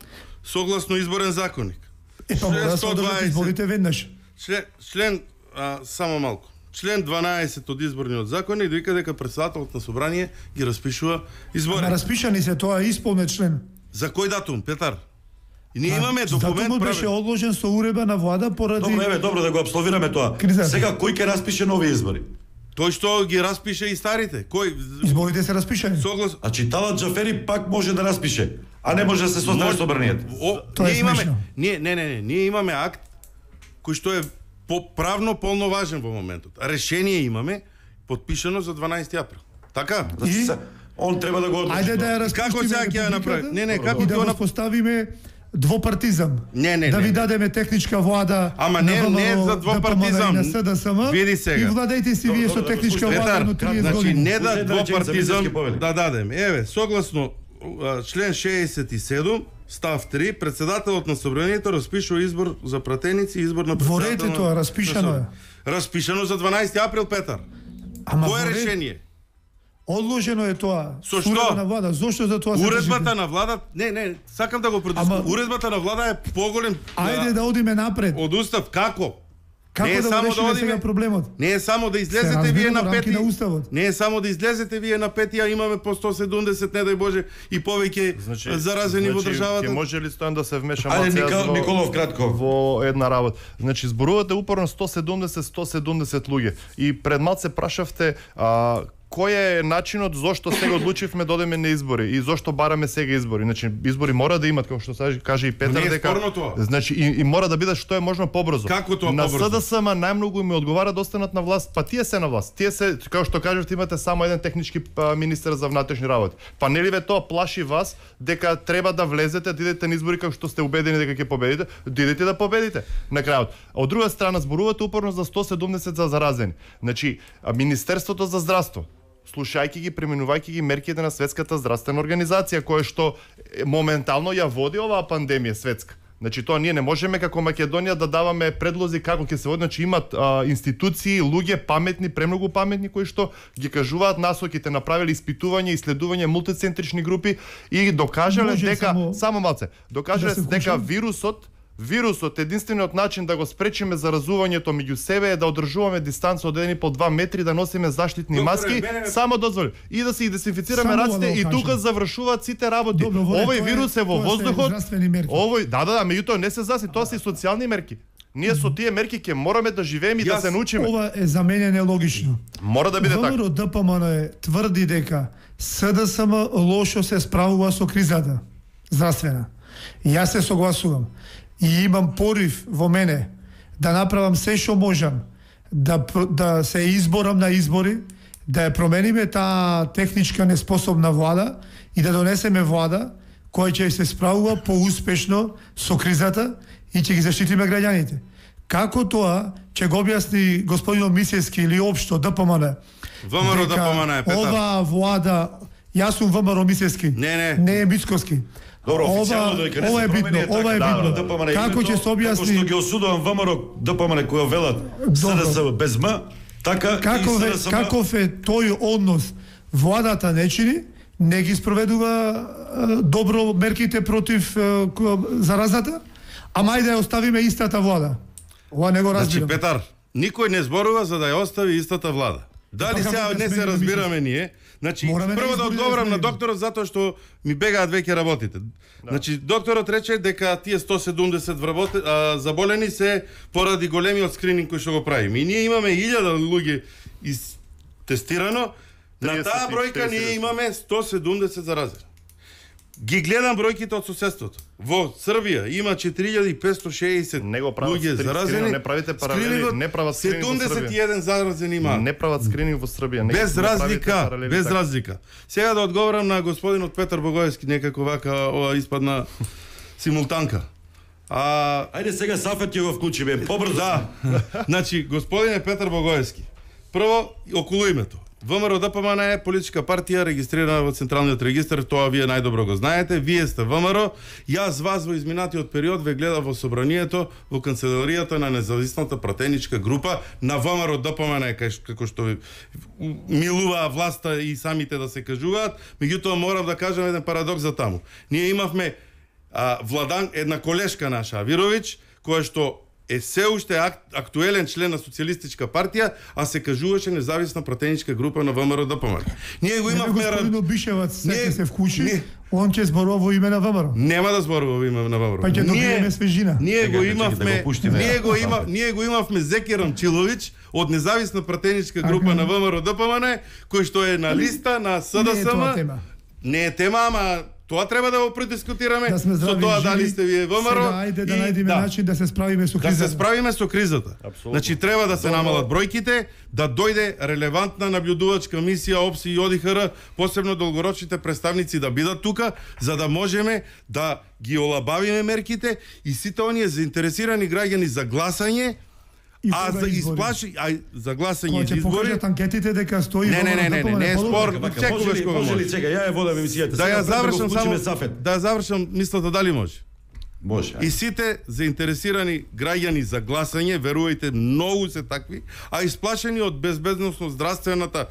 согласно изборен законник. Е, па мора да се одржат изборите веднаш. Член, член а, само малку. Член дванаесет од изборниот законник вика дека председателот на собрание ги распишува избори. Ама распишани се, тоа е исполнет член. За кој датум, Петар? И ние имаме документ. Датумот беше одложен со уредба на влада поради. Добро, еве, добро да го апсолвираме тоа. Криза. Сега кој ќе распише нови избори? Тој што ги распише и старите. Кој изборите се распишани. Соглас. А Талат Џафери пак може да распише, а не може да се состави собранието. Тоа е имаме. Не, не, не, не, ние имаме акт кој што е по правно полноважен во моментот. Решение имаме подпишано за дванаесети април. Така? И он треба да го одлучи. Ајде да ја распиштиме. Како сега ќе ја направи? Не, не, како и ќе да го го поставиме двопартизам. Не, не, да ви не. дадеме техничка влада. Ама не, не за двопартизам. На СДСМ. Види сега. И владејте си вие со техничка влада на триесет значи, години. не да двопартизам да дадеме. Еве, согласно член шеесет и седум, став три, председателот на собранието распишува избор за пратеници и избор на председател. Ворете тоа, распишано е. Распишано за дванаесети април, Петар. Ама Кое ворет... решение? Одложено е тоа. Со што? На влада. Зошто за тоа се Уредбата на влада, не, не, сакам да го предизвикам. Ама... Уредбата на влада е поголем. Ајде да одиме напред. Од устав како? Како не е да само решиме да одиме, сега проблемот? Не е само да излезете вие на пети. На не е само да излезете вие на пети, а имаме по сто седумдесет, не дај Боже, и повеќе значи, заразени значи, во државата. Ќе може ли Стојан да се вмеша малку во, Николов кратко во една работа? Значи зборувате упорно сто седумдесет сто седумдесет луѓе и пред малце прашавте а, кој е начинот зошто сега одлучивме да одеме на избори и зошто бараме сега избори. Значи избори мора да имат, како што каже и Петар, дека значи и, и мора да бидат што е можно побрзо. Како тоа на побрзо? На СДСМ најмногу им одговара да останат на власт, па тие се на власт. Тие се, како што кажавте, имате само еден технички министер за внатрешни работи. Па нели ве тоа плаши вас дека треба да влезете, да идете на избори како што сте убедени дека ќе победите, да идете да победите на крајот. А од друга страна зборувате упорно за сто седумдесет за заразени. Значи Министерството за здравство, слушајќи ги, применувајќи ги мерките на Светската здравствена организација, која што моментално ја води оваа пандемија светска. Значи тоа ние не можеме како Македонија да даваме предлози како ќе се води, значи имат а, институции, луѓе паметни, премногу паметни кои што ги кажуваат насоките, направиле испитување, исследување, мултицентрични групи и докажале дека само, само малце, докажале да дека вирусот Вирусот, единствениот начин да го спречиме заразувањето меѓу себе е да одржуваме дистанца од еден и по два метри, да носиме заштитни Доктор, маски, мене... само дозволи. И да се дезинфицираме раците и тука завршуваат сите работи. Добро, овој вирус е во воздухот. Овој, да, да, да, меѓутоа не се заси, тоа се и социјални мерки. Ние со тие мерки ќе мораме да живееме и да се научиме. Ова е за мене нелогично. Мора да биде така. ВМРО ДПМН тврди дека СДСМ лошо се справува со кризата здравствена. Јас се согласувам. И имам порив во мене да направам се што можам да, да се изборам на избори, да ја промениме таа техничка неспособна влада и да донесеме влада која ќе се справува поуспешно со кризата и ќе ги заштитиме граѓаните. Како тоа ќе го објасни господинот Мисевски или општо ДПМН? ВМРО ДПМН е, Петар. Оваа влада, јас сум ВМРО Мисевски, не, не. не е Мицковски. Добро, официјално дека не се битно, ова е битно. Да, како ќе се објасни? Како што ги осудувам ВМРО ДПМН која велат СДСМ без М, така каков и е, СДСМ. Каков е тој однос? Владата не чини, не ги спроведува е, добро мерките против е, заразата, ама ајде да оставиме истата влада. Ова не го разбирам. Значи, Петар, никој не зборува за да ја остави истата влада. Дали сега не се разбираме ние? Значи, Мораме прво да одговорам на докторот затоа што ми бегаат веќе работите. Да. Значи, докторот рече дека тие сто седумдесет вработи, а, заболени се поради големиот скрининг кој што го правиме. И ние имаме илјада луѓе из тестирано, на таа бројка ние имаме сто седумдесет заразени. Ги гледам бројките од соседството. Во Србија има четири илјади и петстотини и шеесет луѓе заразени. Не правите паралели, не прават скрининг во Србија. седумдесет и еден заразени има. Не прават скрининг во Србија. Без разлика, без разлика. Сега да одговорам на господинот Петар Богоевски, некако вака ова испадна симултанка. А ајде сега Сафет ќе го вклучиме побрзо. Да. Значи господине Петар Богоевски. Прво околу името. ВМРО ДПМН е политичка партија регистрирана во Централниот регистар, тоа вие најдобро го знаете. Вие сте ВМРО. Јас вас во изминатиот период ве гледав во собранието во канцеларијата на независната пратеничка група на ВМРО ДПМН, како што ви милуваа власта и самите да се кажуваат. Меѓутоа морам да кажам еден парадокс за таму. Ние имавме а, Владан, една колешка наша Авировиќ, која што е се уште ак, актуелен член на Социјалистичка партија, а се кажуваше независна пратеничка група на ВМРО Д П М Н. Ние го имавме... Господин Бишевац се се вкуши, не, он ќе зборува во име на ВМРО. Нема да зборува во име на ВМРО. Па ќе добиеме свежина. Ние го имавме, ние го има, ние го имавме Зеки Рамчиловиќ од независна пратеничка група на ВМРО Д П М Н, кој што е на листа на С Д С М. Не е тема, ама тоа треба да го предискутираме, да со тоа дали сте вие ВМРО. Сега ајде да најдеме да. начин да се справиме со кризата. Да се справиме со кризата. Абсолютно. Значи треба да се намалат бројките, да дојде релевантна наблюдувачка мисија ОПСИ и О Д Х Р, посебно долгорочните представници да бидат тука, за да можеме да ги олабавиме мерките и сите оние заинтересирани граѓани за гласање. А за изплаши, а за гласање за избори. Ќе анкетите дека стои. Не, не, не, не, не е спор. Чекуваш кога може ли сега ја ја водам емисијата. Да ја завршам само. Да ја завршам мислата дали може. Може. И сите заинтересирани граѓани за гласање, верувајте, многу се такви, а исплашени од безбедносно здравствената,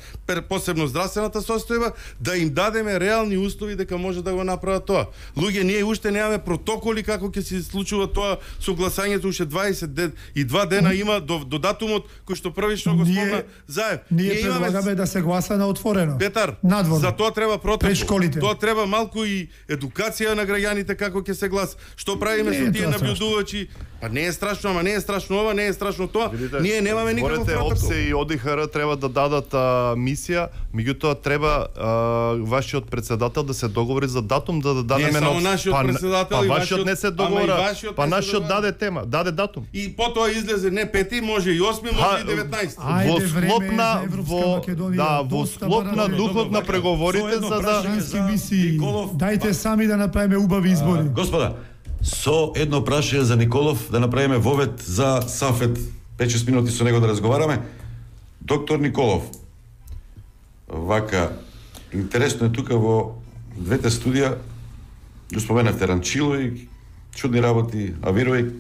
посебно здравствената состојба, да им дадеме реални услови дека може да го направат тоа. Луѓе, ние уште немаме протоколи како ќе се случува тоа со гласањето, уште дваесет и два дена има до, до датумот кој што првично го спомна Заев. Ние, ние предлагаме да се гласа на отворено. Петар, надворно. За тоа треба протокол. Тоа треба малку и едукација на граѓаните како ќе се гласа. Што правиме со тие наблюдувачи? Па не е страшно, ама не е страшно ова, не е страшно тоа. Видите, ние немаме никаков протокол. ОПСЕ и О Д Х Р треба да дадат а, мисија, меѓутоа треба а, вашиот председател да се договори за датум да да дадеме на нашиот па, председател па, и вашиот не се договора, па нашиот даде тема, даде датум. И потоа излезе не пети, може и осми, може и деветнаесети. Во склоп на во да, во склоп на духот на преговорите за да Дајте сами да направиме убави избори. Господа, со едно прашање за Николов, да направиме вовет за Сафет, пет-шест минути со него да разговараме. Доктор Николов, вака, интересно е тука во двете студија, го споменавте Ранчилови, чудни работи, Авирови,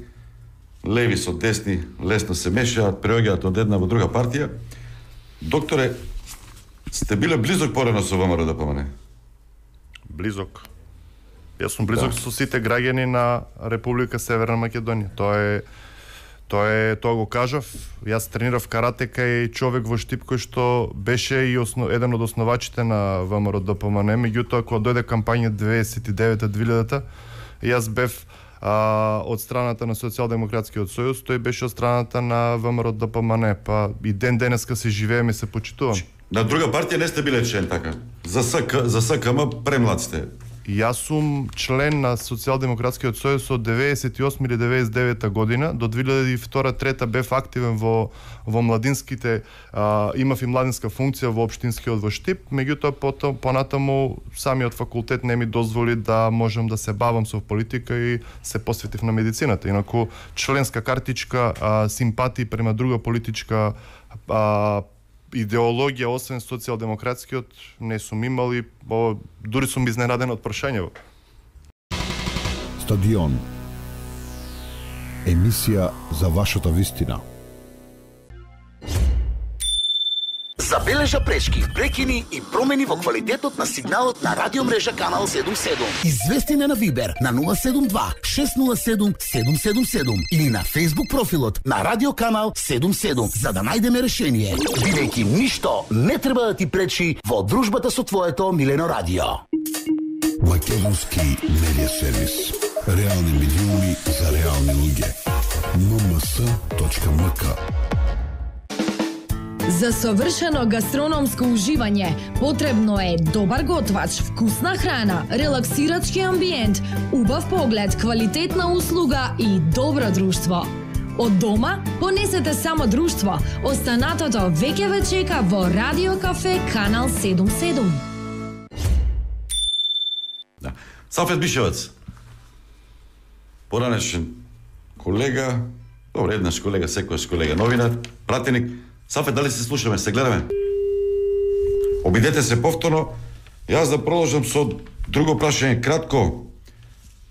леви со десни, лесно се мешаат, преоѓаат од една во друга партија. Докторе, сте биле близок порано со ВМРО Д П М Н? Близок. Јас сум близок да. со сите граѓани на Република Северна Македонија. Тоа е тоа е тоа го кажав. Јас тренирав карате кај човек во Штип кој што беше и основ, еден од основачите на ВМРО Д П М Н, меѓутоа кога дојде кампања деветдесет и девета до две илјадата, јас бев а, од страната на Социјалдемократскиот сојуз, тој беше од страната на ВМРО Д П М Н, па и ден денеска се живееме и се почитувам. На друга партија не сте биле член така. За СК, за С К М премлад сте. Јас сум член на Социјалдемократскиот сојуз од деветдесет и осма или деветдесет и девета година до две илјади и втора до трета бев активен во во младинските, а, имав и младинска функција во општинскиот во Штип, меѓутоа потом понатаму самиот факултет не ми дозволи да можам да се бавам со политика и се посветив на медицината. Инаку членска картичка, а, симпатии према друга политичка а, идеологија освен социјалдемократскиот не сум имал и о, дури сум изненаден од прашањево. Стадион. Емисија за вашата вистина. Забележа пречки, прекини и промени во квалитетот на сигналот на радиомрежа Канал седум седум. Извести на Вибер на нула седум два шест нула седум седум седум седум или на Facebook профилот на Радио Канал седум седум за да најдеме решение. Бидејќи ништо не треба да ти пречи во дружбата со твоето милено радио. Македонски медиа сервис. Реални медиуми за реални луѓе. ем ем ес точка ем ка. За совршено гастрономско уживање потребно е добар готвач, вкусна храна, релаксирачки амбиент, убав поглед, квалитетна услуга и добро друштво. Од дома понесете само друштво. Останатото веќе ве чека во Радио Кафе Канал седум седум. Да. Сафет Бишевац. Поранешен колега, добре, еднаш колега, секојаш колега, новинар, пратеник. Сафет, дали се слушаме, се гледаме? Обидете се повторно. Јас да продолжам со друго прашање, кратко.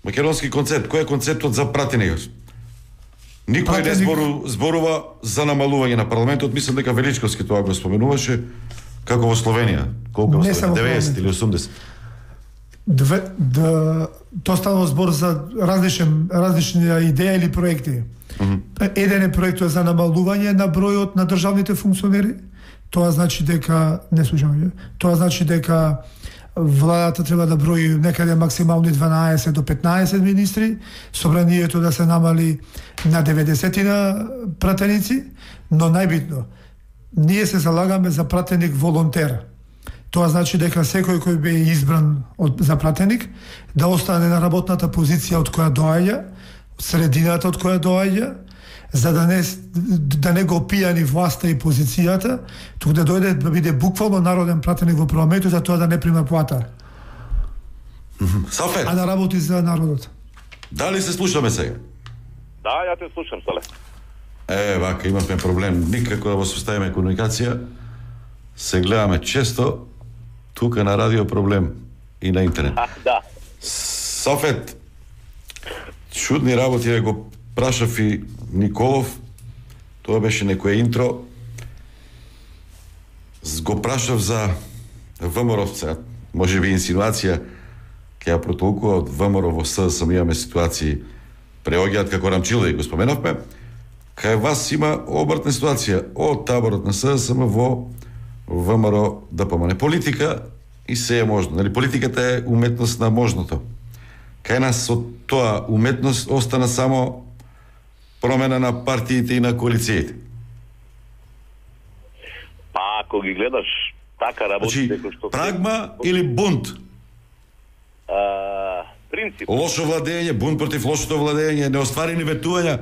Македонски концепт, кој е концептот за пратеник? Никој пратеник... не збору, зборува за намалување на парламентот, мислам дека Величковски тоа го споменуваше, како во Словенија, колку во Словенија, деветдесет или осумдесет. Две, да, тоа става збор за различни, различни идеи или проекти. Mm-hmm. Еден е проектот за намалување на бројот на државните функционери. Тоа значи дека не слушаме. Тоа значи дека владата треба да брои некаде максимално дванаесет до петнаесет министри, собранието да се намали на деветдесет пратеници, но најбитно, ние се залагаме за пратеник волонтер. Тоа значи дека секој кој бе избран од, за пратеник да остане на работната позиција од која доаѓа, средината од која доаѓа, за да не да не го пијани власта и позицијата, туку да дојде да биде буквално народен пратеник во парламентот, за тоа да не прима плата. Сафет. А да работи за народот. Дали се слушаме сега? Да, ја те слушам, Сале. Е, вака, имавме проблем. Никако да воспоставиме комуникација. Се гледаме често, тука на радио проблем и на интернет. А, да. Сафет, чудни работи, ја го прашав и Николов, тоа беше некое интро. Го прашав за ВМРО-вца, може би инсинуација, ке ја протолкува од ВМРО во СДСМ имаме ситуации, преоѓаат како Рамчило и го споменавме, кај вас има обратна ситуација од таборот на СДСМ во ВМРО да помане. Политика и се е можно. Нали, политиката е уметност на можното. Кај нас од тоа уметност остана само промена на партиите и на коалициите. Па ако ги гледаш така работи, значи, што прагма или бунт? А, принцип. Лошо владење, бунт против лошото владење, неостварени ветувања,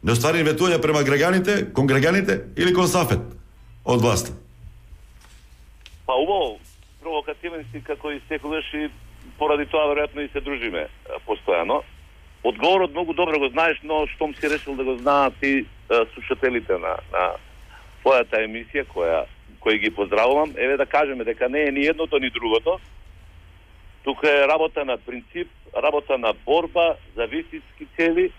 неостварени ветувања према граѓаните, кон граѓаните или кон Сафет од власта? Па убаво, провокативен си како и секогаш и поради тоа веројатно и се дружиме постојано. Одговорот многу добро го знаеш, но штом си решил да го знаат и слушателите на, на твојата емисија, која, која ги поздравувам, еве да кажеме дека не е ни едното, ни другото. Тука е работа на принцип, работа на борба за вистински цели,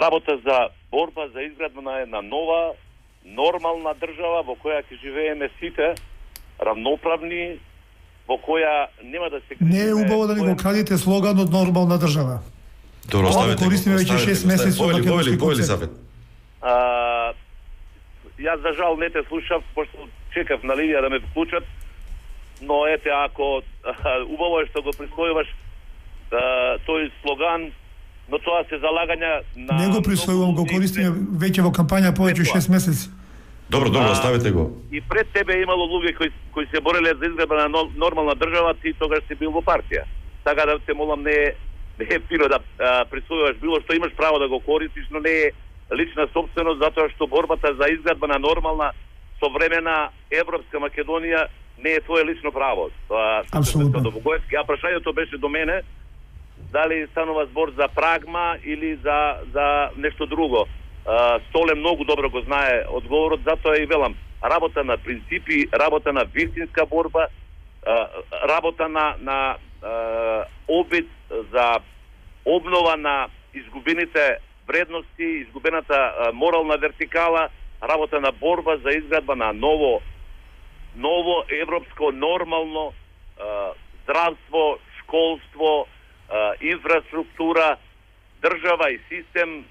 работа за борба за изградба на една нова, нормална држава во која ќе живееме сите равноправни, во која нема да се... Не е убаво да ни го крадите слоган од нормална држава. Добро, оставете го. Користиме веќе шест месеци од македонски концепт. Јас за жал не те слушав, пошто чекав на линија да ме вклучат, но ете, ако а, убаво е што го присвојуваш а, тој слоган, но тоа се залагања на... Не го присвојувам, го користиме веќе во кампања повеќе од шест месеци. Добро, добро, оставете го. И пред тебе имало луѓе кои, кои се бореле за изградба на нормална држава, ти тогаш си бил во партија. Така да те молам, не е, не е фино да а, присвојуваш било што, имаш право да го користиш, но не е лична собственост, затоа што борбата за изградба на нормална, современа европска Македонија не е твое лично право. Тоа апсолутно. А прашањето беше до мене, дали станува збор за прагма или за, за нешто друго. Uh, Столе многу добро го знае одговорот, затоа и велам, работа на принципи, работа на вистинска борба, uh, работа на, на uh, обид за обнова на изгубените вредности, изгубената uh, морална вертикала, работа на борба за изградба на ново, ново европско нормално uh, здравство, школство, uh, инфраструктура, држава и систем,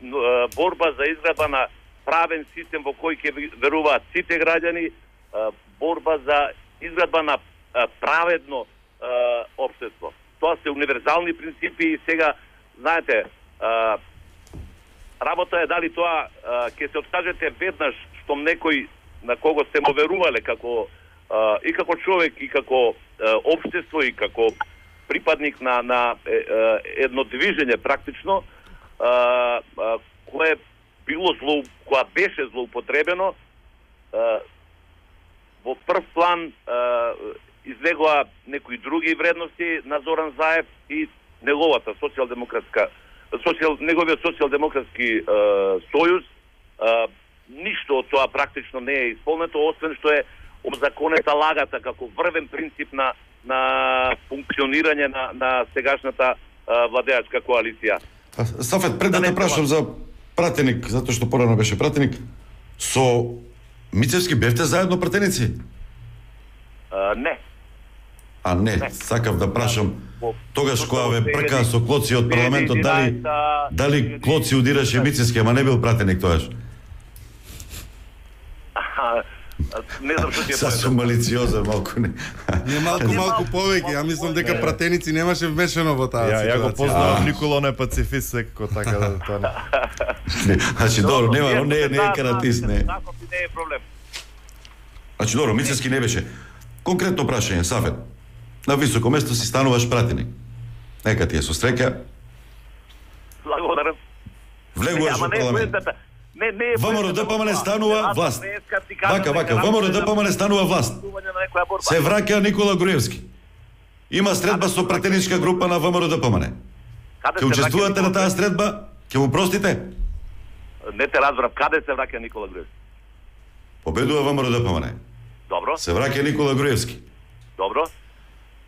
борба за изградба на правен систем во кој ќе веруваат сите граѓани, борба за изградба на праведно општество. Тоа се универзални принципи и сега, знаете, работа е дали тоа ќе се откажете веднаш штом некој на кого сте му верувале како и како човек, и како општество, и како припадник на, на едно движење практично, Uh, uh, кое било зло, која беше злоупотребено, uh, во прв план uh, излегоа некои други вредности на Зоран Заев и неговата социјалдемократска социјал, неговиот социјалдемократски uh, сојуз. Uh, ништо од тоа практично не е исполнето, освен што е озаконета лагата како врвен принцип на, на функционирање на, на сегашната uh, владеачка коалиција. Сафет, пред да те прашам за пратеник, затоа што порано беше пратеник, со Мицевски бевте заедно пратеници? Uh, не. А не, не, сакав да прашам, Тогаш кога ве прка со клоци од парламентот, дали дали клоци удираше Мицевски, ама не бил пратеник тогаш? Не знам што ти е. Са сум малициозен малку не. Не малку малку повеќе, ја мислам дека пратеници немаше вмешано во таа Ја, ситуација. ја го познавам Никола, он е пацифист секако, така да тоа не. Значи добро, нема, он не е не е каратист, не. Таков не е проблем. Значи добро, Мицевски не беше. Конкретно прашање, Сафет. На високо место си стануваш пратеник. Нека ти е со среќа. Благодарам. Влегуваш во парламент. Не, не е ВМРО ДПМН станува власт. Вака, вака, ВМРО ДПМН станува власт. Се враќа Никола Груевски. Има средба со пратеничка група на ВМРО ДПМН. Ќе учествувате на таа средба? Ќе му простите? Не те разбрав, каде се враќа Никола Груевски? Победува ВМРО ДПМН. Добро. Се враќа Никола Груевски. Добро.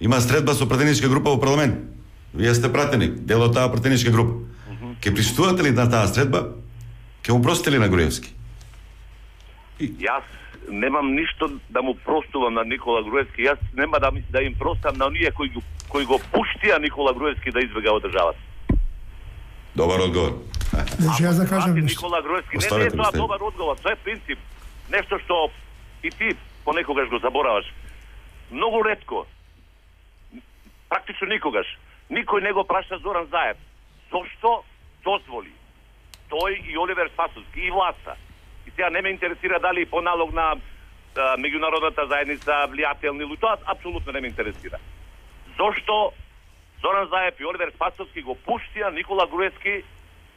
Има средба со пратеничка група во парламент. Вие сте пратеник, дел од таа пратеничка група. Ќе присуствувате ли на таа средба? Ќе му простите ли на Груевски? Јас немам ништо да му простувам на Никола Груевски. Јас нема да, да им простам на оние кои го, кои го пуштија Никола Груевски да избега од државата. Добар одговор. Значи јас да кажам нешто. Никола Груевски, не, не е тоа добар одговор, тоа е принцип. Нешто што и ти понекогаш го забораваш. Многу ретко, практично никогаш, никој не го праша Зоран Заев. Зошто дозволи тој и Оливер Спасовски и власта. И сега не ме интересира дали по налог на а, меѓународната заедница влијателни или тоа апсолутно не ме интересира. Зошто Зоран Заев и Оливер Спасовски го пуштија Никола Груевски,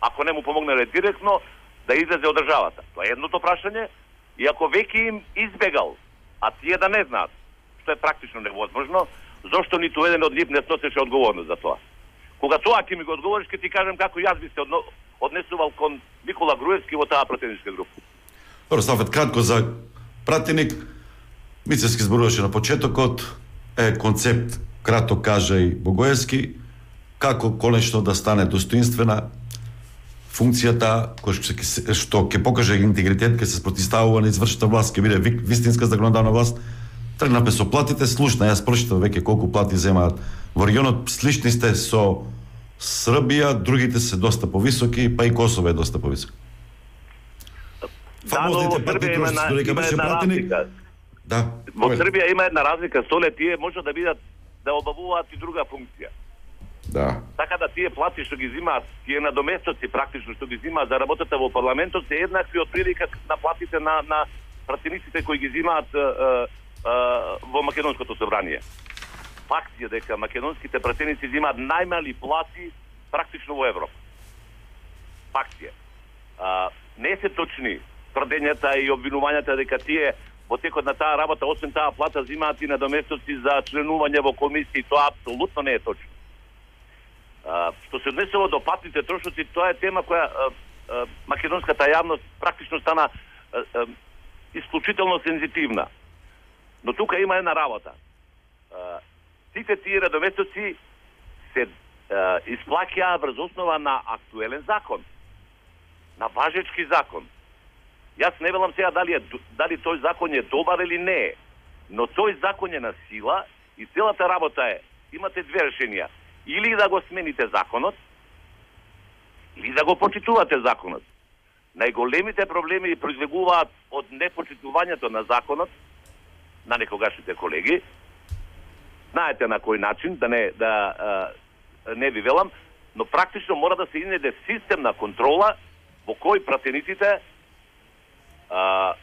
ако не му помогнале директно, да излезе од државата? Тоа е едното прашање. И ако веќе им избегал, а тие да не знаат, што е практично невозможно, зошто ниту еден од нив не сносеше одговорност за тоа? Кога тоа ќе ми го одговориш, ќе ти кажам како јас би се одно, однесувал кон Никола Груевски во таа пратеничка група. Добро, Стафет, кратко за пратеник. Мицевски зборуваше на почетокот, е концепт, кратко кажа и Богоевски, како конечно да стане достоинствена функцијата кој што, што ќе покаже интегритет, ќе се спротивставува на извршната власт, ќе биде вистинска законодавна власт. Тргнапе со платите, слушна, јас прочитав веќе колку плати земаат во регионот, слични сте со Србија, другите се доста повисоки, па и Косово е доста повисоко. Да, но во Србија има, на, има една разлика. Да. Во Србија има една разлика, столе тие може да бидат да обавуваат и друга функција. Да. Така да тие плати што ги взимаат, тие надоместоци практично што ги взимаат за работата во парламентот се еднакви од прилика на платите на на пратениците кои ги взимаат е, е, во Македонското собрание. Факт е дека македонските пратеници взимаат најмали плати практично во Европа. Факт е. А, не се точни тврдењата и обвинувањата дека тие во текот на таа работа, освен таа плата, взимаат и надоместоци за членување во комисии. Тоа апсолутно не е точно. А, што се однесува до патните трошоци, тоа е тема која а, а, македонската јавност практично стана а, а, исклучително сензитивна. Но тука има една работа. А, сите тие надоместоци се а, исплаќаа врз основа на актуелен закон, на важечки закон. Јас не велам сега дали, е, дали тој закон е добар или не е, но тој закон е на сила и целата работа е, имате две решенија. Или да го смените законот, или да го почитувате законот. Најголемите проблеми произлегуваат од непочитувањето на законот на некогашните колеги. Знаете на кој начин, да не, да, а, не ви велам, но практично мора да се инеде систем на контрола во кој пратениците а,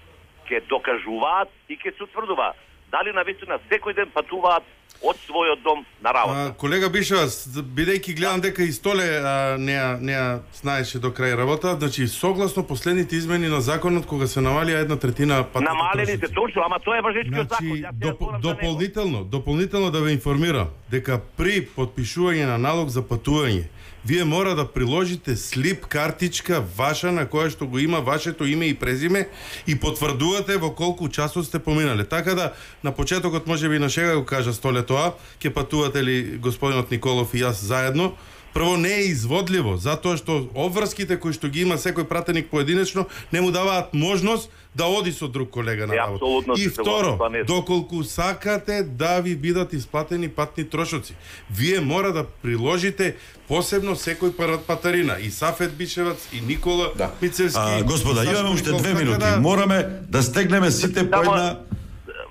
ќе докажуваат и ќе се утврдува дали навистина секој ден патуваат од својот дом на работа. А, колега Бишевас, бидејќи гледам дека и Столе а, не ја не ја знаеше до крај работа, значи согласно последните измени на законот кога се намалија една третина патните намалени се точно, ама тоа е важечкиот значи, закон. доп, дополнително, дополнително да ве информира дека при потпишување на налог за патување, вие мора да приложите слип картичка ваша на која што го има вашето име и презиме и потврдувате во колку часот сте поминале. Така да на почетокот можеби на шега го кажа Столе тоа, ќе патувате ли господинот Николов и јас заедно, Прво не е изводливо, затоа што обврските кои што ги има секој пратеник поединечно не му даваат можност да оди со друг колега на работа. И второ, доколку сакате да ви бидат исплатени патни трошоци, вие мора да приложите посебно секој патарина, и Сафет Бишевац, и Никола да. Мицевски. А, господа, имаме уште две минути. Да... Мораме да стегнеме сите по една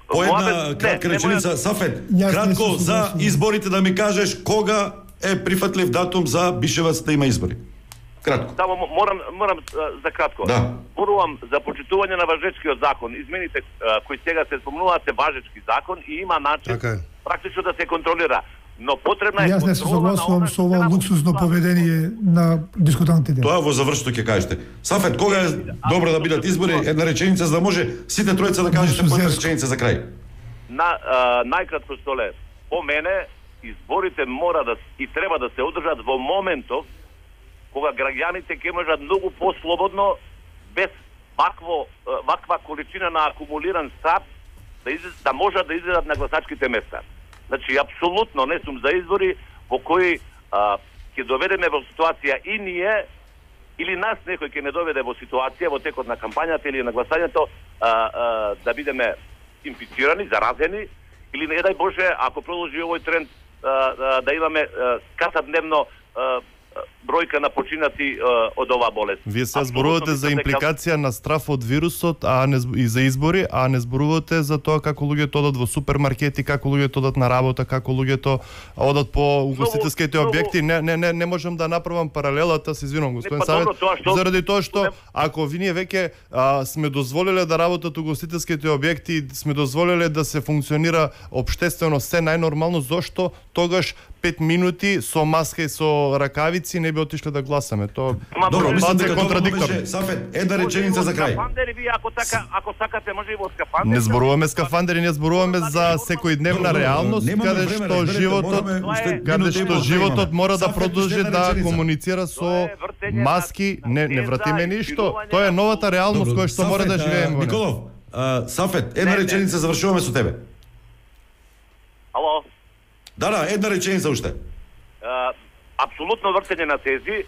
по една кратка реченица. Сафет, кратко за изборите да ми кажеш кога е прифатлив датум за Бишевац да има избори. Кратко. Само морам морам за кратко. Да. Зборувам за почитување на важечкиот закон. Измените кои сега се спомнуваат се важечки закон и има начин okay. практично да се контролира. Но потребна е контрола. Јас не се согласувам со ова луксузно поведение на дискутантите. Тоа во завршното ќе кажете. Сафет, кога е добро да бидат избори? Една реченица за да може сите тројца да кажете по една реченица за крај. На најкратко столе, по мене изборите мора да и треба да се одржат во моментов кога граѓаните ќе можат многу послободно, без вакво, ваква количина на акумулиран став, да, из, да можат да излезат на гласачките места. Значи, апсолутно не сум за избори во кои а, ќе доведеме во ситуација и ние, или нас некој ќе не доведе во ситуација во текот на кампањата или на гласањето а, а, да бидеме инфицирани, заразени, или не дај Боже, ако продолжи овој тренд, а, а, да имаме а, катадневно а, бројка на починати uh, од оваа болест. Вие се зборувате за импликација на страф од вирусот, а не и за избори, а не зборувате за тоа како луѓето одат во супермаркети, како луѓето одат на работа, како луѓето одат по угостителските објекти. Не не не не можам да направам паралелата, се извинувам, господин Савет, што... заради тоа што ако вие веќе а, сме дозволиле да работат угостителските објекти, сме дозволиле да се функционира општествено се најнормално, зошто тогаш пет минути со маска и со ракавици не би отишле да гласаме. Тоа добро, мислам дека контрадикторно. Сафет, една реченица за крај. Вие ако така, ако сакате може и во скафандери. Не зборуваме скафандери, не зборуваме за секојдневна реалност, каде што животот, каде што животот мора да продолжи да комуницира со маски, не не вратиме ништо. Тоа е новата реалност која што мора да живееме. Николов, Сафет, една реченица завршуваме со тебе. Ало. Да, да, една реченица уште. Uh, апсолутно вртење на тези.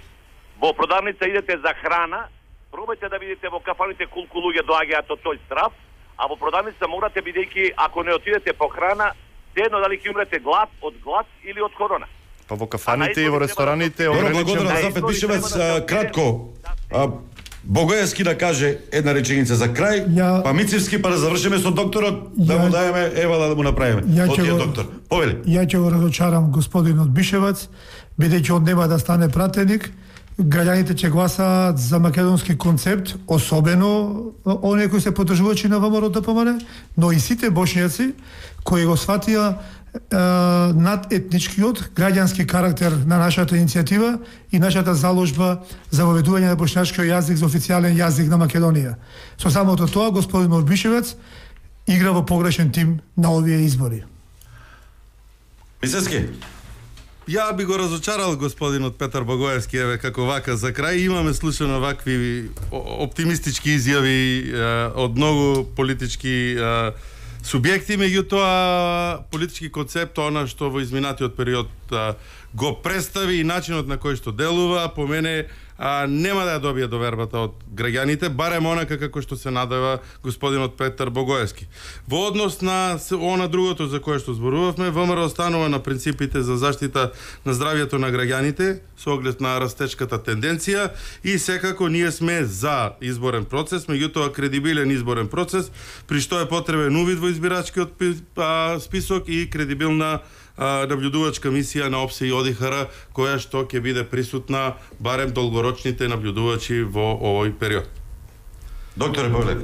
Во продавница идете за храна, пробајте да видите во кафаните колку луѓе доаѓаат од тој страф, а во продавница морате, бидејќи ако не отидете по храна, едно дали ќе умрете глад од глад или од корона. Па во кафаните и во рестораните ограничено. Благодарам, Сафет Бишевац, кратко. Богоевски да каже една реченица за крај, ја... па Мицевски па да завршиме со докторот, ја... да му даеме евала да му направиме. Од тие доктор. Повели. Ја ќе го разочарам господинот Бишевац, бидејќи он нема да стане пратеник. Граѓаните ќе гласаат за македонски концепт, особено оние кои се поддржувачи на ВМРО Д П М Н, но и сите бошњаци кои го сватија над етничкиот граѓански карактер на нашата иницијатива и нашата заложба за воведување на бошњашкиот јазик за официјален јазик на Македонија. Со самото тоа, господинот Бишевац игра во погрешен тим на овие избори. Мицевски. Ја би го разочарал господинот Петар Богоевски, еве како вака за крај. Имаме слушано вакви оптимистички изјави е, од многу политички е, субјекти, меѓутоа политички концепт, она што во изминатиот период а, го представи и начинот на кој што делува, по мене а, нема да ја добие довербата од граѓаните, барем онака како што се надева господинот Петар Богоевски. Во однос на она другото за кое што зборувавме, ВМРО останува на принципите за заштита на здравјето на граѓаните со оглед на растечката тенденција и секако ние сме за изборен процес, меѓутоа кредибилен изборен процес, при што е потребен увид во избирачкиот список и кредибилна наблюдувачка мисија на ОПСЕ и ОДИХР, која што ќе биде присутна барем долгорочните наблюдувачи во овој период. Докторе Павлев.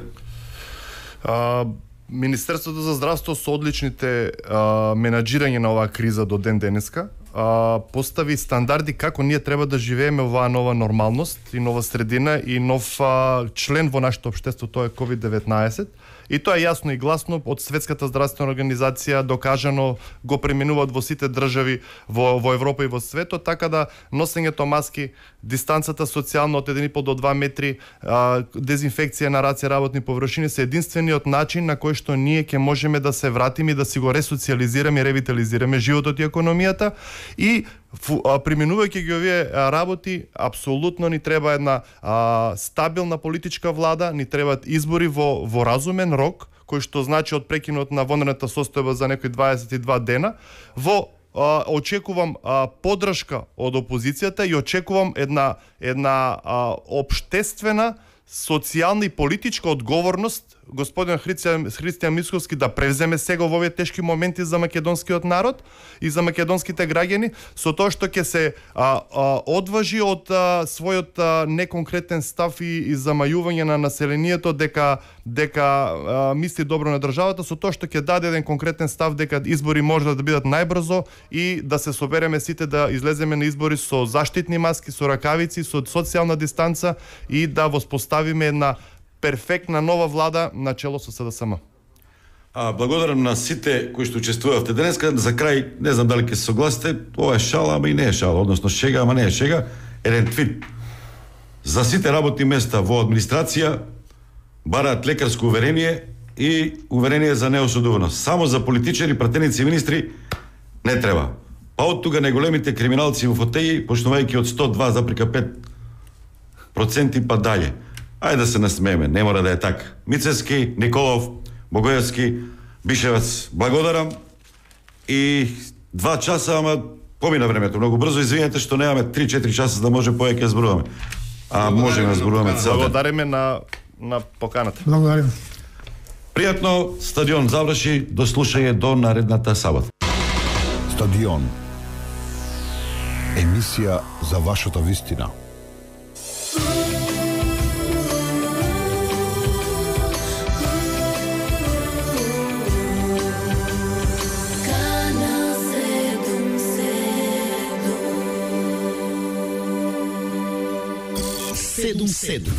Министерството за здравство со одличните а, менаџирање на оваа криза до ден денеска а, постави стандарди како ние треба да живееме оваа нова нормалност и нова средина и нов а, член во нашето општество, тоа е ковид деветнаесет. И тоа е јасно и гласно од Светската здравствена организација, докажано, го применуваат во сите држави во, во Европа и во светот, така да носењето маски, дистанцата социјална од еден и пол до два метри, а, дезинфекција на раце, работни површини се единствениот начин на кој што ние ќе можеме да се вратиме и да си го ресоциализираме и ревитализираме животот и економијата и применувајќи ги овие работи, апсолутно ни треба една а, стабилна политичка влада, ни требаат избори во во разумен рок, кој што значи од прекинот на вонредната состојба за некои дваесет и два дена, во а, очекувам а, поддршка од опозицијата и очекувам една една а, општествена, социјална и политичка одговорност господин Христијан, Христијан Мицковски да превземе сега во овие тешки моменти за македонскиот народ и за македонските граѓани, со тоа што ќе се а, а, одважи од а, својот а, неконкретен став и, и замајување на населението дека дека а, мисли добро на државата, со тоа што ќе даде еден конкретен став дека избори може да бидат најбрзо и да се собереме сите да излеземе на избори со заштитни маски, со ракавици, со социјална дистанца и да воспоставиме една перфектна нова влада на чело со СДСМ. А, благодарам на сите кои што учествувавте денеска. За крај, не знам дали ќе се согласите, ова е шала, ама и не е шала, односно шега, ама не е шега. Еден твит. За сите работни места во администрација бараат лекарско уверение и уверение за неосудуваност. Само за политичари, пратеници и министри не треба. Па од тука најголемите криминалци во фотеи, почнувајќи од сто два запирка пет проценти па далje. Ајде да се насмееме, не мора да е така. Мицевски, Николов, Богоевски, Бишевец, благодарам. И два часа, ама помина времето многу брзо. Извинете што немаме три-четири часа да може повеќе зборуваме. А можеме да зборуваме цел ден. Благодариме на на поканата. Благодарим. Пријатно, стадион заврши, до слушање до наредната сабота. Стадион. Емисија за вашата вистина. седум седум